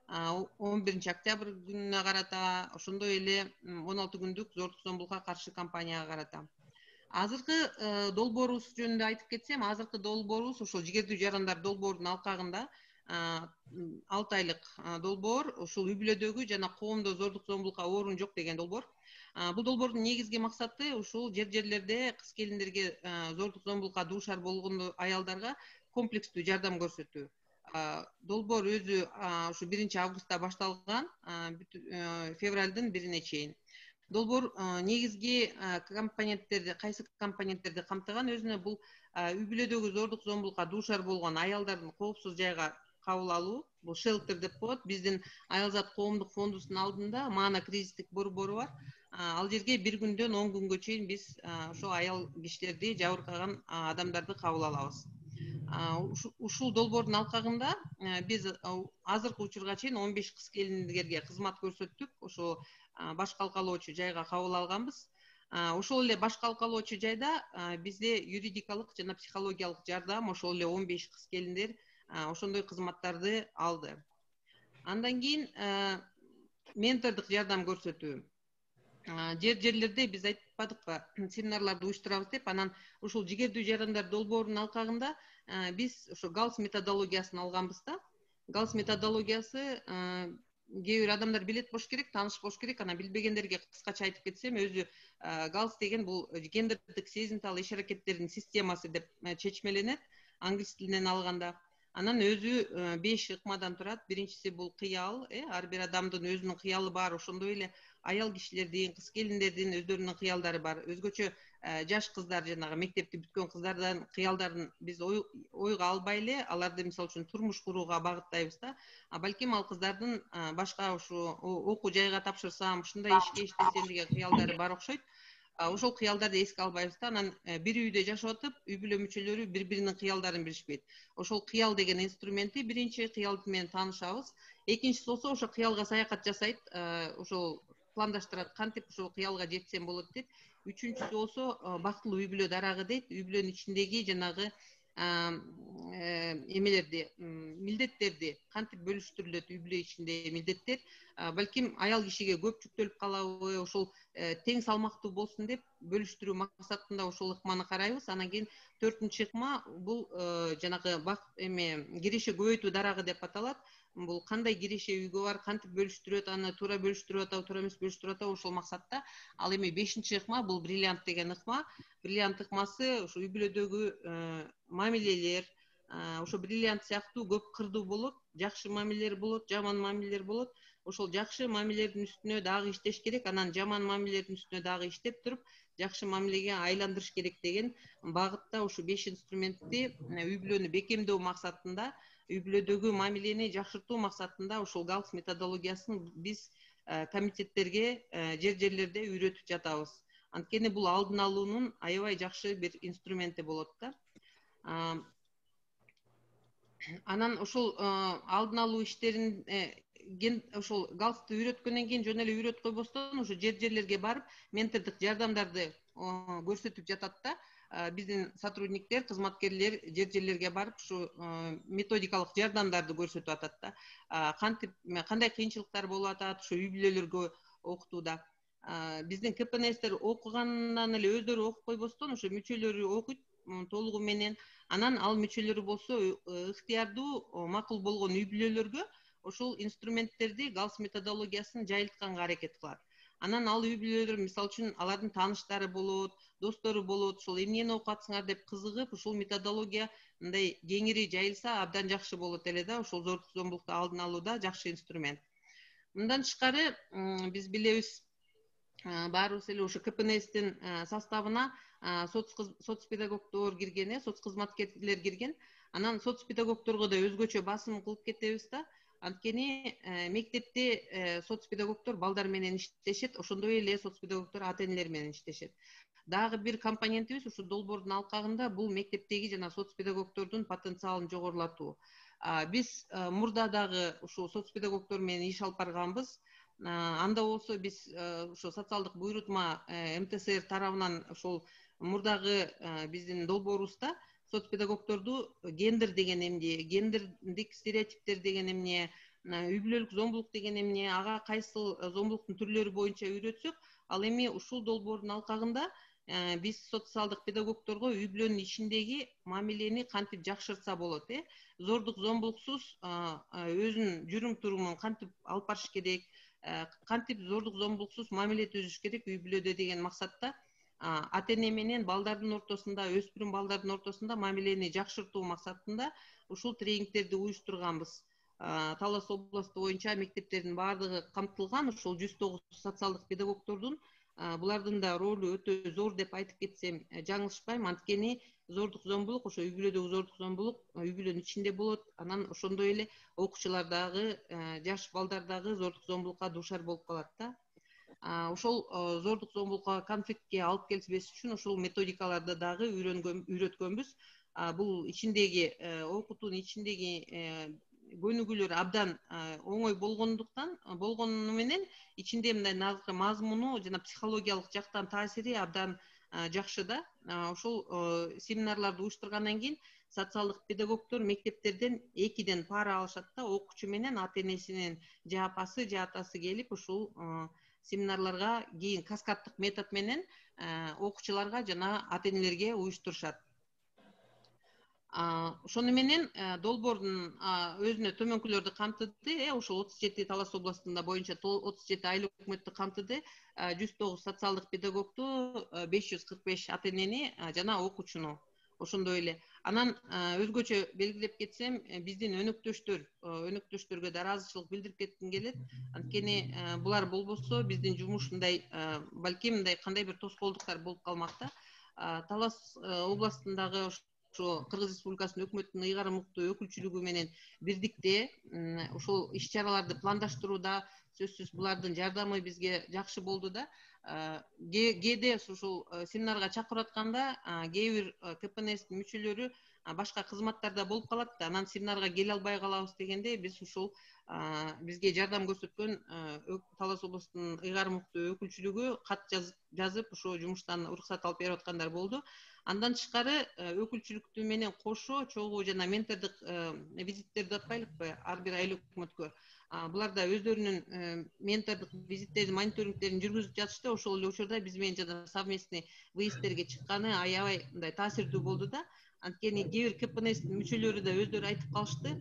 11 октябрь күнүнө карата, ошондой эле 16 күндүк зордук зомбулукка каршы кампанияга карата. Азыркы долбоорубуз жөнүндө айтып кетсем, азыркы долбоорубуз ошол жигердүү жарандар долбоорунун алкагында 6 айлык долбоор, ушул үй бүлөдөгү жана коомдо зордук зомбулукка орун жок деген долбоор. Бул долбоордун негизги максаты ушул жерлерде кыз келиндерге зордук зомбулукка дуушар болгон аялдарга комплекстүү жардам көрсөтүү. долбоор өзү ушу 1-августта башталган, февралдын 1-ине чейин. Долбоор негизги компоненттерди, кайсы компоненттерди камтыган өзүнө бул үй бүлөдөгү зордук зомбулукка дуушар болгон аялдардын коопсуз жайга кабыл алуу, бул шелтер деп коет. Биздин Аялзат коомдук фондубуздун алдында Маана кризистик борбору бар. Ал жерге 1 күндөн 10 күнгө чейин биз ошо аял кишилерди, жабыркаган адамдарды кабыл алабыз. Ушул долбоордун алкагында биз азыркы учурга чейин 15 кыз келиндерге кызмат көрсөттүк. Ошо баш калкалоочу жайга кабыл алганбыз. Ошол эле баш калкалоочу жайда бизде юридикалык жана психологиялык жардам, ошол эле 15 кыз келиндер ошондой кызматтарды алды. Андан кийин ментордук жардам көрсөтүү. Жерлерде биз айтпадыкпы, семинарларды уюштурабыз деп, анан ушул жигердүү жарандар долбоорунун алкагында биз ошо галс методологиясын алганбыз да. Галс методологиясы кээ бир адамдар билет болуш керек, тааныш болуш керек. Анан билбегендерге кыскача айтып кетсем, өзү галс деген бул гендердик сезимтал иш-аракеттердин системасы деп чечмеленет, англис тилинен алганда. Анан өзү 5 ыкмадан турат. Биринчиси бул кыял, ар бир адамдын өзүнүн кыялы бар, ошондой эле аял кишилердин, кыз келиндердин өздөрүнүн кыялдары бар. Өзгөчө жаш кыздар, жанагы мектепти бүткөн кыздардын кыялдарын биз ойго албай эле аларды мисалы үчүн турмуш курууга багыттайбыз да. Балким ал кыздардын башка ушу окуу жайга тапшырсам, ушундай ишке иштесем деген кыялдары бар окшойт. Ошол кыялдарды эске албайбыз да. Анан бир үйдө жашап атып, үй бүлө мүчөлөрү бири-биринин кыялдарын билишпейт. Ошол кыял деген инструменти биринчи кыял менен таанышабыз. Экинчиси болсо ошо кыялга саякат жасайт, ошол пландаштырат, кантип ушул кыялга жетсем болот дейт. Үчүнчүсү болсо бактылуу үй бүлө дарагы дейт. Үй бүлөнүн ичиндеги жанагы эмелерди, милдеттерди кантип бөлүштүрүлөт, үй бүлө ичинде милдеттер. Балким аял кишиге көп жүктөлүп калабы, ошол тең салмактуу болсун деп бөлүштүрүү максатында ошол ыкманы карайбыз. Анан кийин 4-чү ыкма бул жанагы киреше көбөйтүү дарагы деп аталат. Бул кандай киреше үйгө бар, кантип бөлүштүрөт, аны туура бөлүштүрүп атабы, туура эмес бөлүштүрүп атабы, ошол максатта. Ал эми 5-чи ыкма бул бриллиант деген ыкма. Бриллиант ыкмасы ушу үй бүлөдөгү мамилелер, ошо бриллиант сыяктуу көп кырдуу болот, жакшы мамилелер болот, жаман мамилелер болот. Ошол жакшы мамилелердин үстүнө дагы иштеш керек, анан жаман мамилелердин үстүнө дагы иштеп туруп, жакшы мамилеге айландырыш керек деген багытта ушу 5 инструментти үй бүлөнү бекемдөө максатында, үй бүлөдөгү мамилени жакшыртуу максатында ушул галс методологиясын биз комитеттерге жерлерде үйрөтүп жатабыз. Анткени бул алдын алуунун аябай жакшы бир инструменти болот да. Анан ошол алдын алуу иштерин ошол галсты үйрөткөндөн кийин жөн эле үйрөтүп койбостон ошо жерлерге барып ментордук жардамдарды көрсөтүп жатат да. Биздин сотрудниктер, кызматкерлер жерлерге барып ушу методикалык жардамдарды көрсөтүп атат да. Кандай кыйынчылыктар болуп атат ушу үй бүлөлөргө окутууда. Биздин КПНСтер окугандан эле өздөрү окуп койбостон ошо мүчөлөрү окуйт толугу менен. Анан ал мүчөлөрү болсо ыктыярдуу макул болгон үй бүлөлөргө ошол инструменттерди, галс методологиясын жайылтканга аракет кылат. Анан ал үй бүлөлөр мисалы үчүн алардын тааныштары болот, достору болот, ошол эмнени окуп атсыңар деп кызыгып, ушул методология мындай кеңири жайылса абдан жакшы болот эле да. Ошол зордук зомбулукту алдын алууда жакшы инструмент. Мындан тышкары биз билебиз, баарыбыз эле ошо КПНСтин составына соцпедагогдор кирген, соцкызматкерлер кирген. Анан соцпедагогдорго да өзгөчө басым кылып кетебиз да. Анткени мектепте соцпедагогдор балдар менен иштешет, ошондой эле соцпедагогдор ата энелер менен иштешет. Дагы бир компонентибиз ушу долбоордун алкагында бул мектептеги жана соцпедагогдордун потенциалын жогорулатуу. Биз мурда дагы ушул соцпедагогдор менен иш алып барганбыз. Анда болсо биз ошо социалдык буйрутма МТСР тарабынан ошол мурдагы биздин долбоорубузда соцпедагогдорду гендер деген эмне, гендердик стереотиптер деген эмне, үй бүлөлүк зомбулук деген эмне, ага кайсыл зомбулуктун түрлөрү боюнча үйрөтсөк, ал эми ушул долбоордун алкагында биз социалдык педагогдорго үй бүлөнүн ичиндеги мамилени кантип жакшыртса болот, зордук зомбулуксуз өзүнүн жүрүм турумун кантип алып барыш керек, кантип зордук зомбулуксуз мамиле түзүш керек үй бүлөдө деген максатта ата эне менен балдардын ортосунда, өспүрүм балдардын ортосунда мамилени жакшыртуу максатында ушул тренингтерди уюштурганбыз. Талас областы боюнча мектептердин баардыгы камтылган, ушул 109 социалдык педагогдордун булардын да ролу өтө зор деп айтып кетсем жаңылышпайм. Анткени зордук зомбулук, ошо үй бүлөдөгү зордук зомбулук үй бүлөнүн ичинде болот. Анан ошондой эле окуучулар дагы, жаш балдар дагы зордук зомбулукка дуушар болуп калат да. Ошол зордук зомбулукка, конфликтке алып келбеш үчүн ошол методикаларды дагы үйрөткөнбүз. Бул ичиндеги окутуунун ичиндеги көнүгүүлөр абдан оңой болгону менен ичинде мындай мазмуну жана психологиялык жактан таасири абдан жакшы да. Ошол семинарларды уюштургандан кийин социалдык педагогдор мектептерден 2ден пара алышат да, окуучу менен ата энесинин же апасы же атасы келип ушул семинарларга кийин каскаддык метод менен окуучуларга жана ата энелерге уюштурушат. Ошону менен долбоордун өзүнө төмөнкүлөрдү камтыды. Ошол 37 Талас областында боюнча 37 айыл өкмөттү камтыды. 109 социалдык педагогду, 545 ата энени жана окуучуну. Ошондой эле. Анан өзгөчө белгилеп кетсем, биздин өнөктөштөргө да ыраазычылык билдирип кетким келет. Анткени булар болбосо биздин жумуш балким мындай кандай бир тоскоолдуктар болуп калмак да. Талас областындагы Кыргыз Республикасынын өкмөттүн ыйгарым уктуу өкүлчүлүгү менен бирдикте ушул иш-чараларды пландаштырууда сөзсүз булардын жардамы бизге жакшы болду да. Кээде ушул семинарга чакырып атканда кээ бир КПНСтин мүчөлөрү башка кызматтарда болуп калат да. Анан семинарга келе албай калабыз дегенде биз ушул бизге жардам көрсөткөн Талас областынын ыйгарым уктуу өкүлчүлүгү кат жазып ошо жумуштан уруксат алып берип аткандар болду. Андан тышкары өкүлчүлүктү менен кошо чогуу жана ментордук визиттерди атпайлыкпы ар бир айыл өкмөткө. Булар да өздөрүнүн ментордук визиттерин, мониторингтерин жүргүзүп жатышты. Ошол эле учурда биз менен жана совместный выездтерге чыкканы аябай мындай таасирдүү болду да. Анткени кээ бир КПНСтин мүчөлөрү да өздөрү айтып калышты.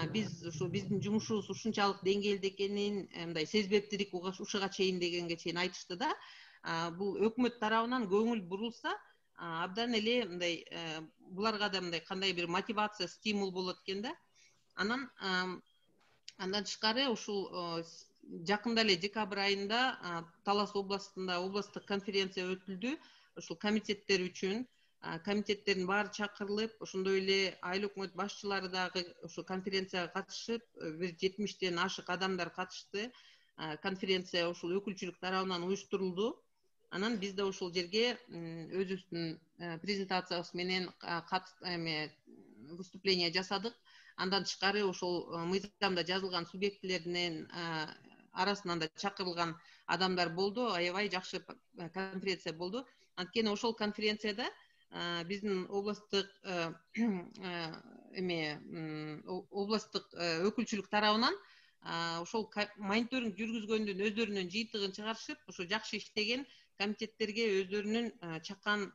Биз ушу биздин жумушубуз ушунчалык деңгээлде экенин, мындай сезбептирик ушуга чейин дегенге чейин айтышты да. Бул өкмөт тарабынан көңүл бурулса, абдан эле мындай буларга да мындай кандай бир мотивация, стимул болот экен да. Андан тышкары ушул жакында эле декабрь айында Талас областында областтык конференция өтүлдү. Ушул комитеттер үчүн комитеттердин баары чакырылып, ошондой эле айыл өкмөт башчылары дагы ушул конференцияга катышып, бир 70тен ашык адамдар катышты. Конференция ушул өкүлчүлүк тарабынан уюштурулду. Анан биз да ошол жерге өзүбүздүн презентациябыз менен выступление жасадык. Андан тышкары ошол мыйзамда жазылган субъектилердин арасынан да чакырылган адамдар болду. Аябай жакшы конференция болду. Анткени ошол конференцияда биздин областтык өкүлчүлүк тарабынан ошол мониторинг жүргүзгөндүн өздөрүнүн жыйынтыгын чыгарышып, ошо жакшы иштеген комитеттерге өздөрүнүн чакан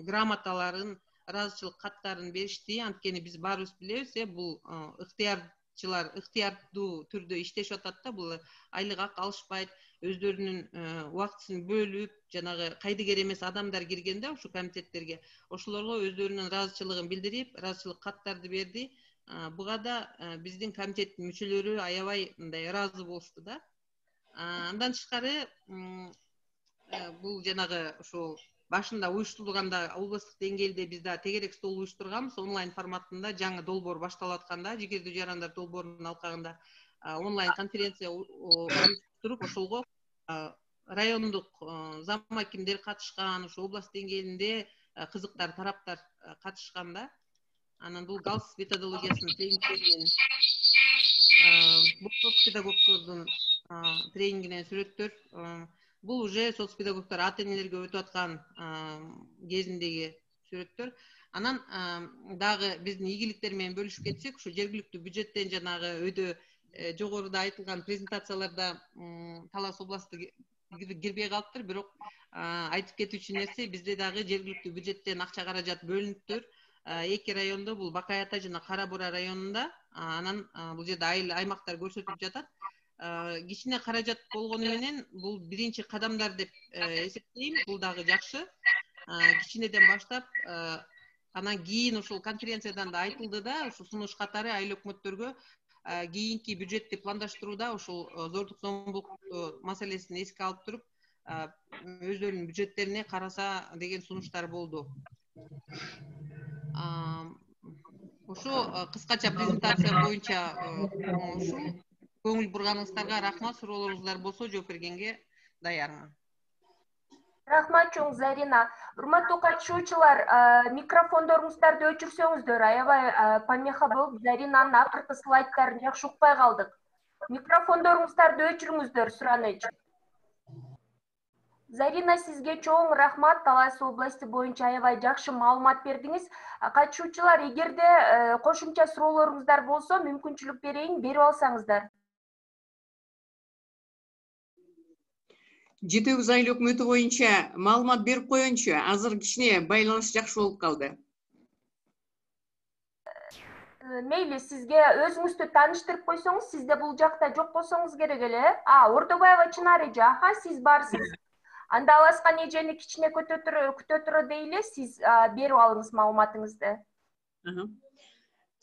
грамоталарын, ыраазычылык каттарын беришти. Анткени биз баарыбыз билебиз, бул ыктыярчылар ыктыярдуу түрдө иштешип атат да. Бул айлык ак алышпайт, өздөрүнүн убактысын бөлүп, жанагы кайдыгер эмес адамдар кирген да ушу комитеттерге. Ошолорго өздөрүнүн ыраазычылыгын билдирип, ыраазычылык каттарды берди. Буга да биздин комитеттин мүчөлөрү аябай мындай ыраазы болушту да. Андан тышкары бул жанагы ошол башында уюштурулганда областтык деңгээлде биз да тегерек стол уюштурганбыз. Онлайн форматында жаңы долбоор башталып атканда, жигердүү жарандар долбоорунун алкагында онлайн конференция уюштуруп, ошолго райондук зам акимдер катышкан, ошо область деңгээлинде кызыктар тараптар катышкан да. Анан бул галс методологиясынын тренингтеринен соцпедагогдордун тренингинен сүрөттөр. Бул уже соцпедагогдор ата энелерге өтүп аткан кезиндеги сүрөттөр. Анан дагы биздин ийгиликтер менен бөлүшүп кетсек, ушу жергиликтүү бюджеттен жанагы өйдө жогоруда айтылган презентацияларда Талас областы кирбей калыптыр. Бирок айтып кетүүчү нерсе, бизде дагы жергиликтүү бюджеттен акча каражат бөлүнүптүр. 2 райондо, бул Бакай Ата жана Кара Бура районунда. Анан бул жерде айыл аймактар көрсөтүлүп жатат. кичине каражат болгону менен бул биринчи кадамдар деп эсептейм. Бул дагы жакшы. Кичинеден баштап анан кийин ушул конференциядан да айтылды да, ушу сунуш катары айыл өкмөттөргө кийинки бюджетти пландаштырууда ушул зордук зомбулук маселесин эске алып туруп өздөрүнүн бюджеттерине караса деген сунуштар болду. Ошо кыскача презентация боюнча ушул. Көңүл бурганыңыздарга рахмат. Суроолоруңуздар болсо жооп бергенге даярмын. Рахмат чоң Зарина. Урматтуу катышуучулар, микрофондоруңуздарды өчүрсөңүздөр, аябай помеха болуп, Заринанын акыркы слайдтарын жакшы укпай калдык. Микрофондоруңуздарды өчүрүңүздөр, сураныч. Зарина, сизге чоң рахмат. Талас области боюнча аябай жакшы маалымат бердиңиз. Катышуучулар, эгерде кошумча суроолоруңуздар болсо, мүмкүнчүлүк берейин, берип алсаңыздар. Жети-9 айыл өкмөтү боюнча маалымат берип коеюнчу. Азыр кичине байланыш жакшы болуп калды. Мейли, сизге өзүңүздү тааныштырып койсоңуз, сизде бул жакта жок болсоңуз керек эле. Ордобаева Чынар эже, сиз барсыз. Анда Аласкан эжени кичине күтө тура дейли, сиз берип алыңыз маалыматыңызды.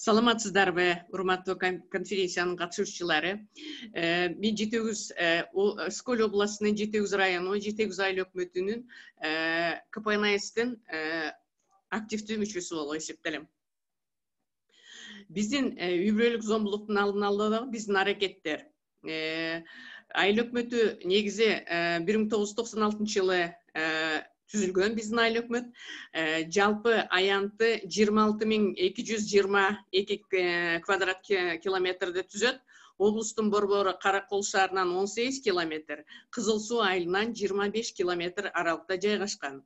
Саламатсыздарбы, урматтуу конференциянын катышуучулары. Мен Жети-9 Сколь областынын Жети-9 району, Жети-9 айыл өкмөтүнүн КПНСтин активдүү мүчөсү болуп эсептелем. Биздин үй бүлөлүк зомбулуктун алдын алууда биздин аракеттер. Айыл өкмөтү негизи 1996 жылы түзүлгөн биздин айыл өкмөт. Жалпы аянты 26.222 квадрат километрди түзөт. Облустун борбору Каракол шаарынан 18 километр, Кызыл Суу айылынан 25 километр аралыкта жайгашкан.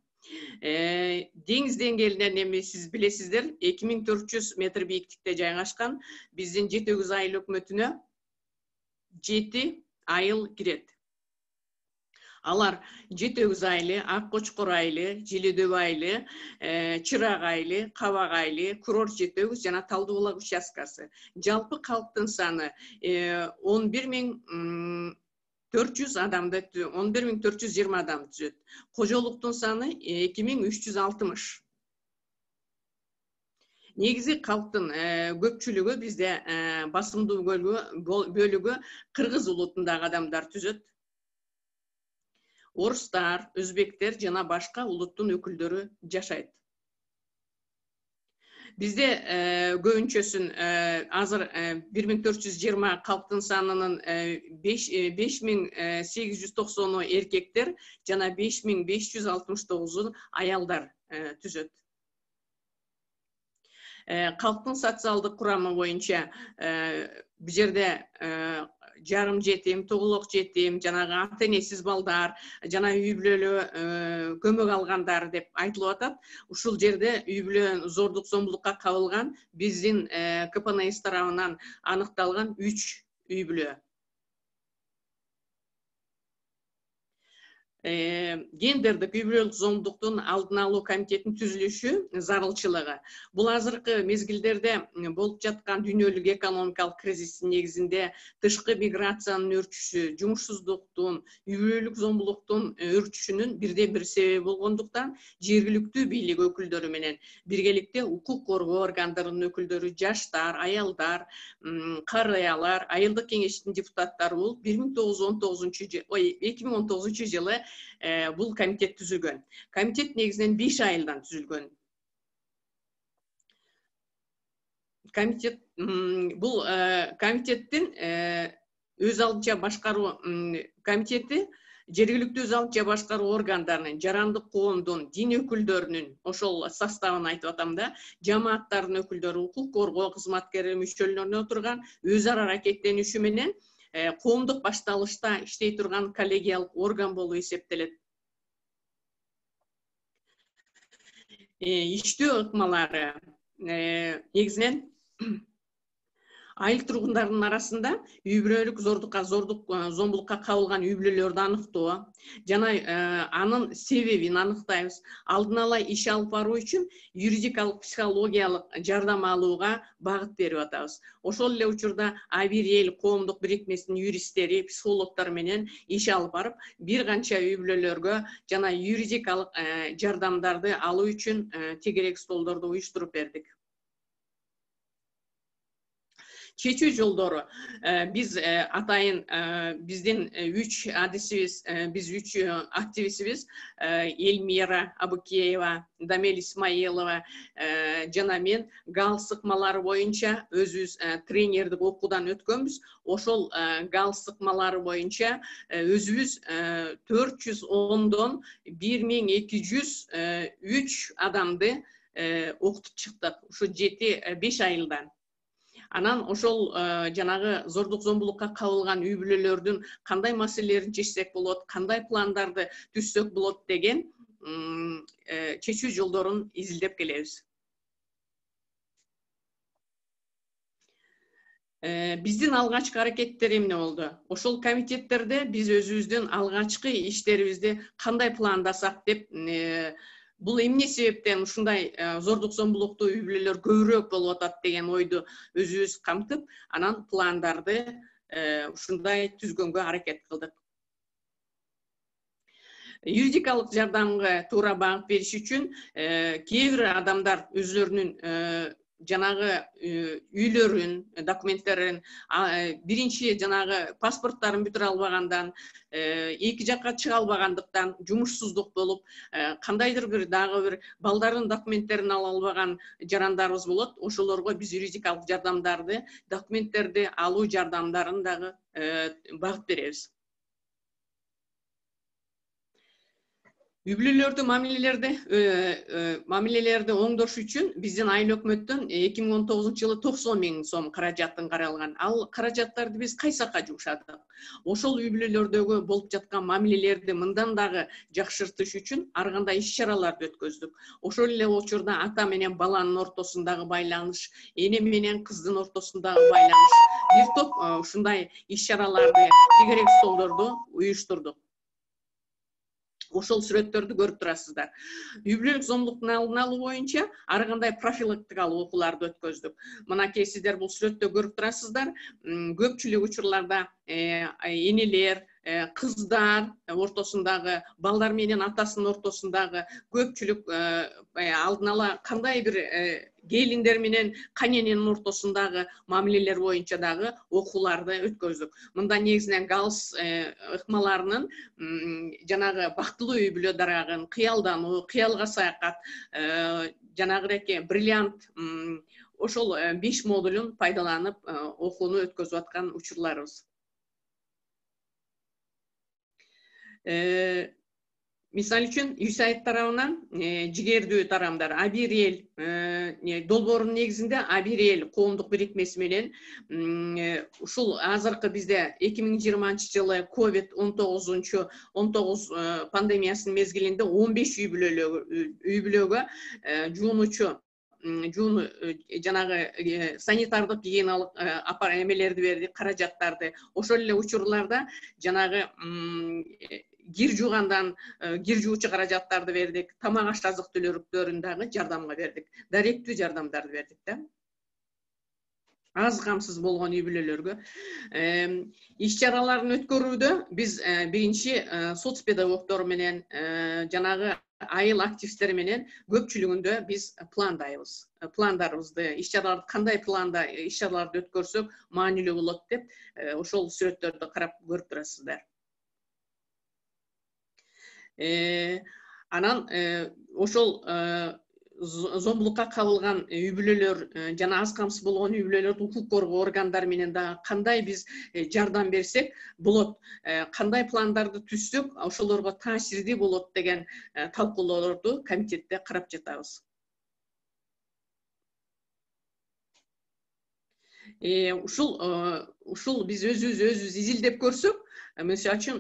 Деңиз деңгээлинен эми сиз билесиздер, 2400 метр бийиктикте жайгашкан. Биздин Жети-9 айыл өкмөтүнө 7 айыл кирет. Алар Жети-9 айылы, Ак Кочкор айылы, Желедөб айылы, Чырак айылы, Кабак айылы, Курорт Жети-9 жана Талдыбулак участкасы. Жалпы калктын саны 11.400 адамды, 11.420 адам түзөт. Кожолуктун саны 2.360. Негизи калктын көпчүлүгү бизде басымдуу бөлүгү кыргыз улутундагы адамдар түзөт. Орустар, өзбектер жана башка улуттун өкүлдөрү жашайт. Бизде көбүнчөсүн азыр 1420 калктын санынын 5890 эркектер жана 5569 аялдар түзөт. Калктын социалдык курамы боюнча бул жерде жарым жетим, тугулук жетим, жанагы ата-энесиз балдар, жана үй бүлөлүү көмөк алгандар деп айтылып атат. Ушул жерде үй бүлө зордук зомбулукка кабылган биздин КПНС тарабынан аныкталган 3 үй бүлө. Гендердик үй бүлөлүк зомбулуктун алдын алуу комитетинин түзүлүшү зарылчылыгы. Бул азыркы мезгилдерде болуп жаткан дүйнөлүк экономикалык кризистин негизинде тышкы миграциянын өрчүшү, жумушсуздуктун, үй бүлөлүк зомбулуктун өрчүшүнүн бирден бир себеби болгондуктан жергиликтүү бийлик өкүлдөрү менен биргеликте укук коргоо органдарынын өкүлдөрү, жаштар, аялдар, карыялар, айылдык кеңештин депутаттары болуп 2019 жылы бул комитет түзүлгөн. Комитет негизинен 5 айылдан түзүлгөн. Комитет бул комитеттин өз алдынча башкаруу комитети жергиликтүү өз алдынча башкаруу органдарынын, жарандык коомдун, дин өкүлдөрүнүн ошол составын айтып атам да, жамааттардын өкүлдөрү, укук коргоо кызматкерлери мүчөлөрүнө отурган өз ара аракеттениши менен коомдук башталышта иштей турган коллегиялык орган болуп эсептелет. Иштөө ыкмалары негизинен Айыл тургундардын арасында үй бүлөлүк зомбулукка кабылган үй бүлөлөрдү аныктоо жана анын себебин аныктайбыз. Алдын ала иш алып баруу үчүн юридикалык психологиялык жардам алууга багыт берип атабыз. Ошол эле учурда А1Эл коомдук бирикмесинин юристтери, психологдор менен иш алып барып, бир канча үй бүлөлөргө жана юридикалык жардамдарды алуу үчүн тегерек столдорду уюштуруп бердик. Чечүү жолдору биз атайын биздин 3 адисибиз, биз 3 активистибиз Эльмира Абукеева, Дамель Исмаилова жана мен гал сыкмалары боюнча өзүбүз тренердик окуудан өткөнбүз. Ошол гал сыкмалары боюнча өзүбүз 410дон 1203 адамды окутуп чыктык. Ушу 7-5 айылдан. Анан ошол жанагы зордук зомбулукка кабылган үй бүлөлөрдүн кандай маселелерин чечсек болот, кандай пландарды түзсөк болот деген чечүү жолдорун изилдеп келебиз. Биздин алгачкы аракеттер эмне болду? Ошол комитеттерде биз өзүбүздүн алгачкы иштерибизди кандай пландасак деп бул эмне себептен ушундай зордук зомбулуктуу үй бүлөлөр көбүрөөк болуп атат деген ойду өзүбүз камтып, анан пландарды ушундай түзгөнгө аракет кылдык. Юридикалык жардамга туура багыт бериш үчүн кээ бир адамдар өзлөрүнүн жанагы үйлөрүн, документтерин, биринчи жанагы паспорттарын бүтүрө албагандан, эки жакка чыга албагандыктан, жумушсуздук болуп, кандайдыр бир дагы бир балдардын документтерин ала албаган жарандарыбыз болот. Ошолорго биз юридикалык жардамдарды, документтерди алуу жардамдарын дагы багыт беребиз. Үй бүлөлөрдү мамилелерди оңдош үчүн биздин айыл өкмөттөн 2019 жылы 90 000 сом каражатын каралган. Ал каражаттарды биз кайсакка жумшадык. Ошол үй бүлөлөрдөгү болуп жаткан мамилелерди мындан дагы жакшыртыш үчүн ар кандай иш-чараларды өткөздүк. Ошол эле учурда ата менен баланын ортосундагы байланыш, эне менен кыздын ортосундагы байланыш, бир топ ушундай иш-чараларды, тегерек столдорду уюштурдук. Ошол сүрөттөрдү көрүп турасыздар. Үй бүлөлүк зомбулуктун алдын алуу боюнча ар кандай профилактикалык окууларды өткөздүк. Мынакей сиздер бул сүрөттө көрүп турасыздар. Көпчүлүк учурларда энелер, кыздар ортосундагы, балдар менен атасынын ортосундагы көпчүлүк алдын ала кандай бир келиндер менен канененин ортосундагы мамилелер боюнча дагы окууларды өткөздүк. Мында негизинен галс ыкмаларынын жанагы бактылуу үй бүлө дарагын, кыялдануу, кыялга саякат, жанагыреки бриллиант ошол 5 модулун пайдаланып окууну өткөзүп аткан учурларыбыз. Мисалы үчүн ЮСАИД тарабынан жигердүү тарамдар А1Эл долбоорунун негизинде А1Эл коомдук бирикмеси менен ушул азыркы бизде 2020 жылы COVID-19 пандемиясынын мезгилинде 15 үй бүлөгө жуунучу жанагы санитардык гигиеналык эмелерди бердик, каражаттарды. Ошол эле учурларда жанагы кир жуугандан кир жуучу каражаттарды бердик, тамак аш азык түлүктөрүн дагы жардамга бердик, даректүү жардамдарды бердик да. Аз камсыз болгон үй бүлөлөргө иш-чараларын өткөрүүдө биз биринчи соцпедагогдор менен жанагы айыл активисттери менен көпчүлүгүндө биз пландайбыз. Пландарыбызды, иш-чараларды кандай планда иш-чараларды өткөрсөк маанилүү болот деп ошол сүрөттөрдү карап көрүп турасыздар. Анан ошол зомбулукка кабылган үй бүлөлөр жана аз камсыз болгон үй бүлөлөрдү укук коргоо органдары менен дагы кандай биз жардам берсек болот, кандай пландарды түзсөк ошолорго таасирдүү болот деген талкуулоолорду комитетте карап жатабыз. Ушул биз өзүбүз изилдеп көрсөк, мисалы үчүн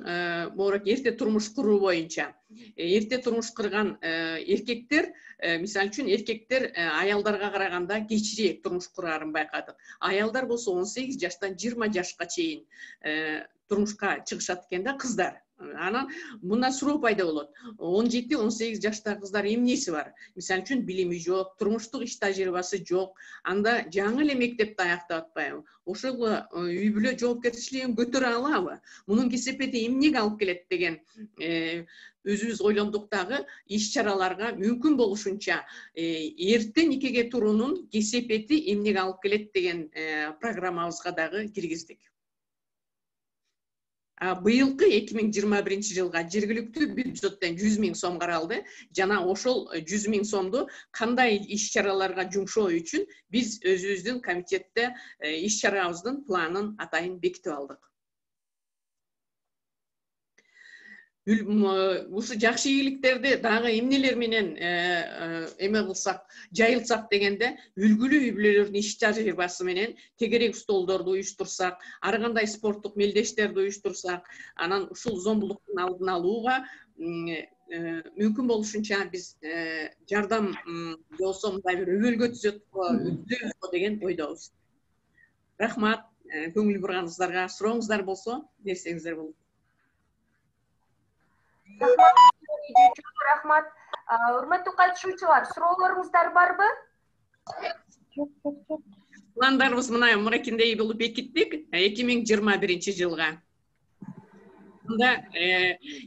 могу эрте турмуш куруу боюнча эрте турмуш курган эркектер, мисалы үчүн эркектер аялдарга караганда кечирээк турмуш курарын байкадык. Аялдар болсо 18 жаштан 20 жашка чейин турмушка чыгышат экен да, кыздар. Анан мындан суроо пайда болот. 17-18 жаштагы кыздар эмнеси бар? Мисалы үчүн билими жок, турмуштук иш тажрыйбасы жок, анда жаңы эле мектепти аяктап атпайбы? Ошол үй бүлө жоопкерчилигин көтөрө алабы? Мунун кесепети эмнеге алып келет деген өзүбүз ойлондук дагы. Иш чараларга мүмкүн болушунча эрте никеге туруунун кесепети эмнеге алып келет деген программабызга дагы киргиздик. Быйылкы 2021 жылга жергиликтүү бюджеттен 100 000 сом каралды. Жана ошол 100 000 сомду кандай иш чараларга жумшоо үчүн биз өзүбүздүн комитетте иш чарабыздын планын атайын бекитип алдык. Ушу жакшы ийгиликтерди дагы эмнелер менен эме кылсак, жайылсак дегенде, үлгүлүү үй бүлөлөрдүн иш тажрыйбасы менен тегерек столдорду уюштурсак, ар кандай спорттук мелдештерди уюштурсак, анан ушул зомбулуктун алдын алууга мүмкүн болушунча биз жардам болсо мындай бир өбөлгө түзөбүз деген ойдобуз. Рахмат, көңүл бурганыңыздарга. Сурооңуздар болсо берсеңиздер болот. Рахмат. Урматтуу катышуучулар, суроолоруңуздар барбы? Пландарыбыз мынакиндей болуп бекиттик 2021 жылга. Мында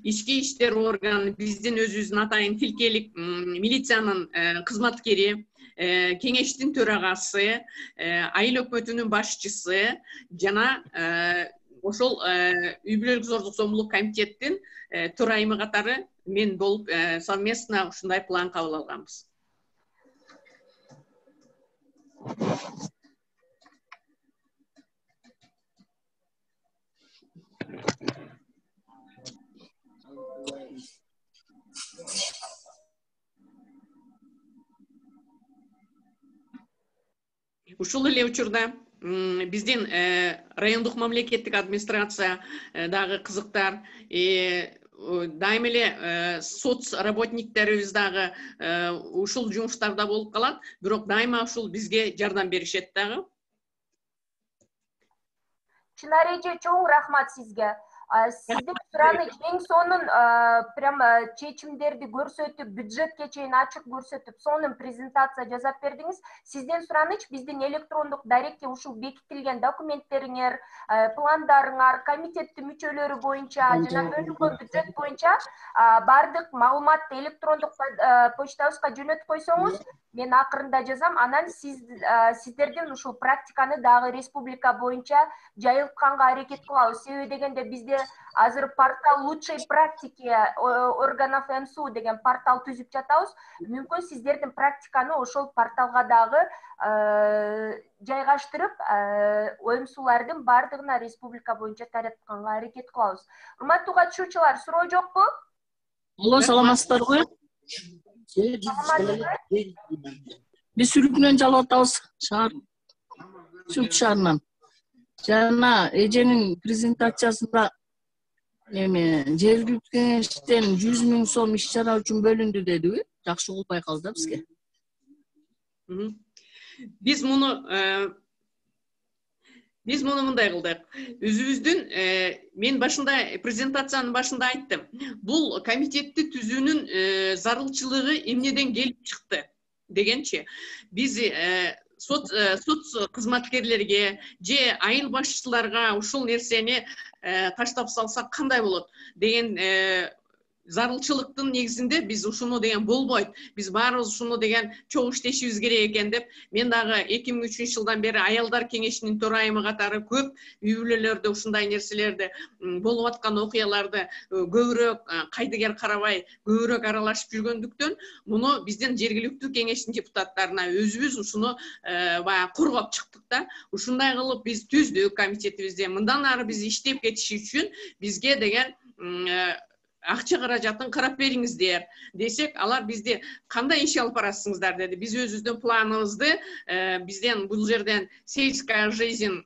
ички иштер органы, биздин өзүбүздүн атайын тилкелик милициянын кызматкери, кеңештин төрагасы, айыл өкмөтүнүн башчысы жана ошол үй бүлөлүк зордук зомбулук комитеттин төрайымы катары мен болуп совместно ушундай план кабыл алганбыз. Ушул эле учурда биздин райондук мамлекеттик администрация дагы кызыктар, дайым эле соц работниктерибиз дагы ушул жумуштарда болуп калат, бирок дайыма ушул бизге жардам беришет дагы. Чынар эже, чоң рахмат сизге. Сиздин сураныч эң сонун прямо чечимдерди көрсөтүп, бюджетке чейин ачык көрсөтүп, сонун презентация жасап бердиңиз. Сиздин сураныч биздин электрондук дарекке ушул бекитилген документтериңер, пландарыңар, комитеттин мүчөлөрү боюнча жана бөлүнгөн бюджет боюнча бардык маалыматты электрондук почтабызга жөнөтүп койсоңуз, мен акырында жазам, анан сиздердин ушул практиканы дагы республика боюнча жайылтканга аракет кылабыз. Себеби дегенде бизде азыр портал лучшей практики органов МСУ деген портал түзүп жатабыз. Мүмкүн сиздердин практиканы ошол порталга дагы жайгаштырып, ОМСУлардын бардыгына республика боюнча таратканга аракет кылабыз. Урматтуу катышуучулар, суроо жокпу? Алло, саламатсыздарбы? Биз Сүрүкүнөн жалап атабыз, Сүрүк шаарынан. Жана эженин презентациясында жергиликтүү кеңештен 100 000 сом иш чара үчүн бөлүндү дедиби? Жакшы болуп байкалды да бизге. Биз муну мындай кылдык. Өзүбүздүн мен башында презентациянын башында айттым. Бул комитетти түзүүнүн зарылчылыгы эмнеден келип чыкты дегенчи. Биз соц кызматкерлерге же айыл башчыларга ушул нерсени таштап салсак кандай болот деген зарылчылыктын негизинде биз ушуну деген болбойт. Биз баарыбыз ушуну деген чогуу иштешибиз керек экен деп, мен дагы 2003 жылдан бери аялдар кеңешинин төрайымы катары көп үй бүлөлөрдө ушундай нерселерди, болуп аткан окуяларды көбүрөөк кайдыгер карабай, көбүрөөк аралашып жүргөндүктөн, муну биздин жергиликтүү кеңештин депутаттарына өзүбүз ушуну баягы коргоп чыктык да. Ушундай кылып биз түздүк комитетибизде. Мындан ары биз иштеп кетиш үчүн бизге деген акча каражатын карап бериңиздер десек, алар бизди кандай иш алып барасыңыздар деди. Биз өзүбүздүн планыбызды бизден бул жерден сельская жизнь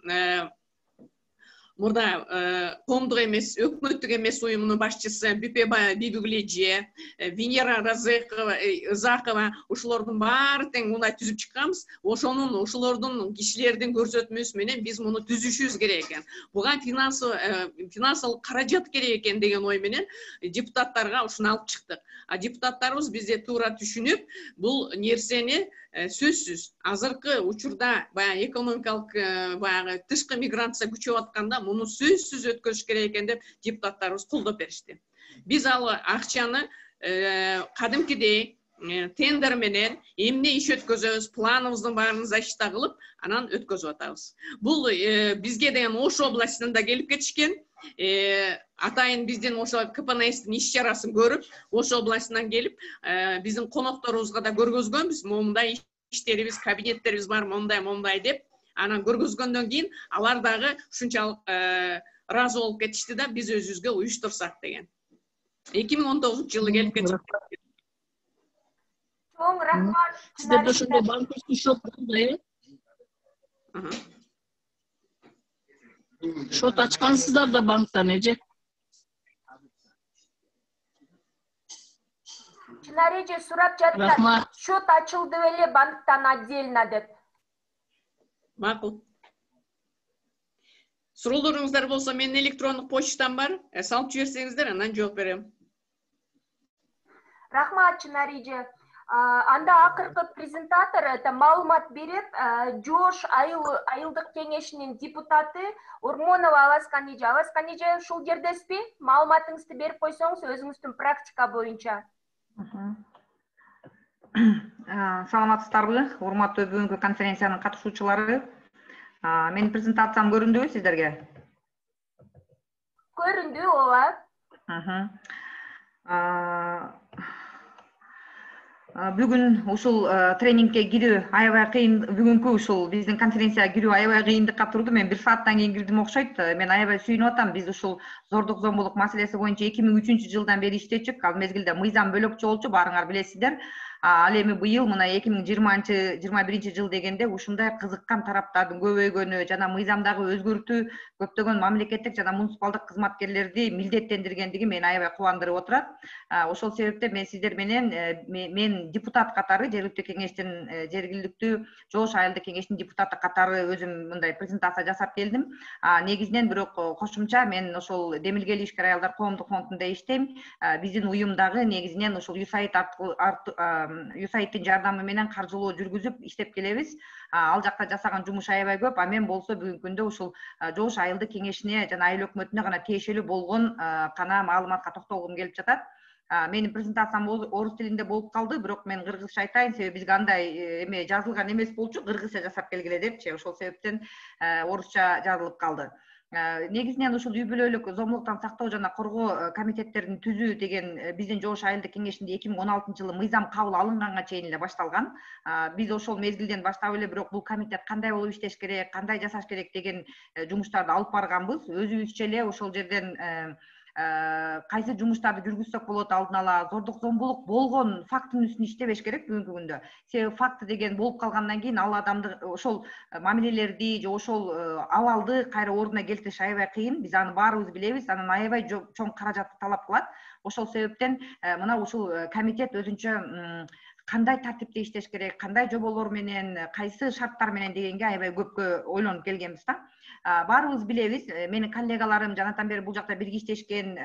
мурда коомдук эмес, өкмөттүк эмес уюмунун башчысы Бүпебай Бибиглеже, Венера Разакова ушулордун баары тең мындай түзүп чыкканбыз. Ошолордун кишилердин көрсөтмөсү менен биз муну түзүшүбүз керек экен. Буга финансылык каражат керек экен деген ой менен депутаттарга ушуну алып чыктык. А депутаттарыбыз бизде туура түшүнүп, бул нерсени сөзсүз азыркы учурда баягы экономикалык баягы тышкы миграция күчөп атканда муну сөзсүз өткөрүш керек экен деп депутаттарыбыз колдоп беришти. Биз ал акчаны кадимкидей тендер менен эмне иш өткөзөбүз, планыбыздын баарын защита кылып, анан өткөзүп атабыз. Бул бизге деген Ош областында келип кетишкен. Атайын биздин ошо КПНСтин иш чарасын көрүп, Ош областынан келип, биздин конокторубузга да көргөзгөнбүз. Момундай иштерибиз, кабинеттерибиз бар, момундай деп. Анан көргөзгөндөн кийин алар дагы ушунчалык ыраазы болуп кетишти да, биз өзүбүзгө уюштурсак деген. 2019-жылы келип кетишти. Чоң рахмат. Сиздерде ошондой банковский счет болду, Счет ачкансыздар да банктан, эже? Чынареже сурап жатат. Счет ачылды беле банктан отдельно деп. Макул. Суроолоруңуздар болсо, менин электрондук почтам бар. Салып жиберсеңиздер, анан жооп берем. Рахмат, Чынареже. Анда акыркы презентатор маалымат берип, Жош айылдык кеңешинин депутаты Урмонова Аласкан эже. Аласкан эже, ушул жердесизби? Маалыматыңызды берип койсоңуз өзүңүздүн практика боюнча. Саламатсыздарбы, урматтуу бүгүнкү конференциянын катышуучулары. Менин презентациям көрүндүбү сиздерге? Көрүндү, ооба. Бүгүн ушул тренингке кирүү аябай кыйын, бүгүнкү ушул биздин конференцияга кирүү аябай кыйындыкка турду. Мен 1 сааттан кийин кирдим окшойт. Мен аябай сүйүнүп атам. Биз ушул зордук зомбулук маселеси боюнча 2003-жылдан бери иштечүк. Ал мезгилде мыйзам бөлөкчү болчу, баарыңар билесиздер. Ал эми быйыл мына 2020-21 дегенде ушундай кызыккан тараптардын көбөйгөнү жана мыйзамдагы өзгөртүү көптөгөн мамлекеттик жана муниципалдык кызматкерлерди милдеттендиргендиги мени аябай кубандырып отурат. Ошол себептен мен сиздер менен мен депутат катары жергиликтүү кеңештин жергиликтүү Жош айылдык кеңештин депутаты катары өзүм мындай презентация жасап келдим. Негизинен бирок кошумча мен ошол Демилгели ишкер аялдар коомдук фондунда иштейм. Биздин уюмдагы негизинен ошол USAID-тин жардамы менен каржылоо жүргүзүп иштеп келебиз. Ал жакта жасаган жумуш аябай көп. Мен болсо бүгүнкү күндө ушул Жош айылдык кеңешине жана айыл өкмөтүнө гана тиешелүү болгон гана маалыматка токтолгум келип жатат. Менин презентациям орус тилинде болуп калды, бирок мен кыргызча айтайын, себеби бизге андай эме жазылган эмес болчу, кыргызча жасап келгиле депчи. Ошол себептен орусча жазылып калды. Негизинен ушул үй бүлөлүк зомбулуктан сактоо жана коргоо комитеттерин түзүү деген биздин Жош айылдык кеңешинде 2016-жылы мыйзам кабыл алынганга чейин эле башталган. Биз ошол мезгилден баштап эле бирок бул комитет кандай болуп иштеш керек, кандай жасаш керек деген жумуштарды алып барганбыз. Өзүбүзчө эле ошол жерден кайсы жумуштарды жүргүзсөк болот, алдын ала зордук зомбулук болгон фактынын үстүнө иштебеш керек бүгүнкү күндө. Себеби факты деген болуп калгандан кийин ал адамды ошол мамилелерди же ошол абалды кайра ордуна келтириш аябай кыйын. Биз аны баарыбыз билебиз, анан аябай чоң каражатты талап кылат. Ошол себептен мына ушул комитет өзүнчө кандай тартипте иштеш керек, кандай жоболор менен, кайсы шарттар менен дегенге аябай көпкө ойлонуп келгенбиз да. Баарыбыз билебиз, менин коллегаларым жанатан бери бул жакта бирге иштешкен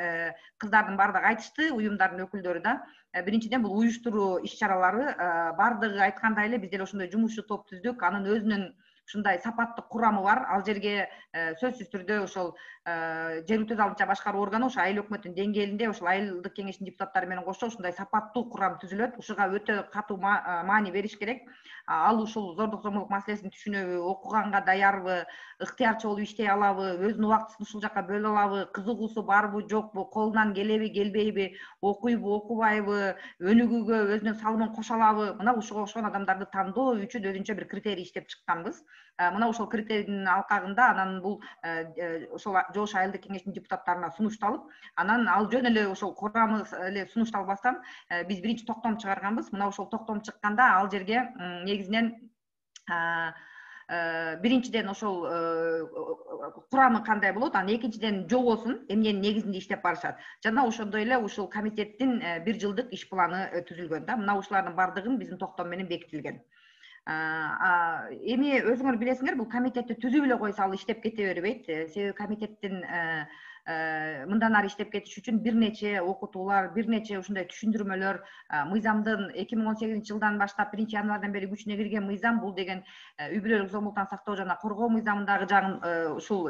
кыздардын баардыгы айтышты, уюмдардын өкүлдөрү да. Биринчиден бул уюштуруу иш чаралары, баардыгы айткандай эле биз деле ошондой жумушчу топ түздүк. Анын өзүнүн ушундай сапаттык курамы бар. Ал жерге сөзсүз түрдө ошол жергиликтүү алдынча башкаруу органы ошо айыл өкмөтүнүн деңгээлинде ошол айылдык кеңештин депутаттары менен кошо ушундай сапаттуу курам түзүлөт. Ушуга өтө катуу маани бериш керек. Ал ушул зордук зомбулук маселесин түшүнөбү, окуганга даярбы, ыктыярчы болуп иштей алабы, өзүнүн убактысын ушул жака бөлө алабы, кызыгуусу барбы, жокпу, колунан келеби, келбейби, окуйбу, окубайбы, өнүгүүгө өзүнүн салымын кошо алабы. Мына ушуга окшогон адамдарды тандоо үчүн өзүнчө бир критерий иштеп чыкканбыз. Мына ошол критерийдин алкагында анан бул ошол Жош айылдык кеңештин депутаттарына сунушталып, анан ал жөн эле ошол курамы эле сунушталбастан биз биринчи токтом чыгарганбыз. Мына ошол токтом чыкканда ал жерге негизинен биринчиден ошол курамы кандай болот, анан экинчиден жобосун эмненин негизинде иштеп барышат жана ошондой эле ушул комитеттин 1 жылдык иш планы түзүлгөн да. Мына ушулардын бардыгын биздин токтом менен бекитилген. Эми өзүңөр билесиңер, бул комитетти түзүп эле койсо ал иштеп кете бербейт. Себеби комитеттин мындан ары иштеп кетиш үчүн бир нече окутуулар, бир нече ушундай түшүндүрмөлөр, мыйзамдын 2018 жылдан баштап 1 январдан бери күчүнө кирген мыйзам бул деген үй бүлөлүк зомбулуктан сактоо жана коргоо мыйзамындагы ушул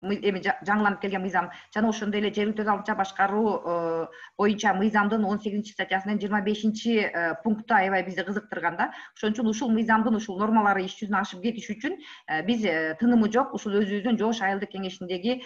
эми жаңыланып келген мыйзам жана ошондой эле жергиликтүү өз алдынча башкаруу боюнча мыйзамдын 18 статьясынын 25 пункту аябай бизди кызыктырган да. Ошон үчүн ушул мыйзамдын ушул нормалары иш жүзүнө ашып кетиш үчүн биз тынымы жок ушул өзүбүздүн жош айылдык кеңешиндеги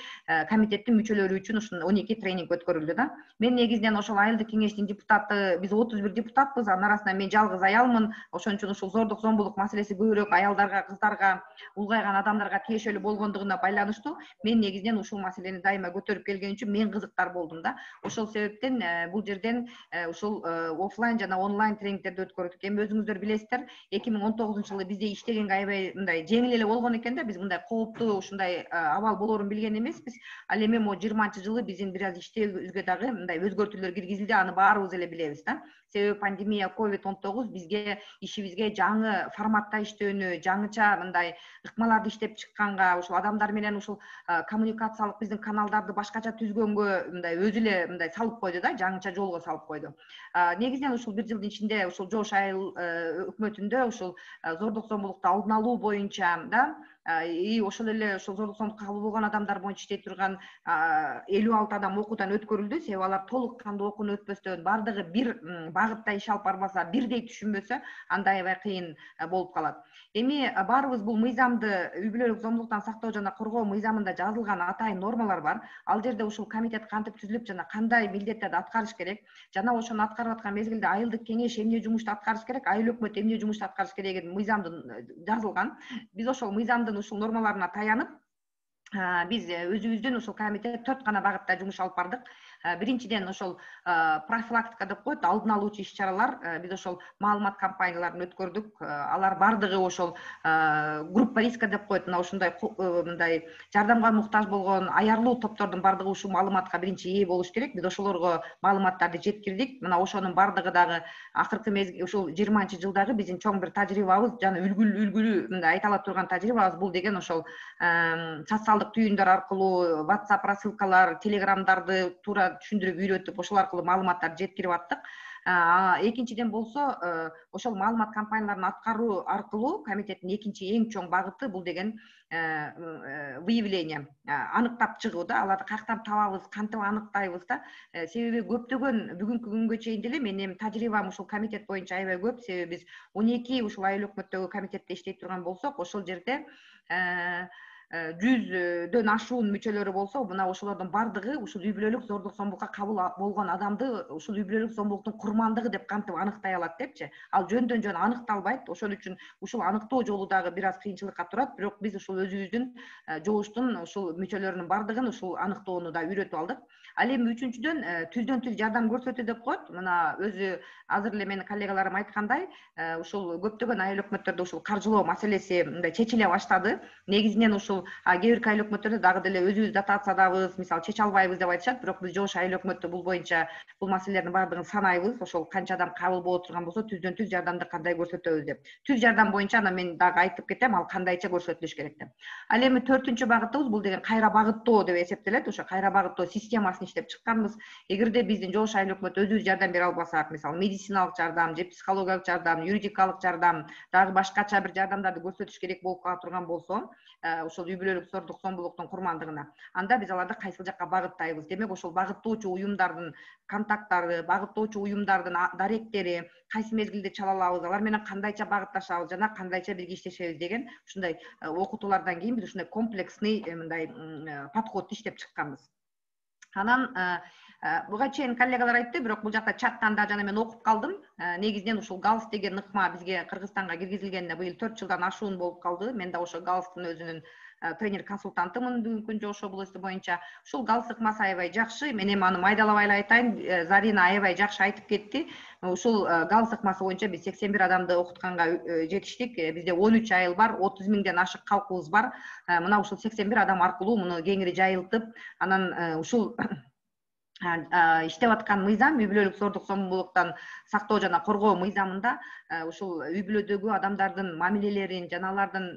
комитеттин мүчөлөрү үчүн ушул 12 тренинг өткөрүлдү да. Мен негизинен ошол айылдык кеңештин депутаты, биз 31 депутатпыз, анын арасында мен жалгыз аялмын. Ошон үчүн ушул зордук зомбулук маселеси көбүрөөк аялдарга, кыздарга, улгайган адамдарга тиешелүү болгондугуна байланыштуу. Мен негизинен ушул маселени дайыма көтөрүп келген үчүн мен кызыктар болдум да. Ошол себептен бул жерден ушул офлайн жана онлайн тренингтерди өткөрдүк. Эми өзүңүздөр билесиздер, 2019 жылы бизде иштегенге аябай мындай жеңил эле болгон экен да. Биз мындай кооптуу ушундай абал болоорун билген эмеспиз. Ал эми могу 20-жылы биздин бир аз иштебизге дагы мындай өзгөртүүлөр киргизилди, аны баарыбыз эле билебиз да. Себеби пандемия COVID-19 бизге ишибизге жаңы форматта иштөөнү, жаңыча мындай ыкмаларды иштеп чыкканга, ушул адамдар менен ушул коммуникациялык биздин каналдарды башкача түзгөнгө мындай өзү эле мындай салып койду да, жаңыча жолго салып койду. Негизинен ушул 1 жылдын ичинде ушул жош айыл өкмөтүндө ушул зордук зомбулукту алдын алуу боюнча да, ошол эле ошол зордук зомбулукка кабыл болгон адамдар боюнча иштей турган 56 адам окуудан өткөрүлдү. Себеби алар толук кандуу окууну өтпөстөн бардыгы бир багытта иш алып барбаса, бирдей түшүнбөсө, анда аябай кыйын болуп калат. Эми баарыбыз бул мыйзамды, үй бүлөлүк зомбулуктан сактоо жана коргоо мыйзамында жазылган атайын нормалар бар. Ал жерде ушул комитет кантип түзүлүп жана кандай милдеттерди аткарыш керек, жана ошону аткарып аткан мезгилде айылдык кеңеш эмне жумушту аткарыш керек, айыл өкмөтү эмне жумушту аткарыш керек деген мыйзамдын жазылган. Биз ошол мыйзамдын ушул нормаларына таянып, биз өзүбүздүн ушул комитет 4 гана багытта жумуш алып бардык. Биринчиден ошол профилактика деп коет, алдын алуучу иш-чаралар. Биз ошол маалымат кампанияларын өткөрдүк. Алар бардыгы ошол группа риска деп коет. Мына ушундай мындай жардамга муктаж болгон аярлуу топтордун бардыгы ушул маалыматка биринчи ээ болуш керек. Биз ошолорго маалыматтарды жеткирдик. Мына ошонун бардыгы дагы акыркы мезгил ушул 20-жылдагы биздин чоң бир тажрыйбабыз, жана үлгүлүү мындай айта ала турган тажрыйбабыз бул деген ошол социалдык түйүндөр аркылуу, WhatsApp рассылкалар, телеграмдарды туура түшүндүрүп үйрөтүп, ошол аркылуу маалыматтарды жеткирип аттык. Экинчиден болсо, ошол маалымат кампанияларын аткаруу аркылуу комитеттин экинчи эң чоң багыты бул деген выявление, аныктап чыгуу да. Аларды каяктан табабыз, кантип аныктайбыз да. Себеби көптөгөн бүгүнкү күнгө чейин деле менин тажрыйбам ушул комитет боюнча аябай көп. Себеби биз 12 ушул айыл өкмөттөгү комитетте иштей турган болсок, ошол жерде 100дөн ашуун мүчөлөрү болсо, мына ошолордун бардыгы ушул үй бүлөлүк зордук зомбулукка кабыл болгон адамды ушул үй бүлөлүк зомбулуктун курмандыгы деп кантип аныктай алат депчи. Ал жөндөн жөн аныкталбайт. Ошол үчүн ушул аныктоо жолу дагы бир аз кыйынчылыкка турат, бирок биз ушул өзүбүздүн жоштун ушул мүчөлөрүнүн бардыгын ушул аныктоону да үйрөтүп алдык. Ал эми үчүнчүдөн түздөн түз жардам көрсөтүү деп коет. Мына өзү азыр эле менин коллегаларым айткандай, ушул көптөгөн айыл өкмөттөрдө ушул каржылоо маселеси мындай чечиле баштады. Негизинен ушул кээ бир айыл өкмөттөрдө дагы деле өзүбүз дотациядабыз, мисалы чече албайбыз деп айтышат, бирок биз жош айыл өкмөтү бул боюнча бул маселелердин баардыгын санайбыз. Ошол канча адам кабыл боло турган болсо, түздөн түз жардамды кандай көрсөтөбүз деп. Түз жардам боюнча ана мен дагы айтып кетем, ал кандайча көрсөтүлүш керек деп. Ал эми 4-чү багытыбыз бул деген кайра багыттоо деп эсептелет. Ошо кайра багыттоо системасын иштеп чыкканбыз. Эгерде биздин жош айыл өкмөтү өзүбүз жардам бере албасак, мисалы медициналык жардам же психологиялык жардам, юридикалык жардам, дагы башкача бир жардамдарды көрсөтүш керек болуп кала турган болсо, ошол үй бүлөлүк зордук зомбулуктун курмандыгына, анда биз аларды кайсыл жакка багыттайбыз. Демек ошол багыттоочу уюмдардын контакттары, багыттоочу уюмдардын даректери, кайсы мезгилде чала алабыз, алар менен кандайча багытташабыз жана кандайча бирге иштешебиз деген ушундай окутуулардан кийин биз ушундай комплексный мындай подходду иштеп чыкканбыз. Анан буга чейин коллегалар айтты, бирок бул жакта чаттан да жана мен окуп калдым. негизинен ушул галс деген ыкма бизге Кыргызстанга киргизилгенине быйыл 4 жылдан ашуун болуп калды. Мен да ошо галстын өзүнүн тренер консультантымын бүгүнкү күндө ошо областы боюнча. Ушул галс ыкмасы аябай жакшы. Мен эми аны майдалабай эле айтайын. Зарина аябай жакшы айтып кетти. Ушул галс ыкмасы боюнча биз 81 адамды окутканга жетиштик. Бизде 13 айыл бар, 30 миңден ашык калкыбыз бар. Мына ушул 81 адам аркылуу муну кеңири жайылтып, анан ушул иштеп аткан мыйзам үй бүлөлүк зордук зомбулуктан сактоо жана коргоо мыйзамында ушул үй бүлөдөгү адамдардын мамилелерин жана алардын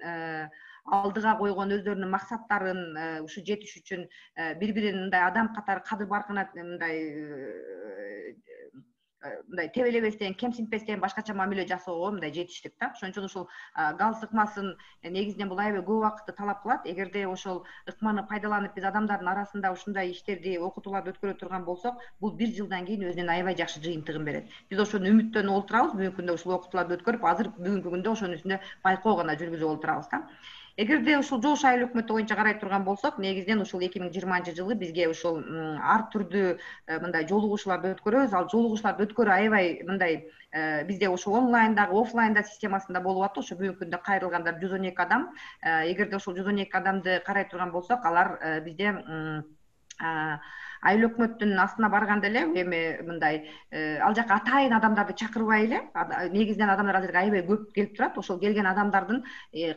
алдыга койгон өздөрүнүн максаттарын ушу жетиш үчүн бири-бирин мындай адам катары кадыр баркына мындай тебелебестен, кемсинтпестен башкача мамиле жасоого мындай жетиштик да. Ошон үчүн ушул галс ыкмасын негизинен бул аябай көп убакытты талап кылат. Эгерде ошол ыкманы пайдаланып биз адамдардын арасында ушундай иштерди, окутууларды өткөрө турган болсок, бул 1 жылдан кийин өзүнүн аябай жакшы жыйынтыгын берет. Биз ошону үмүттөнүп олтурабыз, бүгүнкү күндө ушул окутууларды өткөрүп, азыр бүгүнкү күндө ошонун үстүндө байкоо гана жүргүзүп олтурабыз да. Эгерде ушул жогуш айыл өкмөтү боюнча карай турган болсок, негизинен ушул 2020-жылы бизге ушул ар түрдүү мындай жолугушууларды өткөрөбүз. Ал жолугушууларды өткөрүү аябай мындай бизде ошо онлайндагы, офлайнда системасында болуп атты. Ошо бүгүнкү күндө кайрылгандар 112 адам. Эгерде ошол 112 адамды карай турган болсок, алар бизде айыл өкмөттүн астына барганда эле эми мындай ал жака атайын адамдарды чакырбай эле, негизинен адамдар азыр аябай көп келип турат. Ошол келген адамдардын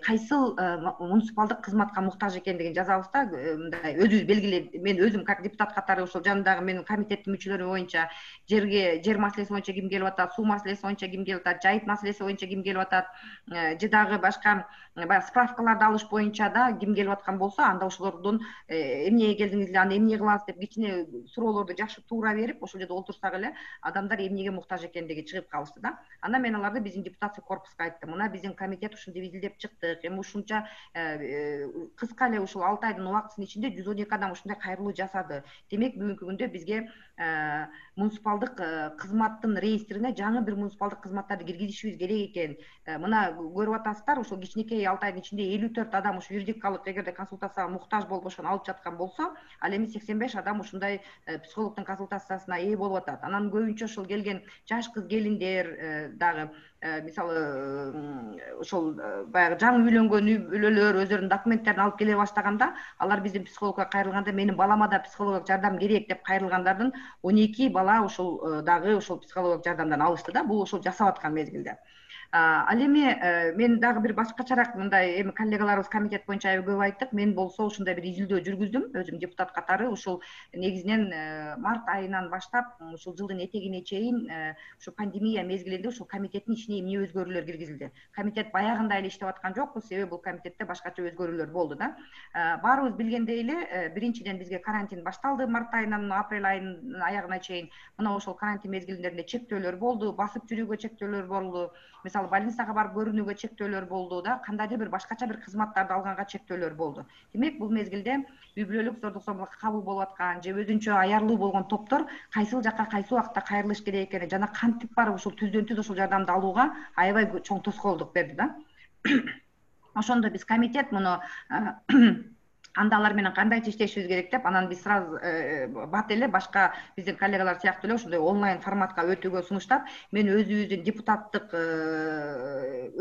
кайсыл муниципалдык кызматка муктаж экендигин жазабыз да. Мындай өзүбүз белгилеп, мен өзүм как депутат катары ошол жанындагы менин комитеттин мүчөлөрү боюнча жер маселеси боюнча ким келип атат, суу маселеси боюнча ким келип атат, жайыт маселеси боюнча ким келип атат, же дагы башка баягы справкаларды алыш боюнча да ким келип аткан болсо, анда ошолордун эмнеге келдиңиздер, аны эмне кылабыз деп кичине суроолорду жакшы туура берип, ошол жерде олтурсак эле адамдар эмнеге муктаж экендиги чыгып калышты да. Андан мен аларды биздин депутация корпуска айттым. Мына биздин комитет ушинтип изилдеп чыктык. Эми ушунча кыска эле ушул 6 айдын убактысынын ичинде 112 адам ушундай кайрылуу жасады. Демек бүгүнкү күндө бизге муниципалдык кызматтын реестрине жаңы бир муниципалдык кызматтарды киргизишибиз керек экен. Мына көрүп атасыздар, ушул кичинекей 6 айдын ичинде 54 адам ушу юридикалык эгерде консультацияга муктаж болуп ошону алып жаткан болсо, ал эми 85 адам ушундай психологдун консультациясына ээ болуп атат. Анан көбүнчө ошол келген жаш кыз келиндер дагы мисалы ошол баягы жаңы үйлөнгөн үй бүлөлөр өздөрүнүн документтерин алып келе баштаганда, алар биздин психологко кайрылганда менин балама да психологиялык жардам керек деп кайрылгандардын 12 бала ошол дагы ошол психологиялык жардамдан алышты да. Бул ошол жасап аткан мезгилде. Ал эми мен дагы бир башкачараак мындай эми коллегаларыбыз комитет боюнча аябай көп айттык. Мен болсо ушундай бир изилдөө жүргүздүм өзүм депутат катары. Ушул негизинен март айынан баштап ушул жылдын этегине чейин ушу пандемия мезгилинде ушул комитеттин ичине эмне өзгөрүүлөр киргизилди. Комитет баягындай эле иштеп аткан жокпу, себеби бул комитетте башкача өзгөрүүлөр болду да. Баарыбыз билгендей эле, биринчиден бизге карантин башталды март айынан апрель айынын аягына чейин. Мына ошол карантин мезгилинде чектөөлөр болду, басып жүрүүгө чектөөлөр болду. Мисалы больницага барып көрүнүүгө чектөөлөр болду да, кандайдыр бир башкача бир кызматтарды алганга чектөөлөр болду. Демек бул мезгилде үй бүлөлүк зордук зомбулукка кабыл болуп аткан же өзүнчө аярлуу болгон топтор кайсыл жакка кайсы убакытта кайрылыш керек экени жана кантип барып ушул түздөн түз ушул жардамды алууга аябай чоң тоскоолдук берди да. Ошондо биз комитет муну анда алар менен кандайча иштешибиз керек деп, анан биз сразу бат эле башка биздин коллегалар сыяктуу эле ошондой онлайн форматка өтүүгө сунуштап, мен өзүбүздүн депутаттык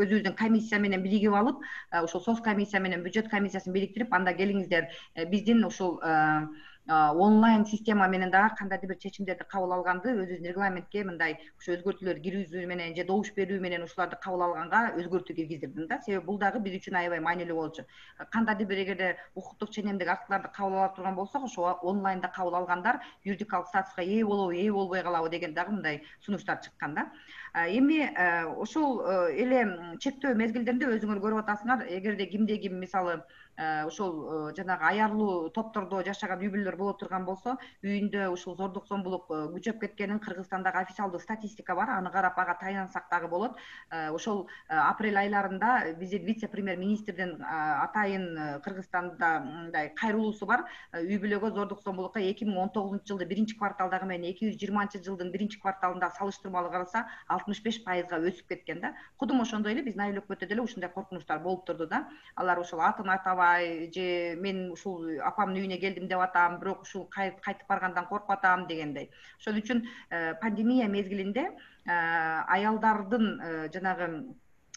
өзүбүздүн комиссия менен биригип алып, ошол соц комиссия менен бюджет комиссиясын бириктирип, анда келиңиздер биздин ушул онлайн система менен дагы кандайдыр бир чечимдерди кабыл алганды өзүбүздүн регламентке мындай ушу өзгөртүүлөр киргизүү менен же добуш берүү менен ушуларды кабыл алганга өзгөртүү киргиздирдим да. Себеби бул дагы биз үчүн аябай маанилүү болчу. Кандайдыр бир эгерде укуктук ченемдик актыларды кабыл ала турган болсок, ошо онлайнда кабыл алгандар юридикалык статуска ээ болобу, ээ болбой калабы деген дагы мындай сунуштар чыккан да. Эми ошол эле чектөө мезгилдеринде өзүңөр көрүп атасыңар, эгерде кимде ким мисалы ошол жанагы аярлуу топтордо жашаган үй бүлөлөр боло турган болсо, үйүндө ушул зордук зомбулук күчөп кеткенин Кыргызстандагы официалдуу статистика бар, аны карап ага тайлансак дагы болот. Ошол апрель айларында биздин вице-премьер министрдин атайын Кыргызстанда мындай кайрылуусу бар. Үй бүлөгө зордук зомбулукка 2019-жылды биринчи кварталдагы менен 2020-жылдын биринчи кварталында салыштырмалуу караса 65%га өсүп кеткен да. Кудум ошондой эле биздин айыл өкмөттө деле ушундай коркунучтар болуп турду да. Алар ошол атын атабай же мен ушул апамдын үйүнө келдим деп атам, бирок ушул кайтып баргандан коркуп атам дегендей. Ошол үчүн пандемия мезгилинде аялдардын жанагы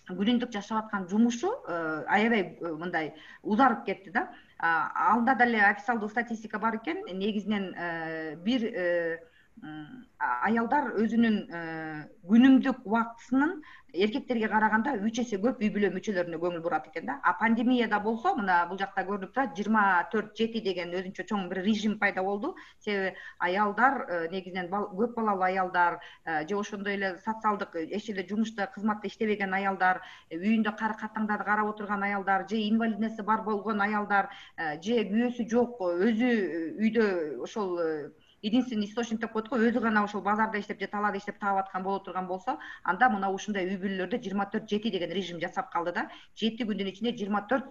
күнүмдүк жашап аткан жумушу аябай мындай узарып кетти да. Анда деле официалдуу статистика бар экен, негизинен бир аялдар өзүнүн күнүмдүк убактысынын эркектерге караганда 3 эсе көп үй бүлө мүчөлөрүнө көңүл бурат экен да. Пандемияда болсо, мына бул жакта көрүнүп турат, 24/7 деген өзүнчө чоң бир режим пайда болду. Себеби аялдар, негизинен көп балалуу аялдар же ошондой эле социалдык эч эле жумушта, кызматта иштебеген аялдар, үйүндө катаңдарды карап отурган аялдар, же инвалидности бар болгон аялдар, же күйөөсү жок, өзү үйдө ошол единственный источник деп коет го, өзү гана ошол базарда иштеп же талаада иштеп таап аткан боло турган болсо, анда мына ушундай үй бүлөлөрдө 24/7 деген режим жасап калды да. 7 күндүн ичинде 24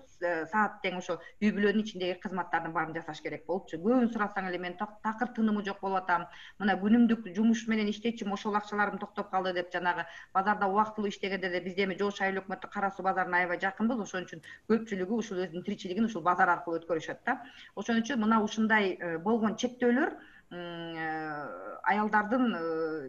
саат тең ошо үй бүлөнүн ичиндеги кызматтардын баарын жасаш керек болупчу. Көбүн сурасаң эле мен такыр тынымы жок болуп атам. Мына күнүмдүк жумуш менен иштечүмүн, ошол акчаларым токтоп калды деп жанагы базарда убактылуу иштегенде де бизде эми Жош айыл өкмөттүк Кара Суу базарына аябай жакынбыз, ошон үчүн көпчүлүгү ушул өзүнүн тиричилигин ушул базар аркылуу өткөрүшөт да. Ошон үчүн мына ушундай болгон чектөөлөр аялдардын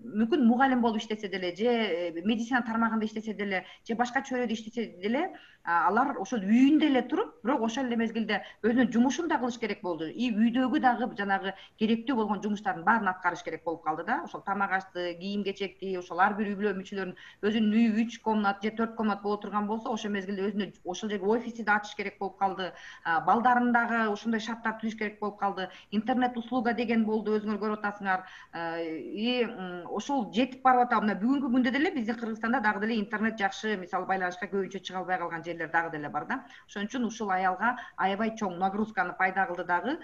мүмкүн мугалим болуп иштесе деле, же медицина тармагында иштесе деле, же башка чөйрөдө иштесе деле, алар ошол үйүндө эле туруп, бирок ошол эле мезгилде өзүнүн жумушун да кылыш керек болду. И үйдөгү дагы жанагы керектүү болгон жумуштардын баарын аткарыш керек болуп калды да. Ошол тамак ашты, кийим кечекти, ошол ар бир үй бүлө мүчөлөрүнүн өзүнүн үйү 3 комнат же 4 комнат боло турган болсо, ошол мезгилде өзүнө ошол жерге офисти да ачыш керек болуп калды. Балдарын дагы ошондой шарттар түзүш керек болуп калды. Интернет услуга деген болду, өзүңөр көрүп атасыңар. И ошол жетип барып атат. Мына бүгүнкү күндө деле биздин Кыргызстанда дагы деле интернет жакшы, мисалы байланышка көбүнчө чыга албай калган жерлер дагы деле бар да. Ошон үчүн ушул аялга аябай чоң нагрузканы пайда кылды дагы.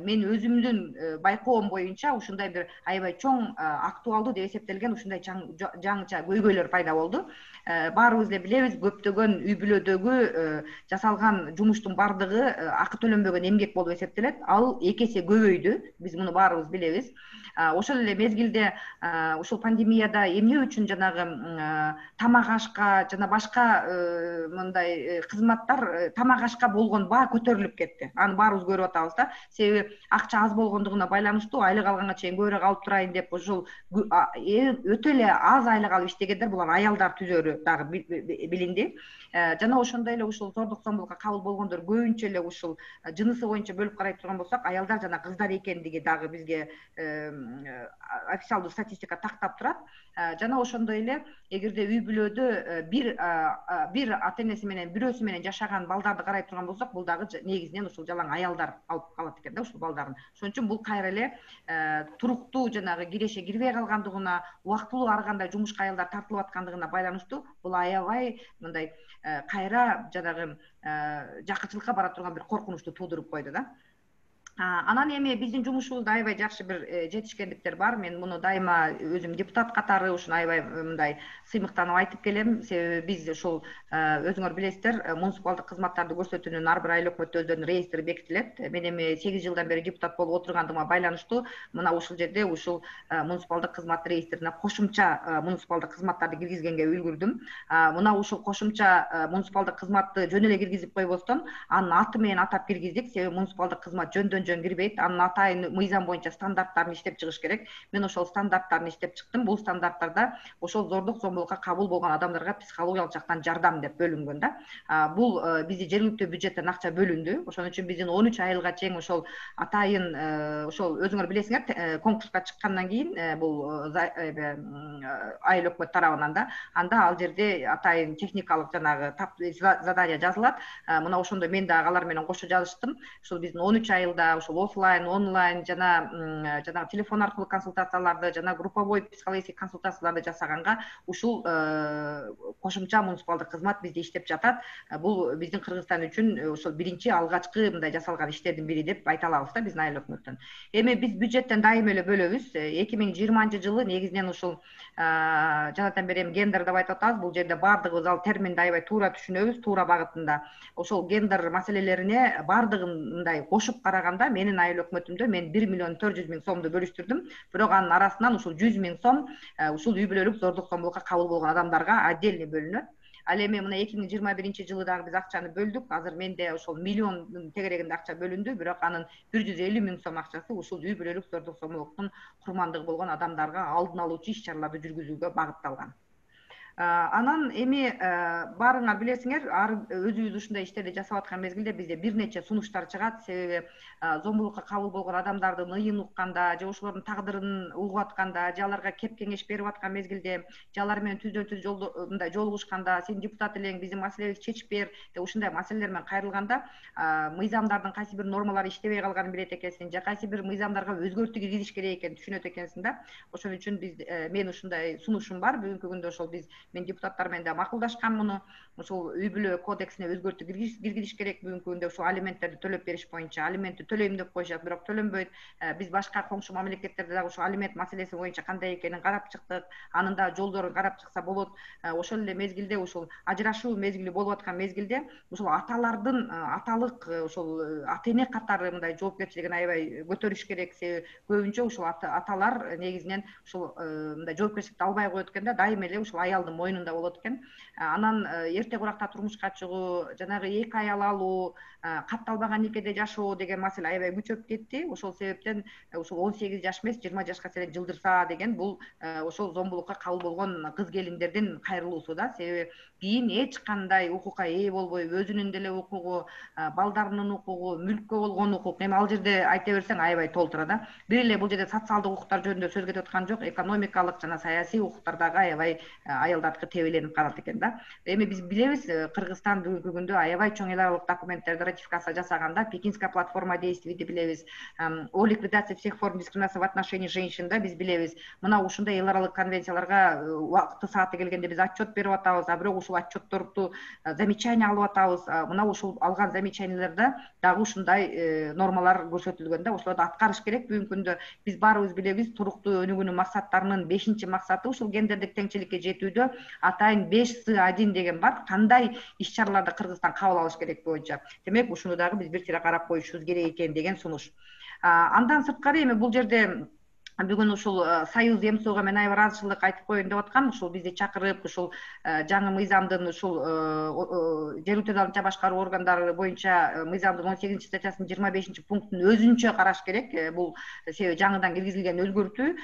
Мен өзүмдүн байкоом боюнча ушундай бир аябай чоң актуалдуу деп эсептелген ушундай жаңыча көйгөйлөр пайда болду. Баарыбыз эле билебиз, көптөгөн үй бүлөдөгү жасалган жумуштун бардыгы акы төлөнбөгөн эмгек болуп эсептелет. Ал 2 эсе көбөйдү. Биз муну баарыбыз билебиз. Ошол эле мезгилде ушул пандемияда эмне үчүн жанагы тамак ашка жана башка мындай кызматтар, тамак ашка болгон баа көтөрүлүп кетти. Аны баарыбыз көрүп атабыз да. Себеби акча аз болгондугуна байланыштуу, айлык алганга чейин көбүрөөк алып турайын деп ушул өтө эле аз айлык алып иштегендер, булар аялдар түзөрү дагы билинди. Жана ошондой эле ушул зордук зомбулукка кабыл болгондор көбүнчө эле ушул жынысы боюнча бөлүп карай турган болсок, аялдар жана кыздар экендиги дагы бизге официалдуу статистика тактап турат. Жана ошондой эле эгерде үй бүлөдө бир ата энеси менен, бирөөсү менен жашаган балдарды карай турган болсок, бул дагы негизинен ушул жалаң аялдар алып калат экен да ушул балдарын. Ошон үчүн бул кайра эле туруктуу жанагы киреше кирбей калгандыгына, убактылуу ар кандай жумушка аялдар тартылып аткандыгына байланыштуу, бул аябай мындай кайра жанагы жакычылыкка бара турган бир коркунучту туудуруп койду да. Анан эми биздин жумушубузда аябай жакшы бир жетишкендиктер бар. Мен муну дайыма өзүм депутат катары ушуну аябай мындай сыймыктанып айтып келем. Себеби биз ушул өзүңөр билесиздер, муниципалдык кызматтарды көрсөтүүнүн ар бир айыл өкмөттө өздөрүнүн реестри бекитилет. Мен эми 8 жылдан бери депутат болуп отургандыгыма байланыштуу мына ушул жерде ушул муниципалдык кызмат реестрине кошумча муниципалдык кызматтарды киргизгенге үлгүрдүм. Мына ушул кошумча муниципалдык кызматты жөн эле киргизип койбостон, анын аты менен атап киргиздик. Себеби муниципалдык кызмат жөн кирбейт. Анын атайын мыйзам боюнча стандарттарын иштеп чыгыш керек. Мен ошол стандарттарын иштеп чыктым. Бул стандарттарда ошол зордук зомбулукка кабыл болгон адамдарга психологиялык жактан жардам деп бөлүнгөн да. Бул бизди жергиликтүү бюджеттен акча бөлүндү. Ошон үчүн биздин 13 айылга чейин ошол атайын ошол өзүңөр билесиңер, конкурска чыккандан кийин бул айыл өкмөт тарабынан да, анда ал жерде атайын техникалык жанагы задание жазылат. Мына ошондо мен дагы алар менен кошо жазыштым. Ушул биздин 13 айылда ушул офлайн, онлайн жана телефон аркылуу консультацияларды жана групповой психологический консультацияларды жасаганга ушул кошумча муниципалдык кызмат бизде иштеп жатат. Бул биздин Кыргызстан үчүн ошол биринчи алгачкы мындай жасалган иштердин бири деп айта алабыз да биздин айыл өкмөттөн. Эми биз бюджеттен дайыма эле бөлөбүз. 2020 жылы негизинен ушул жанатан бери эми гендер деп айтып атабыз. Бул жерде бардыгыбыз ал терминди аябай туура түшүнөбүз, туура багытында. Ошол гендер маселелерине бардыгын мындай кошуп караганда менин айыл өкмөтүмдө мен 1.400.000 сомду бөлүштүрдүм. Бирок анын арасынан ушул 100.000 сом ушул үй бүлөлүк зордук зомбулукка кабыл болгон адамдарга отдельный бөлүнөт. Ал эми мына 2021-жылы дагы биз акчаны бөлдүк. Азыр менде ошол миллион тегерегинде акча бөлүндү, бирок анын 150 миң сом акчасы ушул үй бүлөлүк зордук зомбулуктун курмандыгы болгон адамдарга алдын алуучу иш-чараларды жүргүзүүгө багытталган. Анан эми баарыңар билесиңер, өзүбүз ушундай иштерди жасап аткан мезгилде бизде бир нече сунуштар чыгат. Себеби зомбулукка кабыл болгон адамдардын ыйын укканда, же ошолордун тагдырын угуп атканда, же аларга кеп кеңеш берип аткан мезгилде, же алар менен түздөн-түз мындай жолугушканда, сен депутат элең, биздин маселебизди чечип бер деп ушундай маселелер менен кайрылганда, мыйзамдардын кайсы бир нормалары иштебей калганын билет экенсиң, же кайсы бир мыйзамдарга өзгөртүү киргизиш керек экенин түшүнөт экенсиң да. Ошон үчүн мен ушундай сунушум бар. Бүгүнкү күндө ошол мен депутаттар менен да макулдашкам муну. Ошол үй бүлө кодексине өзгөртүү киргизиш керек. Бүгүнкү күндө ошол алименттерди төлөп бериш боюнча алиментти төлөйм деп коюшат, бирок төлөнбөйт. Биз башка коңшу мамлекеттерде дагы ошол алимент маселеси боюнча кандай экенин карап чыктык. Анын да жолдорун карап чыкса болот. Ошол эле мезгилде ушул ажырашуу мезгили болуп аткан мезгилде ушул аталардын аталык ошол ата эне катары мындай жоопкерчилигин аябай көтөрүш керек. Себеби көбүнчө ушул аталар негизинен ушул мындай жоопкерчиликти албай коет экен да, дайыма эле ушул аялдын мойнунда болот экен. Анан эрте куракта турмушка чыгуу, жанагы эки аял алуу, катталбаган никеде жашоо деген маселе аябай күчөп кетти. Ошол себептен ушул 18 жаш эмес 20 жашка чейин жылдырса деген бул ошол зомбулукка кабыл болгон кыз келиндердин кайрылуусу да. Себеби кийин эч кандай укукка ээ болбой, өзүнүн деле укугу, балдарынын укугу, мүлккө болгон укук, эми ал жерде айта берсең аябай толтура да. Бир эле бул жерде социалдык укуктар жөнүндө сөз кетип аткан жок, экономикалык жана саясий укуктар дагы аябай аялдардыкы тебеленип калат экен да. Эми биз билебиз, Кыргызстан бүгүнкү күндө аябай чоң эл аралык документтерди ратификация жасаганда, Пекинская платформа действийди билебиз, о ликвидации всех форм дискриминации в отношении женщин да биз билебиз. Мына ушундай эл аралык конвенцияларга убакыты сааты келгенде биз отчет берип атабыз, а бирок ушул отчетторду замечание алып атабыз. Мына ушул алган замечаниелерде дагы ушундай нормалар көрсөтүлгөн да. Ошолорду аткарыш керек. Бүгүнкү күндө биз баарыбыз билебиз, туруктуу өнүгүүнүн максаттарынын 5-максаты ушул гендердик теңчиликке жетүүдө атайын 5С1 деген бар. Кандай иш-чараларды Кыргызстан кабыл алыш керек боюнча. Демек, ушуну дагы биз бир тире карап коюшубуз керек экен деген сунуш. Андан сырткары эми бул жерде бүгүн ушул Союз ЭМСОго мен аябай ыраазычылык айтып коеюн деп аткан. Ушул бизди чакырып, ушул жаңы мыйзамдын ушул жергиликтүү алынча башкаруу органдары боюнча мыйзамдын 18-статьясынын 25-пунктун өзүнчө караш керек. Бул себеби жаңыдан киргизилген өзгөртүү.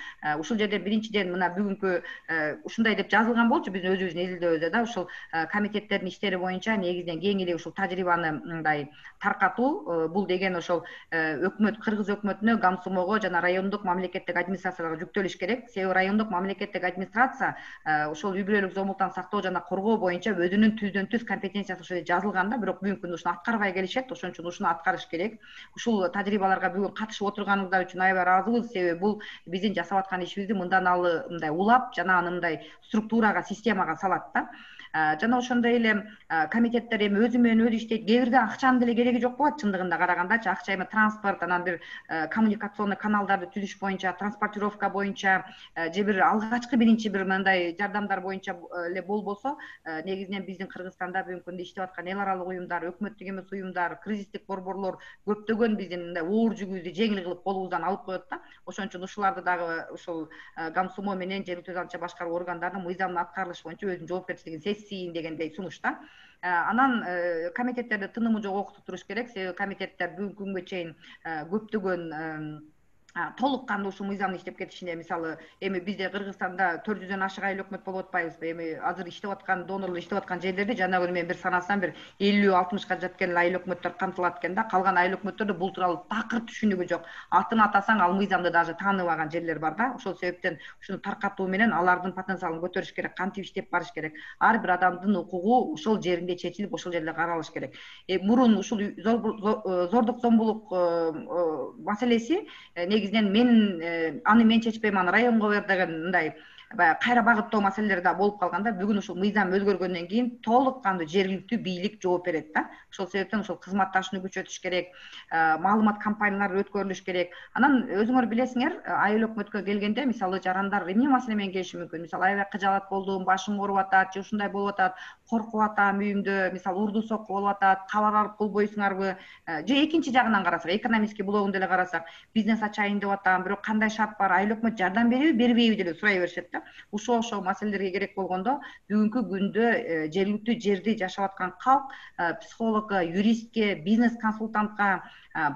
Ушул жерде биринчиден мына бүгүнкү ушундай деп жазылган болчу биздин өзүбүздүн изилдөөбүздө да, ушул комитеттердин иштери боюнча негизинен кең эле ушул тажрыйбаны мындай таркатуу. Бул деген ошол өкмөт, Кыргыз өкмөтүнө, Гамсумого жана райондук мамлекеттик администрацияларга жүктөлүш керек. Себеби райондук мамлекеттик администрация ошол үй бүлөлүк зомбулуктан сактоо жана коргоо боюнча өзүнүн түздөн-түз компетенциясы ошол жерде жазылган да, бирок бүгүнкү күндө ушуну аткарбай келишет. Ошон үчүн ушуну аткарыш керек. Ушул тажрыйбаларга бүгүн катышып отурганыңыздар үчүн аябай ыраазыбыз. Себеби бул биздин жасап аткан ишибизди мындан алы мындай улап жана аны мындай структурага, системага салат да. Жана ошондой эле комитеттер эми өзү менен өзү иштейт. Кээ бирде акчанын деле кереги жок болот чындыгында карагандачы. Акча эми транспорт, анан бир коммуникационный каналдарды түзүш боюнча, транспортировка боюнча, же бир алгачкы биринчи бир мындай жардамдар боюнча эле болбосо, негизинен биздин Кыргызстанда бүгүнкү күндө иштеп аткан эл аралык уюмдар, өкмөттүк эмес уюмдар, кризистик борборлор көптөгөн биздин мындай оор жүгүбүздү жеңил кылып колубуздан алып коет да. Ошон үчүн ушуларды дагы ушул Гамсумо менен жергиликтүү алынча башкаруу органдарынын мыйзамдын аткарылышы боюнча өзүнүн жоопкерчилигин дегендей сунуш да. Анан комитеттерди тынымы жок окутуп туруш керек. Себеби комитеттер бүгүнкү күнгө чейин көптөгөн толук кандуу ушул мыйзамды иштеп кетишине, мисалы эми бизде Кыргызстанда 400дөн ашык айыл өкмөт болуп атпайбызбы? Эми азыр иштеп аткан донорлор иштеп аткан жерлерде жана күнү мен бир санасам бир 50-60ка жеткен айыл өкмөттөр камтылат экен да. Калган айыл өкмөттөрдө бул тууралуу такыр түшүнүгү жок. Атын атасаң ал мыйзамды даже тааныбаган жерлер бар да. Ошол себептен ушуну таркатуу менен алардын потенциалын көтөрүш керек, кантип иштеп барыш керек. Ар бир адамдын укугу ошол жеринде чечилип, ошол жерде каралыш керек. Мурун ушул зордук зомбулук маселеси мен аны мен чечпейм, аны районго бер деген мындай кайра багыттоо маселелери да болуп калганда, бүгүн ушул мыйзам өзгөргөндөн кийин толук кандуу жергиликтүү бийлик жооп берет да. Ошол себептен ушул кызматташууну күчөтүш керек, маалымат кампаниялары өткөрүлүш керек. Анан өзүңөр билесиңер, айыл өкмөткө келгенде мисалы жарандар эмне маселе менен келиши мүмкүн? Мисалы аябай кыжаалат болдум, башым ооруп атат, же ушундай болуп атат, коркуп атам үйүмдө, мисалы урду сокку болуп атат, кабар алып болбойсуңарбы? Же экинчи жагынан карасак, экономический блогун деле карасак, бизнес ачайын деп атам, бирок кандай шарт бар, айыл өкмөт жардам береби, бербейби деле сурай беришет да. да. Ушул ошол маселелерге керек болгондо бүгүнкү күндө жергиликтүү жерде жашап аткан калк психологко, юристке, бизнес консультантка,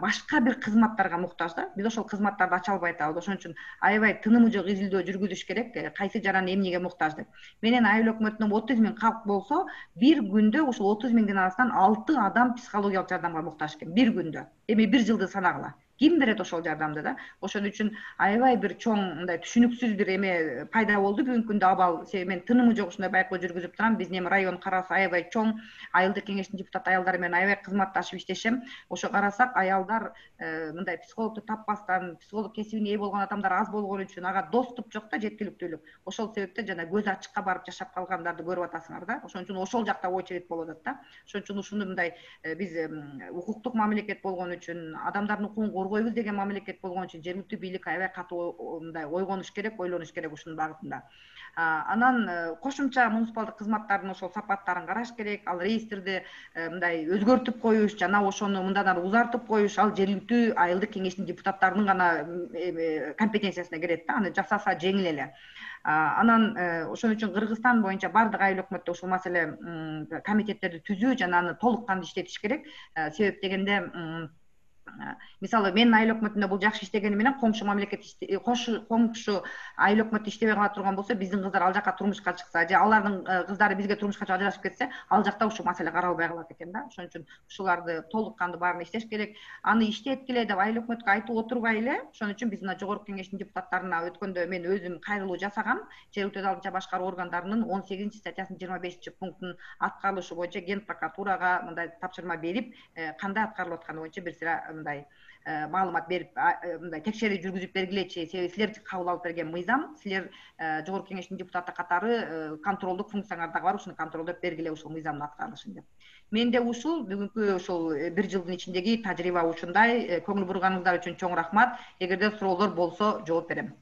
башка бир кызматтарга муктаж да. Биз ошол кызматтарды ача албай атабыз. Ошон үчүн аябай тынымы жок изилдөө жүргүзүш керек. Кайсы жаран эмнеге муктаж деп. Менен айыл өкмөтүнөн 30 000 калк болсо, бир күндө ушул 30 000-дин арасынан 6 адам психологиялык жардамга муктаж экен бир күндө. Эми бир жылды санагыла. Ким берет ошол жардамды да? Ошон үчүн аябай бир чоң мындай түшүнүксүз бир эме пайда болду бүгүнкү күндө абал. Мен тынымы жок ушундай байкоо жүргүзүп турам. Биздин эми район карасы аябай чоң. Айылдык кеңештин депутат аялдары менен аябай кызматташып иштешем. Ошо карасак аялдар мындай психологду таппастан, психолог кесибине ээ болгон адамдар аз болгон үчүн ага доступ жок да, жеткиликтүүлүк. Ошол себептен жана көз ачыкка барып жашап калгандарды көрүп атасыңар да. Ошон үчүн ошол жакта очередь болуп атат да. Ошон үчүн ушуну мындай биз укуктук мамлекет болгон үчүн, адамдардын укугун коргойбуз деген мамлекет болгон үчүн жергиликтүү бийлик аябай катуу мындай ойгонуш керек, ойлонуш керек ушунун багытында. Анан кошумча муниципалдык кызматтардын ошол сапаттарын караш керек. Ал реестрди мындай өзгөртүп коюш, жана ошону мындан ары узартып коюш, ал жергиликтүү айылдык кеңештин депутаттарынын гана компетенциясына кирет да. Аны жасаса жеңил эле. Анан ошон үчүн Кыргызстан боюнча бардык айыл өкмөттө ушул маселе комитеттерди түзүү жана аны толук кандуу иштетиш керек. Себеп дегенде мисалы менин айыл өкмөтүндө бул жакшы иштегени менен коңшу мамлекет коңшу айыл өкмөтү иштебей кала турган болсо, биздин кыздар ал жака турмушка чыкса же алардын кыздары бизге турмушка чыгып ажырашып кетсе, ал жакта ушул маселе каралбай калат экен да. Ошон үчүн ушуларды толук кандуу баарын иштеш керек. Аны иштеткиле деп айыл өкмөткө айтып отурбай эле, ошон үчүн биз мына жогорку кеңештин депутаттарына өткөндө мен өзүм кайрылуу жасагам. Жергиликтүү алдынча башкаруу органдарынын 18-статьясынын 25-пунктунун аткарылышы боюнча ген прокуратурага мындай тапшырма берип, кандай аткарылып атканы боюнча бир сыйра мындай маалымат берип, мындай текшерүү жүргүзүп бергилечи. Себеби силер кабыл алып берген мыйзам, силер жогорку кеңештин депутаты катары контролдук функцияңар дагы бар, ушуну контролдоп бергиле ушул мыйзамдын аткарылышын деп. Менде ушул бүгүнкү ушул бир жылдын ичиндеги тажрыйба ушундай. Көңүл бурганыңыздар үчүн чоң рахмат. Эгерде суроолор болсо жооп берем.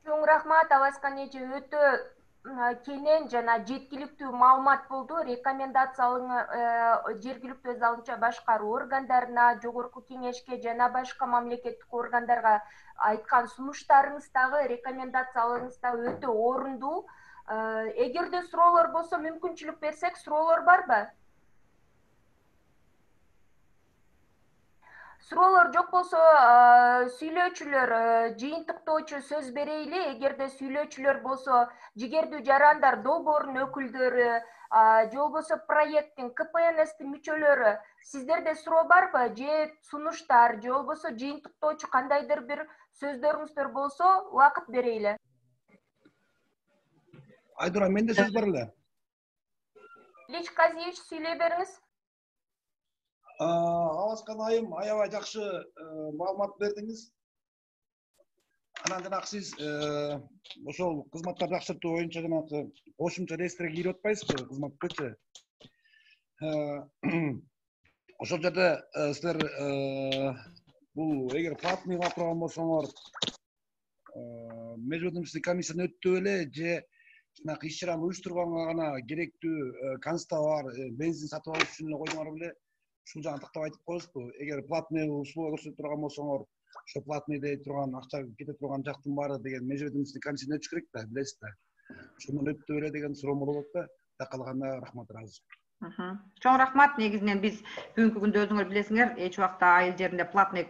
Чоң рахмат, Аваскан эже, өтө кенен жана жеткиликтүү маалымат болду. Рекомендацияларыңар жергиликтүү өз алдынча башкаруу органдарына, жогорку кеңешке жана башка мамлекеттик органдарга айткан сунуштарыңыз дагы, рекомендацияларыңыз да өтө орундуу. Эгерде суроолор болсо, мүмкүнчүлүк берсек, суроолор барбы? Суроолор жок болсо, сүйлөөчүлөр, жыйынтыктоочу сөз берейли. Эгерде сүйлөөчүлөр болсо, жигердүү жарандар долбоорунун өкүлдөрү, же болбосо проекттин, КПНСтин мүчөлөрү, сиздерде суроо барбы? Же сунуштар, же болбосо жыйынтыктоочу кандайдыр бир сөздөрүңүздөр болсо, убакыт берейли. Айдура, менде сөз бар эле. Ильич Казиевич, сүйлөй бериңиз. Аваскан айым, аябай жакшы маалымат бердиңиз. Анан жанагы сиз ошол кызматтарды жакшыртуу боюнча жанагы кошумча реестрге кирип атпайсызбы кызматпычы? Ошол жерде силер бул эгер платный кыла турган болсоңор, межведомственный комиссиядан өтүп эле же жанагы иш чараны уюштурганга гана керектүү констовар, бензин сатып алыш үчүн эле койдуңар беле? Ушул жагын тактап айтып коесузбу? Эгер платный услуга көрсөтүп турган болсоңор, ошо платный дей турган акча кете турган жактын баары деген межведомственный комиссиядан өтүш керек да, билесиз да. Ошондон өтүп эле деген суроом болот да. Калганда рахмат, ыраазы. Чоң рахмат. Негизинен биз бүгүнкү күндө өзүңөр билесиңер, эч убакта айыл жеринде платный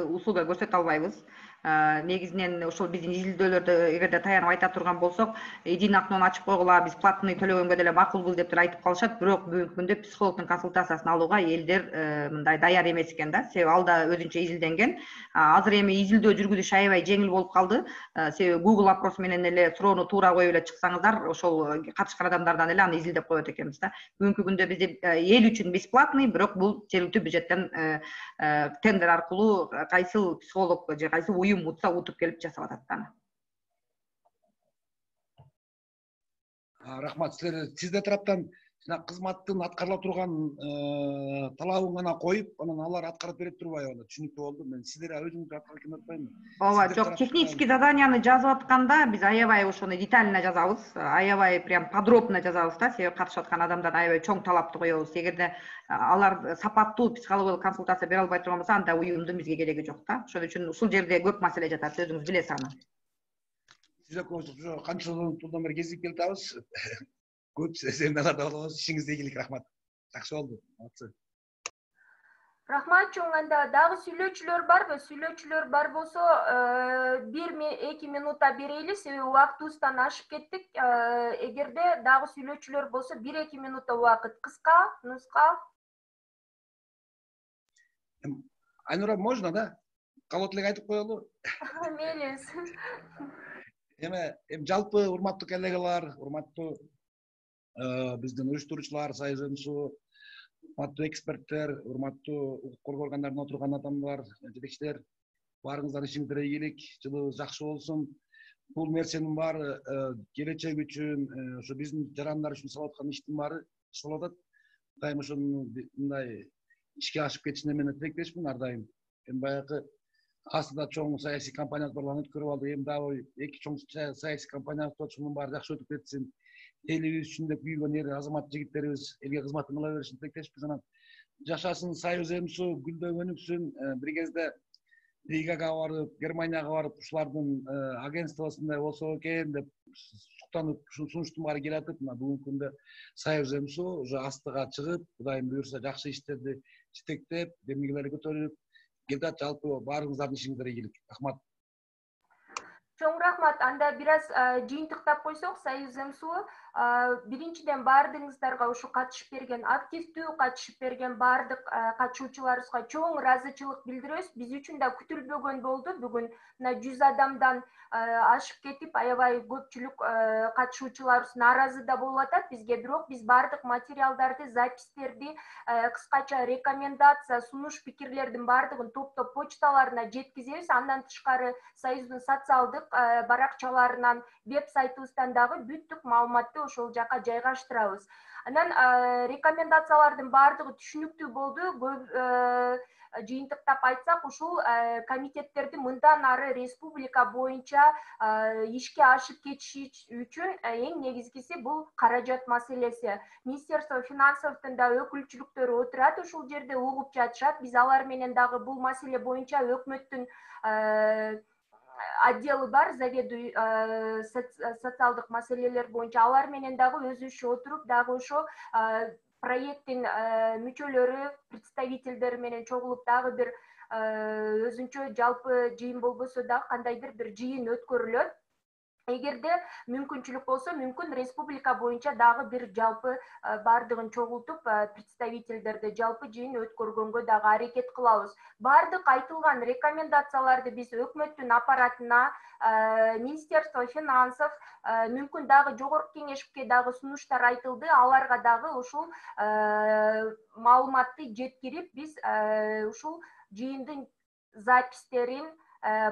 услуга көрсөтө албайбыз. Негизинен ошол биздин изилдөөлөрдө эгерде таянып айта турган болсок, единый окнону ачып койгула, биз платный төлөгөнгө деле макулбуз деп айтып калышат, бирок бүгүнкү күндө психологдун консультациясын алууга элдер мындай даяр эмес экен да. Себеби ал да өзүнчө изилденген. Азыр эми изилдөө жүргүзүш аябай жеңил болуп калды. Себеби Google опрос менен эле суроону туура коюп эле чыксаңыздар, ошол катышкан адамдардан эле аны изилдеп коет экенбиз да. Бүгүнкү күндө бизде эл үчүн бесплатный, бирок бул жергиликтүү бюджеттен тендер аркылуу кайсы психолог же кайсы уюм утса утуп келип жасап атат да. Рахмат. Сиздер тараптан жана кызматтын аткарыла турган талабын гана коюп, анан алар аткарып берип турбайбы? Түшүнүктүү болду. Мен сиздер өзүңүз аткарып келип атпаймынбы? Ооба, жок, технический заданияны жазып атканда биз аябай ошону детально жазабыз, аябай прям подробно жазабыз да, себеби катышып аткан адамдар аябай чоң талапты коебуз. Эгерде алар сапаттуу психологиялык консультация бере албай турган болсо, анда уюмдун бизге кереги жок да. Ошон үчүн ушул жерде көп маселе жатат, өзүңүз билесиз аны. ошо канча жылдан бери кезип келатабыз. Көп семиналарда болобуз. Ишиңизде ийгилик, рахмат. Жакшы болду. Молодцы. Рахмат чоң. Анда дагы сүйлөөчүлөр барбы? Сүйлөөчүлөр бар болсо 1-2 минутта берели, себеби убактыбыздан ашып кеттик. Эгерде дагы сүйлөөчүлөр болсо 1-2 минутта убакыт. Кыска, нуска. Айнура, можно, да? Калот эле айтып коелу. Мейлиңиз. Эми жалпы урматтуу коллегалар, урматтуу биздин уюштуруучулар, Союз МСУ, урматтуу эксперттер, урматтуу укук коргоо органдарында отурган адамдар, жетекчилер, баарыңыздар ишиңиздер ийгилик, жылыбыз жакшы болсун. Бул нерсенин баары келечек үчүн, ошо биздин жарандар үчүн жасалып аткан иштин баары болуп атат. Дайым ошону мындай ишке ашып кетишине мен тилектешмин ар дайым. Эми баягы Асында чоң саясий кампания барларын өткөрүп алды. Эми дагы эки чоң саясий кампания ошонун баары жакшы өтүп кетсин. Элибиз үчүн деп күйгөн эр азамат жигиттерибиз элге кызматын кыла беришин тилектешпиз. Анан жашасын Союз МСУ, гүлдөп өнүксүн. Бир кезде Ригага барып, Германияга барып, ушулардын агентствосундай болсо экен деп суктанып, ушул сунуштун баары келатып, мына бүгүнкү күндө Союз МСУ уже астыга чыгып, Кудайым буюрса жакшы иштерди жетектеп, демилгелерди көтөрүп келдат. Жалпы баарыңыздардын ишиңиздер ийгилик. Рахмат. Чоң рахмат. Анда бир аз жыйынтыктап койсок, Союз МСУ биринчиден баардыгыңыздарга ушу катышып берген, активдүү катышып берген баардык катышуучуларыбызга чоң ыраазычылык билдиребиз. Биз үчүн да күтүлбөгөн болду. Бүгүн мына 100 адамдан ашып кетип, аябай көпчүлүк катышуучуларыбыз нааразы да болуп атат бизге. Бирок биз баардык материалдарды, запистерди, кыскача рекомендация, сунуш, пикирлердин баардыгын топтоп почталарына жеткизебиз. Андан тышкары Союздун социалдык баракчаларынан, веб-сайтыбыздан дагы бүттүк маалыматты ошол жака жайгаштырабыз. Анан рекомендациялардын баардыгы түшүнүктүү болду. Жыйынтыктап айтсак, ушул комитеттерди мындан ары республика боюнча ишке ашып кетиши үчүн эң негизгиси бул каражат маселеси. Министерство финансовдун да өкүлчүлүктөрү отурат, ушул жерде угуп жатышат. Биз алар менен дагы бул маселе боюнча өкмөттүн отделы бар, заведующий социалдык маселелер боюнча алар менен дагы өзүбүзчө отуруп, дагы ошо проекттин мүчөлөрү, представительдери менен чогулуп дагы бир өзүнчө жалпы жыйын болбосо дагы кандайдыр бир жыйын өткөрүлөт. Эгерде мүмкүнчүлүк болсо, мүмкүн республика боюнча дагы бир жалпы баардыгын чогултуп, представительдерди жалпы жыйын өткөргөнгө дагы аракет кылабыз. Баардык айтылган рекомендацияларды биз өкмөттүн аппаратына, Министерство финансов, мүмкүн дагы жогорку кеңешке дагы сунуштар айтылды, аларга дагы ушул маалыматты жеткирип, биз ушул жыйындын запистерин,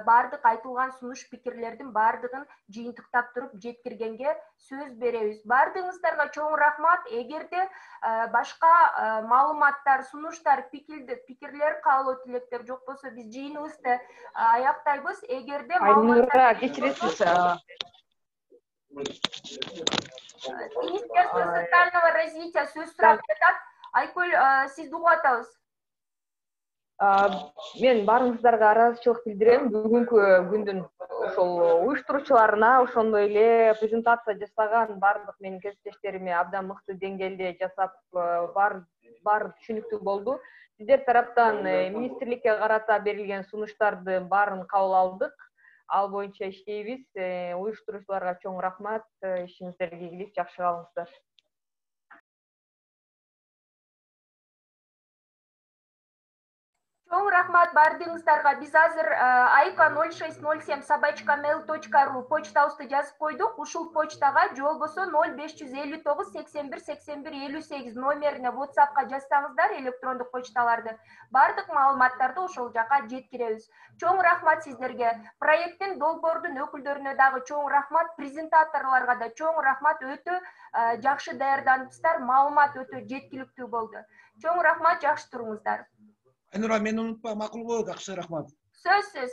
баардык айтылган сунуш пикирлердин баардыгын жыйынтыктап туруп жеткиргенге сөз беребиз. Баардыгыңыздарга чоң рахмат. Эгерде башка маалыматтар, сунуштар, пикирлер, каалоо тилектер жок болсо, биз жыйыныбызды аяктайбыз. Эгерде Айнура, кечиресиз. Министерство социального развития сөз сурап жатат. Айкөл, сизди угуп атабыз. Мен баарыңыздарга ыраазычылык билдирем. Бүгүнкү күндүн ошол уюштуруучуларына, ошондой эле презентация жасаган баардык менин кесиптештериме абдан мыкты деңгээлде жасап, баары түшүнүктүү болду. Сиздер тараптан министрликке карата берилген сунуштардын баарын кабыл алдык. Ал боюнча иштейбиз. Уюштуруучуларга чоң рахмат. Ишиңиздерге ийгилик, жакшы калыңыздар. Чоң рахмат баардыгыңыздарга. Биз азыр aika0607@mail.ru почтабызды жазып койдук. Ушул почтага же болбосо 0559 81 81 58 номерине WhatsApp'ка жазсаңыздар электрондук почталарды, баардык маалыматтарды ошол жака жеткиребиз. Чоң рахмат сиздерге. Проекттин долбоордун өкүлдөрүнө дагы чоң рахмат, презентаторлорго да чоң рахмат. Өтө жакшы даярданыпсыздар, маалымат өтө жеткиликтүү болду. Чоң рахмат, жакшы туруңуздар. Айнура, мени унутпа, макулбу, жакшы рахмат. Сөзсүз.